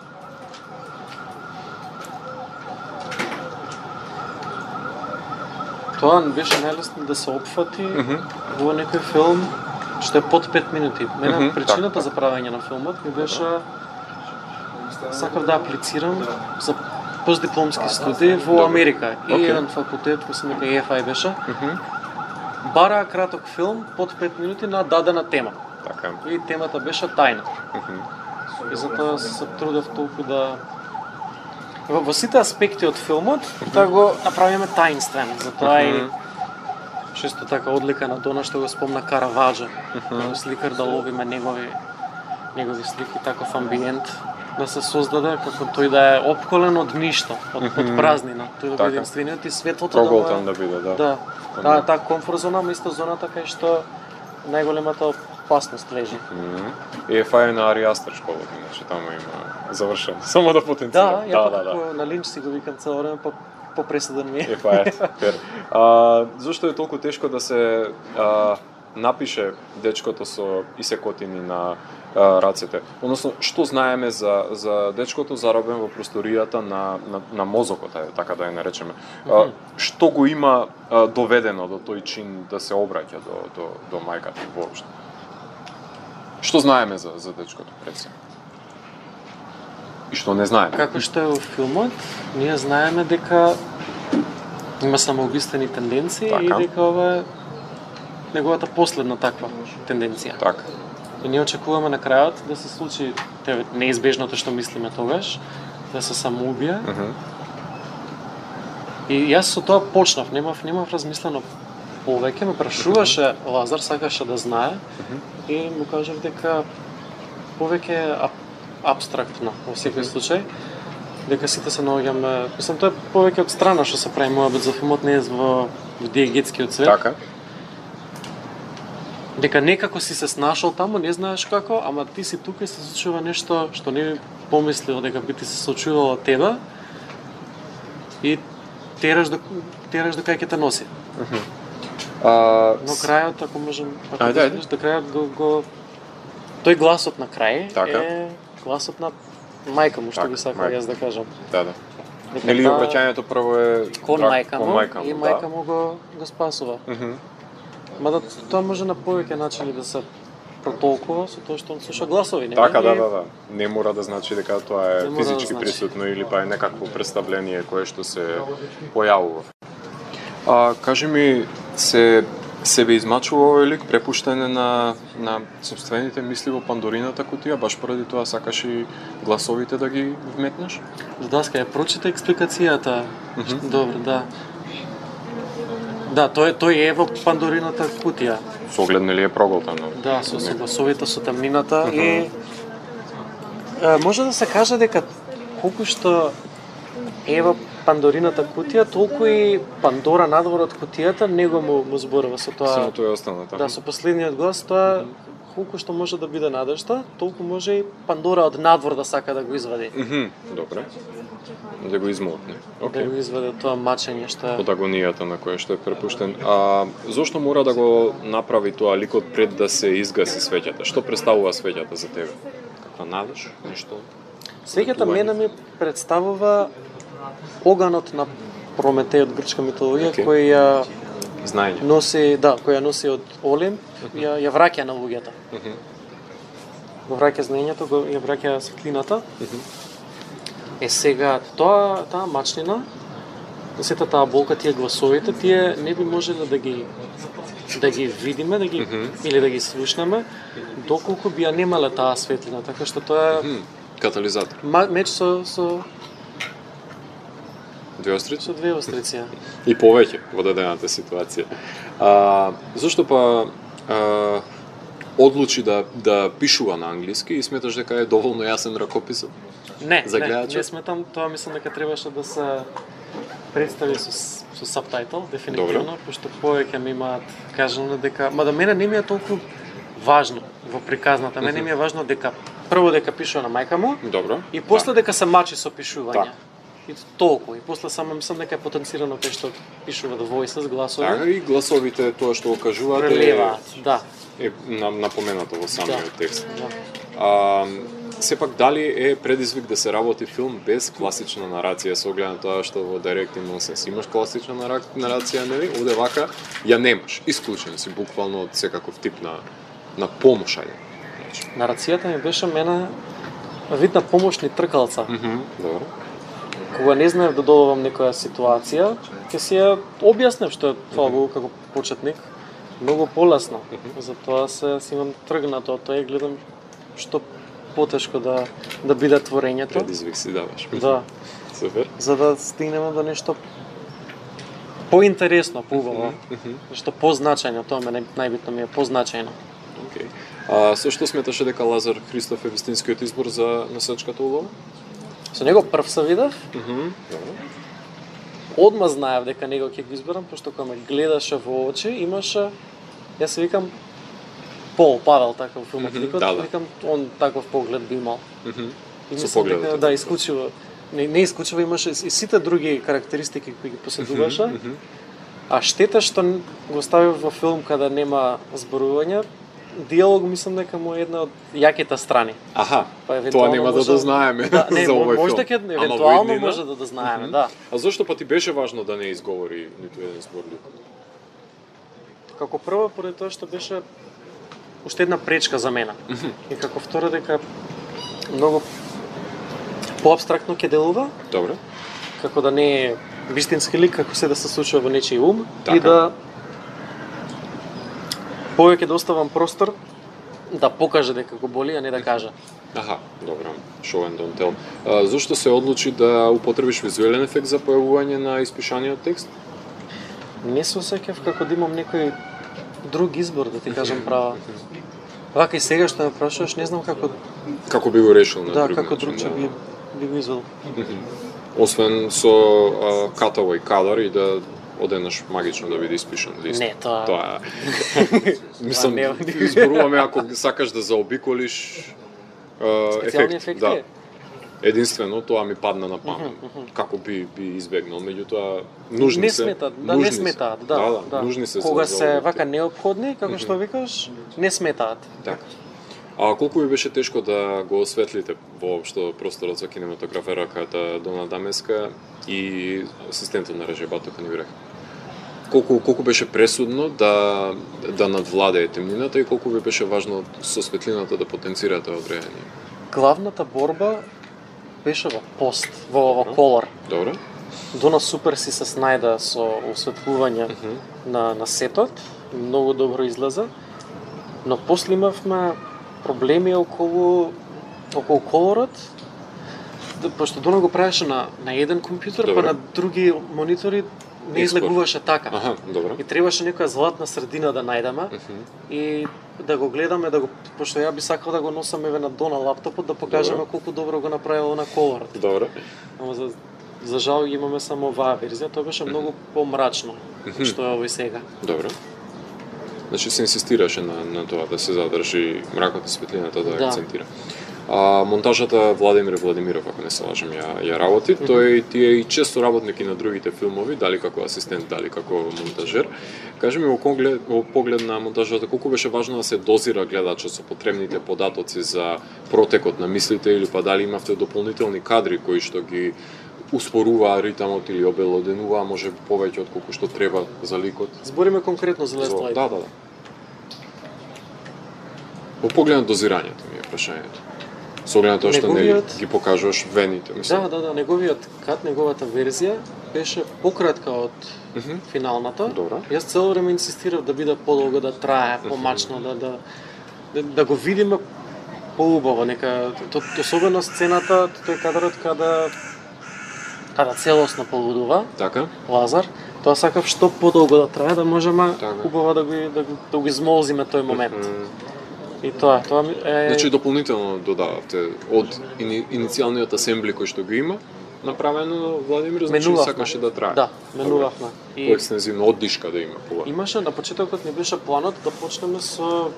Speaker 2: Тоа беше најлесно да се опфати во некој филм што е под 5 минути. Мене причината за правење на филмот ми беше сакав да аплицирам за постдипломски студии во Америка. И еден факултет, кој се нека EFI беше, бара краток филм под 5 минути на дадена тема.
Speaker 1: Така.
Speaker 2: И темата беше тајна. И затоа се трудев толку да во сите аспекти од филмот да го направиме таинствен. Затоа и често така одлика на Дона што го спомна Караваджо, сликар да ловиме негови слики, таков амбиент да се создаде како тој да е опколен од ништо, од празнина, тој да биде единствениот и светлото
Speaker 1: проголтан да биде, да.
Speaker 2: Да, таа комфорт зона, место зоната кај што најголемата опасност лежи.
Speaker 1: EFI на Ари Астер школата, значи таму има завршено. Само да потенцирам.
Speaker 2: Да. На Линч си го викам цело време, по пресуден ми е.
Speaker 1: EFI. Зошто е толку тешко да се напише дечкото со исекотини на рацете? Односно, што знаеме за дечкото заробен во просторијата на мозокот, така да ја наречеме? Што го има доведено до тој чин да се обраќа до мајката воопшто? Што знаеме за дечкото пред се? И што не знаеме?
Speaker 2: Како што е во филмот, ние знаеме дека има самоубиствени тенденции и дека ова е неговата последна таква тенденција.
Speaker 1: Така.
Speaker 2: И ние очекуваме на крајот да се случи неизбежното што мислиме тогаш, да се самоубие. И јас со тоа почнав, немав размислено повеќе, ме прашуваше Лазар, сакаше да знае и му кажав дека повеќе апстрактно во секој случај, дека сите се наоѓаме, мислам тоа е повеќе од страна што се прави мојабет за филмот, не е во диегетскиот свет.
Speaker 1: Така.
Speaker 2: Дека некако си се снашол таму, не знаеш како, ама ти си тука и се случува нешто што не би помислил дека би ти се случувало од тебе и тераш до кај ќе те носи. Но крајот, ако можем, до крајот го тој гласот на крај е гласот на мајка му, што би сакал јас да кажам.
Speaker 1: Да. Нели обраќањето прво е
Speaker 2: кон мајка му и мајка му го спасува. Мада тоа може на повеќе начини да се протолкува со тоа што он слуша гласови, нели?
Speaker 1: Така, да. Не мора да значи дека тоа е физички присутно или па е некакво представление кое што се појавува. Кажи ми, себе измачува овој лик препуштене на сопствените мисли во Пандорината кутија, баш поради тоа сакаш и гласовите да ги вметнеш?
Speaker 2: Даска, ја прочита експликацијата. Добро, да. Да, тој е во Пандорината кутија.
Speaker 1: Со оглед нели е проголтано?
Speaker 2: Да, со гласовите, со темнината и може да се каже дека колку што е во Пандорината кутија, толку и Пандора надвор од кутијата него му зборува со тоа.
Speaker 1: Само тоа е останало таму.
Speaker 2: Да, со последниот глас тоа колку што може да биде надежта, толку може и Пандора од надвор да сака да го извади.
Speaker 1: Добре. Да го измолкне.
Speaker 2: Да го извади тоа мачење што е
Speaker 1: од агонијата на која што е препуштен. Зошто мора да го направи тоа ликот пред да се изгаси свеќата? Што представува свеќата за тебе? Каква надеж? Нешто?
Speaker 2: Свеќата мене ми представува оганот на Прометеј од грчка митологија кој ја
Speaker 1: знаење
Speaker 2: кој ја носи од Олимп, ја враќа на луѓето. Го враќа знаењето, ја враќа светлината. Сега таа мачнина, сета таа болка, тие гласовите, тие не би можеле да ги видиме, или да ги слушнеме, доколку би ја немале таа светлина, така што тоа е
Speaker 1: катализатор.
Speaker 2: Меч со
Speaker 1: две острици?
Speaker 2: Со две острици.
Speaker 1: И повеќе во дадената ситуација. Зошто па одлучи да пишува на англиски и сметаш дека е доволно јасен ракописот?
Speaker 2: Не сметам, тоа мислам дека требаше да се представи со сабтајтл, дефинитивно, пошто повеќе ми имаат кажано дека, мада мене не ми е толку важно во приказната, мене ми е важно дека прво дека пишува на мајка му,
Speaker 1: добро,
Speaker 2: и после дека се мачи со пишување. И толку. И после само мислам дека е потенцирано кај што пишува The Voices, гласови.
Speaker 1: Така и гласовите, тоа што го кажувате,
Speaker 2: Прелеваат, да.
Speaker 1: е напоменато во самиот текст.
Speaker 2: Да.
Speaker 1: Сепак, дали е предизвик да се работи филм без класична нарација, со оглед на тоа што во Directing Nonsense имаш класична нарација, нели? Овде вака ја немаш, исклучен си буквално од секаков тип на помошање.
Speaker 2: Нарацијата ми беше мене вид на помошни тркалца.
Speaker 1: Добро.
Speaker 2: Кога не знаев да добавам некоја ситуација, ќе си ја објаснев што е тоа го како почетник многу полесно. Затоа си имам тргнато од тоа и гледам што потешко да биде творењето.
Speaker 1: Предизвик си даваш.
Speaker 2: Да.
Speaker 1: Супер.
Speaker 2: За да стигнеме до нешто поинтересно, поубаво. Нешто позначајно, тоа ме најбитно ми е позначајно.
Speaker 1: Океј. Со што сметаше дека Лазар Христов е вистинскиот избор за носачката улога?
Speaker 2: Со него прв се видев.
Speaker 1: Добро.
Speaker 2: Одма знаев дека него ќе го изберам, пошто кога ме гледаше во очи, имаше, јас се викам, Павел таков филмот ликот, викам, он таков поглед би имал. И мислам дека, да, исклучиво, не исклучиво имаше и сите други карактеристики кои ги поседуваше, а штета што го ставив во филм каде нема зборување, диалог мислам дека му е една од јаките страни.
Speaker 1: Аха, тоа нема да знаеме за овој филм.
Speaker 2: Може дека евентуално може да знаеме, да.
Speaker 1: А зошто па ти беше важно да не изговори ниту еден збор ликот?
Speaker 2: Како прво, поради тоа што беше уште една пречка за мене. И како второ дека многу поабстрактно ќе делува.
Speaker 1: Добро.
Speaker 2: Како да не е вистински лик, како се да се случува во нечиј ум
Speaker 1: така.
Speaker 2: И да повеќе да оставам простор да покаже дека го боли, а не да каже.
Speaker 1: Аха, добро. Show and don't tell. Зошто се одлучи да употребиш визуелен ефект за појавување на испишаниот текст?
Speaker 2: Не се осеќав како да имам некој друг избор, да ти кажам право. Вака и сега што ме прашуваш, не знам
Speaker 1: како би го решил на
Speaker 2: друг
Speaker 1: начин.
Speaker 2: Да, како другче би го извел.
Speaker 1: Освен со cutaway кадар и да одеднаш магично да биде испишан лист.
Speaker 2: Не, тоа.
Speaker 1: Мислам, изборуваме ако сакаш да заобиколиш ефект. Да. Единствено тоа ми падна на памет. Како би избегнал, меѓутоа нужни
Speaker 2: не
Speaker 1: се.
Speaker 2: Не сметаат, да.
Speaker 1: Нужни се.
Speaker 2: Кога се вака неопходни, како што викаш, не сметаат.
Speaker 1: Така. А колку ви беше тешко да го осветлите воопшто просторот за кинематограферката Дона Дамеска и асистентот на режебато Каниврех? Колку беше пресудно да надвладее темнината и колку ви беше важно со светлината да потенцирате одреање?
Speaker 2: Главната борба беше во пост, во колор.
Speaker 1: Добро.
Speaker 2: Дона супер си се снајда со осветлување на сетот, многу добро излеза, но после имавме проблеми околу колорот, пошто Дона го правеше на еден компјутер, па на други монитори не излегуваше така.
Speaker 1: Аха, добро.
Speaker 2: И требаше некоја златна средина да најдеме и да го гледаме, пошто ја би сакал да го носам еве на Дона лаптопот, да покажеме колку добро го направила на колорот.
Speaker 1: Добро.
Speaker 2: Ама за жал имаме само оваа верзија, тоа беше многу помрачно, што е овој сега.
Speaker 1: Добро. Значи се инсистираше на тоа да се задржи мракот и светлината да акцентира. Монтажата Владимир Владимиров, ако не се лажам, ја работи. Тој ти е и често работник и на другите филмови, дали како асистент, дали како монтажер. Кажи ми во поглед на монтажата, колку беше важно да се дозира гледачот со потребните податоци за протекот на мислите или па дали имавте дополнителни кадри кои што ги успоруваа ритамот или обелоденуваа може повеќе од колку што треба за ликот?
Speaker 2: Збориме конкретно за Last Light.
Speaker 1: Да. Во поглед на дозирањето ми е прашањето. Со оглед на тоа што не ги покажуваш вените, мислам.
Speaker 2: Да, неговиот кат, неговата верзија беше пократка од финалната.
Speaker 1: Добро.
Speaker 2: Јас цело време инсистирав да биде подолго, да трае, помачно, да го видиме поубаво, нека особено сцената, тој кадрот када целосно полудува.
Speaker 1: Така.
Speaker 2: Лазар, тоа сакав што подолго да трае, да можеме убаво да го измолзиме тој момент. И тоа е...
Speaker 1: Значи дополнително додававте од иницијалниот асембли кој што го има, направено Владимир, значи сакаше да трае.
Speaker 2: Да, менувавме.
Speaker 1: Поекстензивно оддишка да има пога.
Speaker 2: Имаше на почетокот не беше планот да почнеме со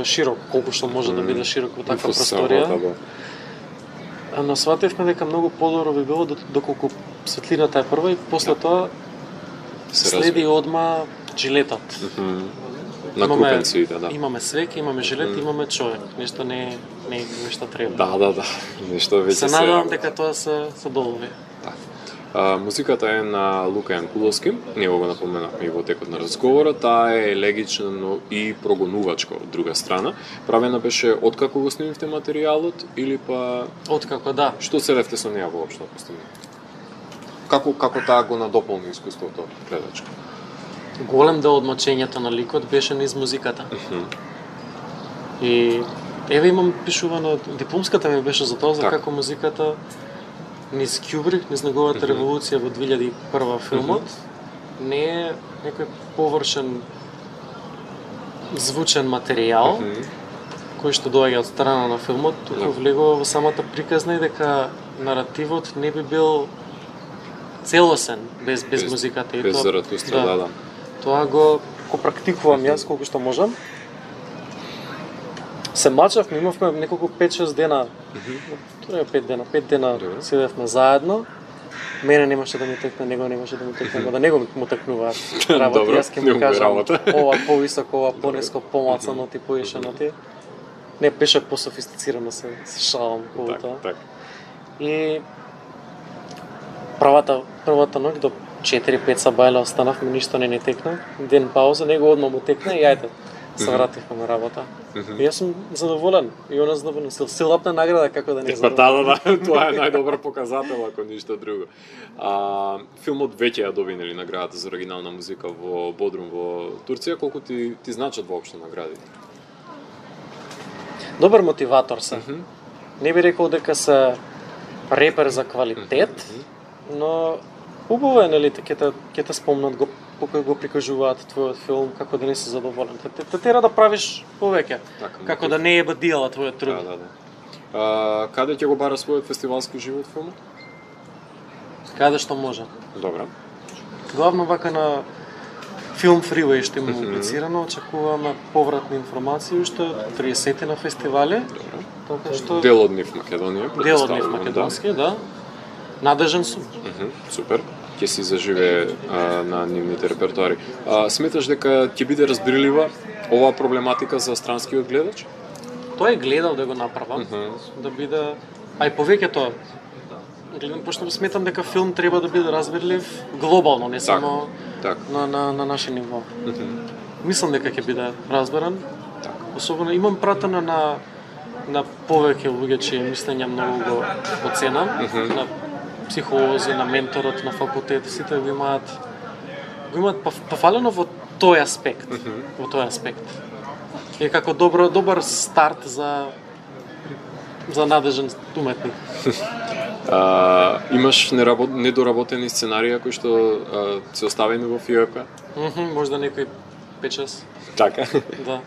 Speaker 2: широк, колку што може да биде широк во таква просторија. Но сватевме дека многу подобро би било доколку светлината е прва и после тоа следи одма жилетот.
Speaker 1: Накупенците, да.
Speaker 2: Имаме свеќе, имаме жилет, имаме човек. Нешто не е нешто треба.
Speaker 1: Да. Нешто веќе
Speaker 2: се надевам дека тоа се долови.
Speaker 1: Музиката е на Лука Јанкуловски, него го напоменавме и во текот на разговорот, таа е елегична и прогонувачка од друга страна. Правена беше откако го снимивте материјалот или па
Speaker 2: Откако, да.
Speaker 1: Што се левте со неа воопшто постигна? Како таа го надополни искуството гледачко?
Speaker 2: Голем дел од мачењето на ликот беше низ музиката. И еве имам пишувано, дипломската ми беше за тоа, за како музиката низ Кјубрик, низ неговата револуција во 2001 филмот, не е некој површен звучен материјал кој што доаѓа од страна на филмот, туку влегува во самата приказна и дека наративот не би бил целосен без музиката и
Speaker 1: без Заратустра, да.
Speaker 2: Тоа го практикувам јас колку што можам. Се мачавме, имавме неколку 5-6 дена. Тоа е 5 дена седевме заедно. Мене немаше да ми текне, него немаше да ми текне, да него му текнуваат работи. Јас ќе му кажам ова повисоко, ова пониско, помлацано ти поишено ти. Не беше пософистицирано се шалам по тоа.
Speaker 1: Так.
Speaker 2: И првата ноќ до 4-5 сабајле останавме, ништо не текна. Ден пауза, него одма му текна и ајде. Се вративме на работа. И јас сум задоволен. И она задоволен. Силапна награда, како да не задоволен.
Speaker 1: Да, тоа е најдобар показател, ако ништо друго. Филмот веќе ја добинели наградата за оригинална музика во Бодрум во Турција. Колку ти значат воопшто наградите?
Speaker 2: Добар мотиватор се. Не би рекол дека се репер за квалитет, но убаво е, нели, ќе те спомнат кога го прикажуваат твојот филм, како да не си задоволен. Те тера да правиш повеќе, како да не е бадијала твојот труд.
Speaker 1: Да. Каде ќе го бара својот фестивалски живот филмот?
Speaker 2: Каде што може.
Speaker 1: Добра.
Speaker 2: Главно вака на Film Freeway што има аплицирано, очекуваме повратни информации уште 30 на фестивали. Така што
Speaker 1: Дел од нив Македонија.
Speaker 2: Дел од нив македонски, да. Надежен сум.
Speaker 1: Супер. Ќе си заживее на нивните репертуари. Сметаш дека ќе биде разбирлива оваа проблематика за странскиот гледач?
Speaker 2: Тој е гледал да го направам, да биде, а и повеќето пошто сметам дека филм треба да биде разбирлив глобално, не само на наше ниво. Мислам дека ќе биде разберан. Особено имам пратено на повеќе луѓе чии мислења многу го ценам, на психолози, на менторот на факултет, сите го имаат пофалено во тој аспект, И како добар старт за надежен уметник.
Speaker 1: Имаш недоработени сценарија кои што се оставени во ФИОП?
Speaker 2: Можда некој 5-6.
Speaker 1: Така?
Speaker 2: Да.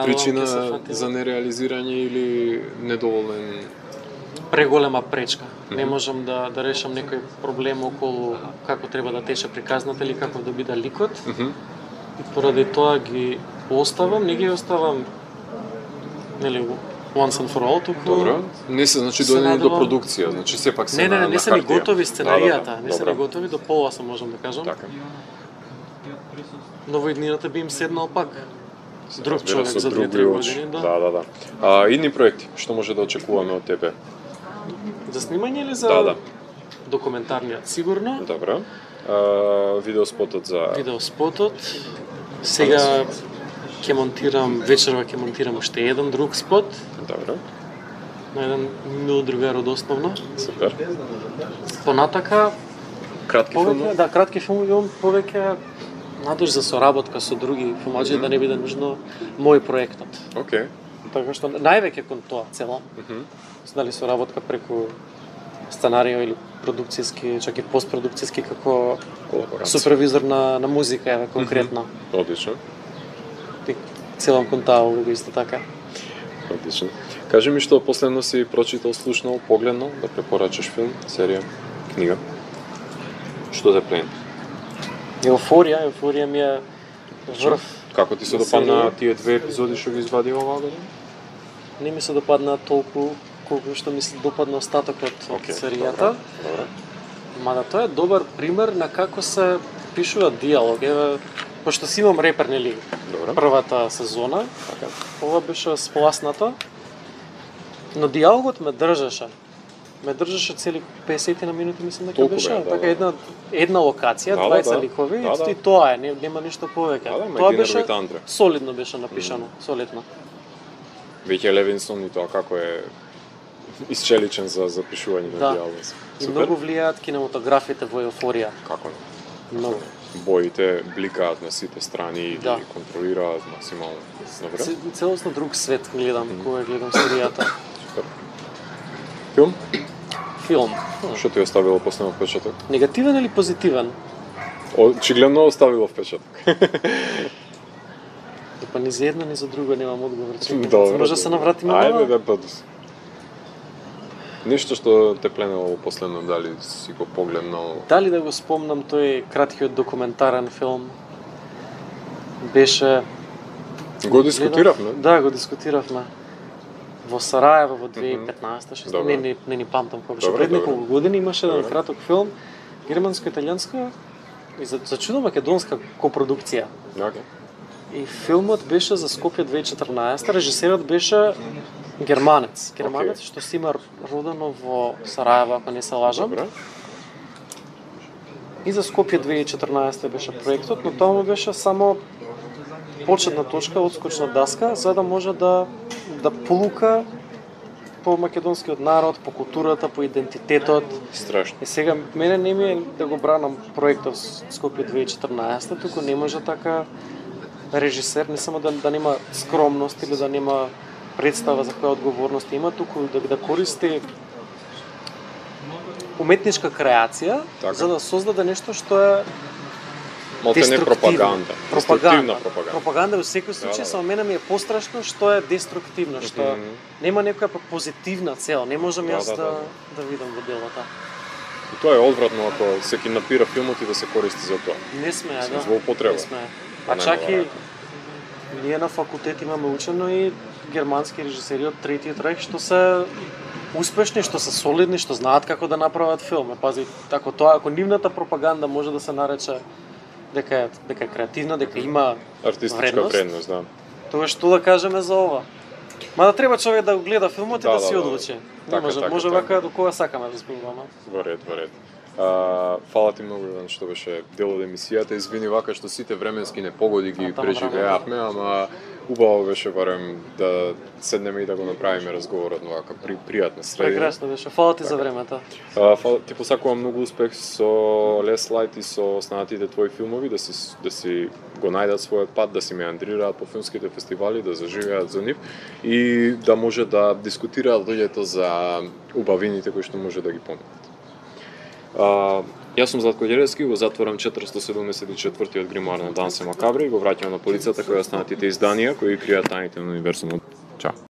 Speaker 1: Причина за нереализирање или недоволен?
Speaker 2: Преголема пречка. Не можам да решам некој проблем околу како треба да тече приказната или како да биде ликот. И поради тоа ги оставам, не ги оставам нели once and for all, туку.
Speaker 1: Добро. Не се значи дојдени до продукција, значи сепак се на хартија.
Speaker 2: Не се ни готови сценаријата, не се ни готови до пола, се можам да кажам.
Speaker 1: Така.
Speaker 2: Но во иднината би им седнал пак друг човек за 2-3 години,
Speaker 1: да. Идни проекти, што може да очекуваме од тебе?
Speaker 2: За снимање или за документарниот? Сигурно.
Speaker 1: Добро. Видеоспотот за...
Speaker 2: Видеоспотот. Сега вечерва ќе монтирам уште еден друг спот.
Speaker 1: Добро.
Speaker 2: На еден мил другар од основно.
Speaker 1: Супер.
Speaker 2: Понатака...
Speaker 1: Кратки филми?
Speaker 2: Да, кратки филми имам повеќе надеж за соработка со други филмаџи, да не биде нужно мој проектот.
Speaker 1: Океј.
Speaker 2: Така што највеќе кон тоа цело. Дали соработка преку сценарио или продукцијски, чак и постпродукцијски како супервизор на музика, еве конкретно.
Speaker 1: Одлично.
Speaker 2: Целам кон таа улога исто така.
Speaker 1: Одлично. Кажи ми што последно си прочитал, слушнал, погледнал, да препорачаш филм, серија, книга. Што те плени?
Speaker 2: Еуфорија ми е врв.
Speaker 1: Како ти се допадна тие 2 епизоди што ги извади оваа година?
Speaker 2: Не ми се допадна толку колку што ми се допадна остатокот од
Speaker 1: Океј,
Speaker 2: серијата.
Speaker 1: добро.
Speaker 2: Мада тоа е добар пример на како се пишува диалог. Еве, пошто си имам репер, нели,
Speaker 1: Добро.
Speaker 2: првата сезона,
Speaker 1: Така.
Speaker 2: ова беше спласнато, но диалогот ме држеше. Ме држеше цели 50 на минути, мислам дека
Speaker 1: Толку
Speaker 2: беше.
Speaker 1: бе, да,
Speaker 2: Така
Speaker 1: да.
Speaker 2: една локација,
Speaker 1: Да,
Speaker 2: 20
Speaker 1: да.
Speaker 2: ликови,
Speaker 1: Да, да.
Speaker 2: и тоа е, нема ништо повеќе.
Speaker 1: Да, да, ма
Speaker 2: Тоа
Speaker 1: и
Speaker 2: беше
Speaker 1: Динер Андре.
Speaker 2: солидно беше напишано, солидно.
Speaker 1: Веќе Левинсон и тоа како е исчеличен за запишување на
Speaker 2: Да.
Speaker 1: диалози.
Speaker 2: И
Speaker 1: Супер.
Speaker 2: многу влијаат кинематографите во еуфорија.
Speaker 1: Како не?
Speaker 2: Многу.
Speaker 1: Боите бликаат на сите страни и
Speaker 2: Да.
Speaker 1: ги контролираат максимално. Добре?
Speaker 2: Целосно друг свет гледам кога гледам серијата.
Speaker 1: Супер. Филм?
Speaker 2: Филм.
Speaker 1: Што ти оставило последно впечаток?
Speaker 2: Негативен или позитивен?
Speaker 1: Очигледно оставило впечаток.
Speaker 2: Па ни за едно, ни за друго немам одговор. Чекам,
Speaker 1: Добро,
Speaker 2: може да се
Speaker 1: добро.
Speaker 2: навратиме
Speaker 1: Ајде
Speaker 2: на
Speaker 1: да бъде. Ништо што те пленело последно, дали си го погледнал?
Speaker 2: Дали да го спомнам тој краткиот документарен филм беше...
Speaker 1: Го дискутиравме.
Speaker 2: Да, го дискутиравме. Во Сараево во 2015, што
Speaker 1: Добро.
Speaker 2: не ни памтам кога беше.
Speaker 1: Добро,
Speaker 2: Пред
Speaker 1: добро.
Speaker 2: неколку години имаше еден
Speaker 1: Добро.
Speaker 2: краток филм, германско-италијанска и за чудо македонска копродукција.
Speaker 1: Океј.
Speaker 2: И филмот беше за Скопје 2014, режисерот беше германец. Германец
Speaker 1: Океј.
Speaker 2: што си има родено во Сараево, ако не се лажам.
Speaker 1: Добре.
Speaker 2: И за Скопје 2014 беше проектот, но тоа му беше само почетна точка, одскочна даска, за да може да полука по македонскиот народ, по културата, по идентитетот.
Speaker 1: Страшно.
Speaker 2: И сега мене не ми е да го бранам проектот Скопје 2014, туку не може така режисер не само да нема скромност или да нема представа за која одговорност има, туку да користи уметничка креација
Speaker 1: Така.
Speaker 2: за да создаде нешто што е
Speaker 1: Малте не пропаганда. Деструктивна пропаганда.
Speaker 2: Пропаганда во секој случај,
Speaker 1: Да, да.
Speaker 2: само мене ми е пострашно што е деструктивно, што нема некоја позитивна цел. Не можам
Speaker 1: Да,
Speaker 2: јас
Speaker 1: да, да.
Speaker 2: да видам во делото.
Speaker 1: И тоа е одвратно ако се киднапира филмот и да се користи за тоа.
Speaker 2: Не сме,
Speaker 1: Мислам,
Speaker 2: да.
Speaker 1: злоупотреба.
Speaker 2: Не сме.
Speaker 1: Па
Speaker 2: А
Speaker 1: нема
Speaker 2: чак и
Speaker 1: варијанта.
Speaker 2: ние на факултет имаме учено и германски режисери од Третиот рајх што се успешни, што се солидни, што знаат како да направат филм. Пази, ако нивната пропаганда може да се нарече дека е креативна, дека има
Speaker 1: Артистичка вредност, да.
Speaker 2: тоа што да кажеме за ова? Мада треба човек да го гледа филмот и
Speaker 1: Да,
Speaker 2: да
Speaker 1: да,
Speaker 2: си
Speaker 1: да.
Speaker 2: одлучи.
Speaker 1: Така, така,
Speaker 2: може
Speaker 1: така.
Speaker 2: вака до кога сакаме да зборуваме.
Speaker 1: Во ред, во ред. Фала ти многу Иван што беше дел од емисијата. Извини вака што сите временски непогоди ги
Speaker 2: Тама,
Speaker 1: преживеавме, ама убаво беше барем да седнеме и да го направиме разговорот на вака пријатна средина.
Speaker 2: Прекрасно беше. Фала ти за времето.
Speaker 1: Ти посакувам многу успех со Last Light и со останатите твои филмови, да си го најдат својот пат, да си меандрираат по филмските фестивали, да заживеат за нив и да може да дискутираат луѓето за убавините кои што може да ги понудат. Јас сум Златко Ѓеревски, го затворам 474-тиот гримоар на Дансе Макабри и го враќам на полицата која останатите изданија кои кријат тајните на универзумот. Чао.